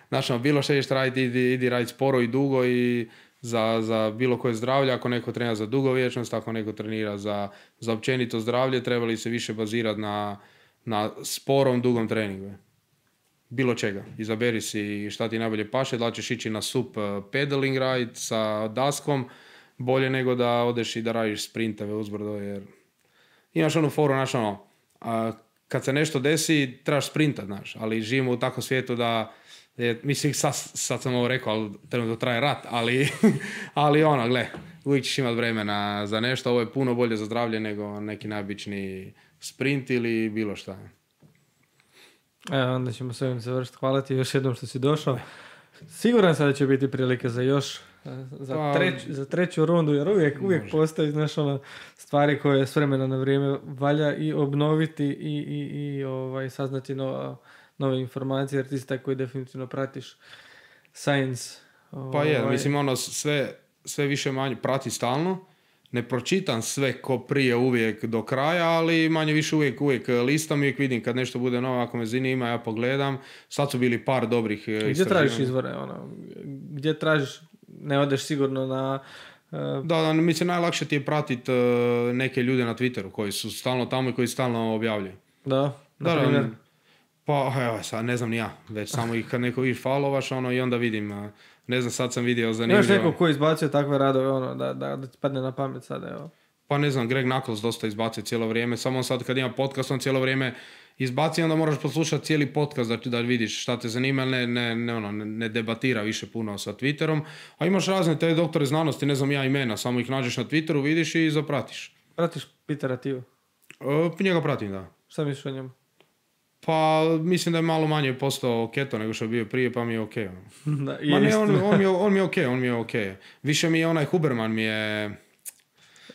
Znači, bilo što ćeš raditi, idi raditi sporo i dugo i za bilo koje zdravlje. Ako neko trenira za dugovječnost, ako neko trenira za općenito zdravlje, trebali se više bazirati na sporom, dugom treningu. Bilo čega. Izaberi si šta ti najbolje paše, da li ćeš ići na sup pedaling ride sa daskom, bolje nego da odeš i da radiš sprintove uzbrdo, jer imaš onu foru, znaš ono, kad se nešto desi, trebaš sprintat, znaš, ali živimo u takvom svijetu da, mislim, sad sam ovo rekao, ali trenutno traje rat, ali ono, gle, uvijek ćeš imati vremena za nešto, ovo je puno bolje za zdravlje nego neki najobičniji sprint ili bilo šta. Evo, onda ćemo s ovim završiti. Hvala ti još jednom što si došao. Siguran sam da će biti prilike za još, za treću rundu, jer uvijek postoji, znaš, ono, stvari koje s vremena na vrijeme valja i obnoviti i saznati nove informacije, jer ti si taj koji definitivno pratiš science. Pa je, mislim, ono, sve više manje prati stalno. Ne pročitam sve ko prije uvijek do kraja, ali manje više uvijek listam, uvijek vidim kad nešto bude novo, ako me zanima, ja pogledam. Sad su bili par dobrih istraživanja. Gdje tražiš izvore? Gdje tražiš, ne odeš sigurno na... Da, mislim, najlakše ti je pratiti neke ljude na Twitteru koji su stalno tamo i koji stalno objavljaju. Da, na primjer. Pa, evo, sad ne znam ni ja, već samo ih kad neko viš followaš, ono, i onda vidim, ne znam, sad sam vidio zanimljivo. Imaš neko ko izbacio takve radove, da ti padne na pamet sada, evo. Pa ne znam, Greg Nuckols dosta izbacio cijelo vrijeme, samo sad kad ima podcast, on cijelo vrijeme izbaci, onda moraš poslušati cijeli podcast da vidiš šta te zanima, ne debatira više puno sa Twitterom, a imaš razne te doktore znanosti, ne znam ja imena, samo ih nađeš na Twitteru, vidiš i zapratiš. Pratiš Petera Thiel? Njega pratim, da. Šta misliš o njemu? Pa mislim da je malo manje postao keto nego što je bio prije, pa mi je okej. Da, Ma ne, on mi je okej. Više mi je onaj Huberman mi je...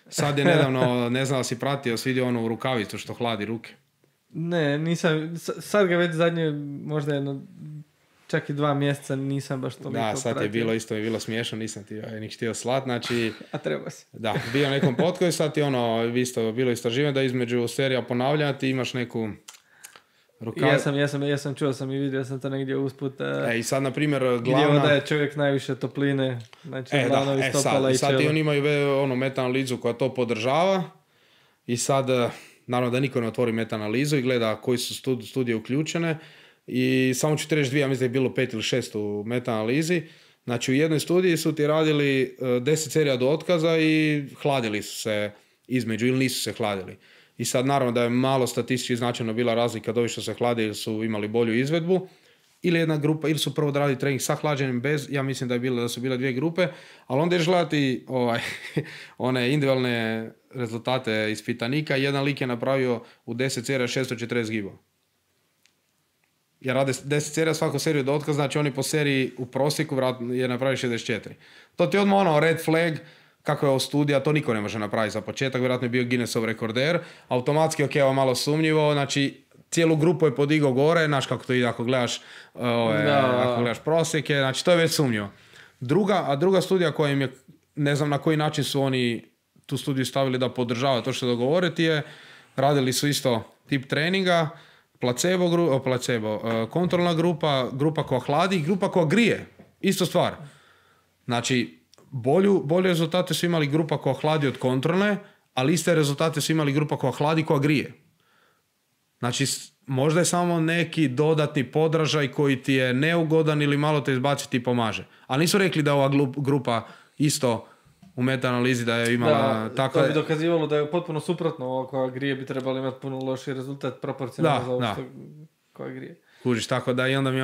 Sad je nedavno, ne znam da si pratio, svidio onu rukavicu što hladi ruke. Ne, nisam, sad ga već zadnje, možda čak i 2 mjeseca nisam baš toliko pratio. Da, sad je bilo isto, je bilo smiješno, nisam ti nik htio slat, znači... A treba si. Da, bio nekom potkoju, sad je isto bilo istraživanje da između serija ponavljanja ti imaš neku... Ja sam čuo sam i vidio sam to negdje usput. I sad, na primjer, glavna... Gdje odaje čovjek najviše topline, znači dlanovi, stopala i čelo. Sad oni imaju meta-analizu koja to podržava i sad, naravno da niko ne otvori meta-analizu i gleda koji su studije uključene i samo ću ti reći 2, ja mislim da je bilo 5 ili 6 u meta-analizi. Znači u jednoj studiji su ti radili 10 serija do otkaza i hladili su se između ili nisu se hladili. I sad naravno da je malo statistički značajno bila razlika od ovih što se hlade ili su imali bolju izvedbu, ili jedna grupa, ili su prvo radili trening sa hlađenjem bez, ja mislim da su bile 2 grupe, ali onda ješ gledati one individualne rezultate ispitanika. Jedan lik je napravio u 10 serija 640 gibova. Jer rade 10 serija svaku seriju do otkaza, znači oni po seriji u prosjeku je napravio 64. To ti je odmah red flag. Kako je ovo studija, to niko ne može napraviti za početak, vjerojatno je bio Guinnessov rekorder, automatski, ovo malo sumnjivo, znači cijelu grupu je podigao gore, znaš kako to ide ako gledaš, ako gledaš prosjeke, znači to je već sumnjivo. Druga studija koja im je, ne znam na koji način su oni tu studiju stavili da podržava to što dogovoriti je, radili su isto tip treninga, kontrolna grupa koja hladi, grupa koja grije, isto stvar. Znači, bolje rezultate su imali grupa koja hladi od kontrolne, ali iste rezultate su imali grupa koja hladi koja grije. Znači, možda je samo neki dodatni podražaj koji ti je neugodan ili malo te izbaciti i pomaže. Ali nisu rekli da ova grupa isto u meta-analizi da je imala tako... To bi dokazivalo da je potpuno suprotno. Ovo koja grije bi trebali imati puno lošiji rezultat proporcionalno za ovo što koja grije. Kužiš, tako da i onda mi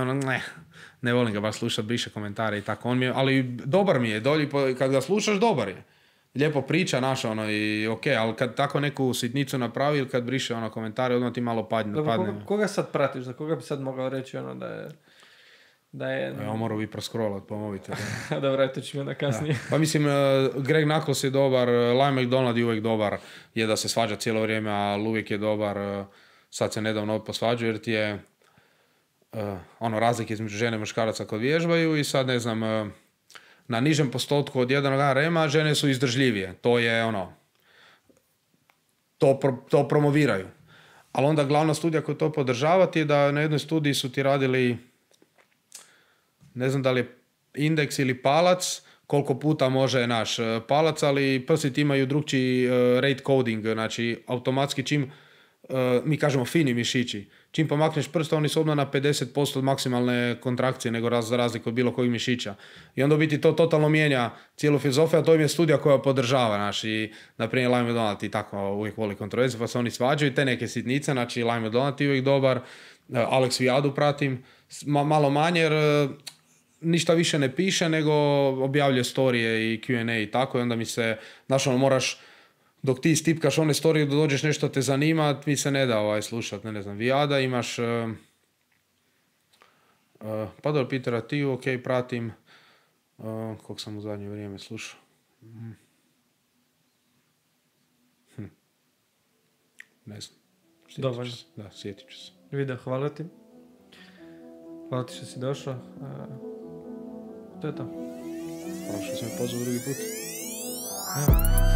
ne volim ga baš slušati, briše komentare i tako. Ali dobar mi je, kad ga slušaš dobar je. Lijepo priča naša i ali kad tako neku sitnicu napravi ili kad briše komentare, odmah ti malo padne. Koga sad pratiš? Za koga bi sad mogao reći da je... Ja moram vi proscrollat po mobitelu. Dobro, to ću mi onda kasnije. Pa mislim, Greg Nuckols je dobar, Lyle McDonald je uvijek dobar, je da se svađa cijelo vrijeme, ali uvijek je dobar. sad se nedavno posvađaju jer ti je razlike između žene i muškaraca kad vježbaju i sad ne znam, na nižem postotku od 1 rema žene su izdržljivije. To je to promoviraju. Ali onda glavna studija koja to podržava ti je da na jednoj studiji su ti radili, ne znam da li je indeks ili palac, koliko puta može naš palac, ali prsti imaju drugčiji rate coding, znači automatski čim, mi kažemo fini mišići, čim pomakneš prst, oni su odmah na 50% od maksimalne kontrakcije nego za razliku od bilo kojeg mišića. I onda u biti to totalno mijenja cijelu filozofiju, a to im je studija koja podržava, znači, na primjer Lime Donald i tako uvijek voli kontroverze, pa se oni svađaju, te neke sitnice, znači Lime Donald je uvijek dobar, Alex Viadu pratim, malo manje jer ništa više ne piše, nego objavljuje storije i Q&A i tako, i onda mi se, znaš, moraš, dok ti stipkaš one storije da dođeš nešto te zanima, mi se ne da slušat, ne znam, Vijada, imaš pa dobro, Petera Tiju, ok, pratim, kog sam u zadnje vrijeme slušao. Ne znam. Dovoljno. Da, sjetit ću se. Vida, hvala ti. Hvala ti što si došao. To je to. Hvala što sam me pozvao drugi put. Evo.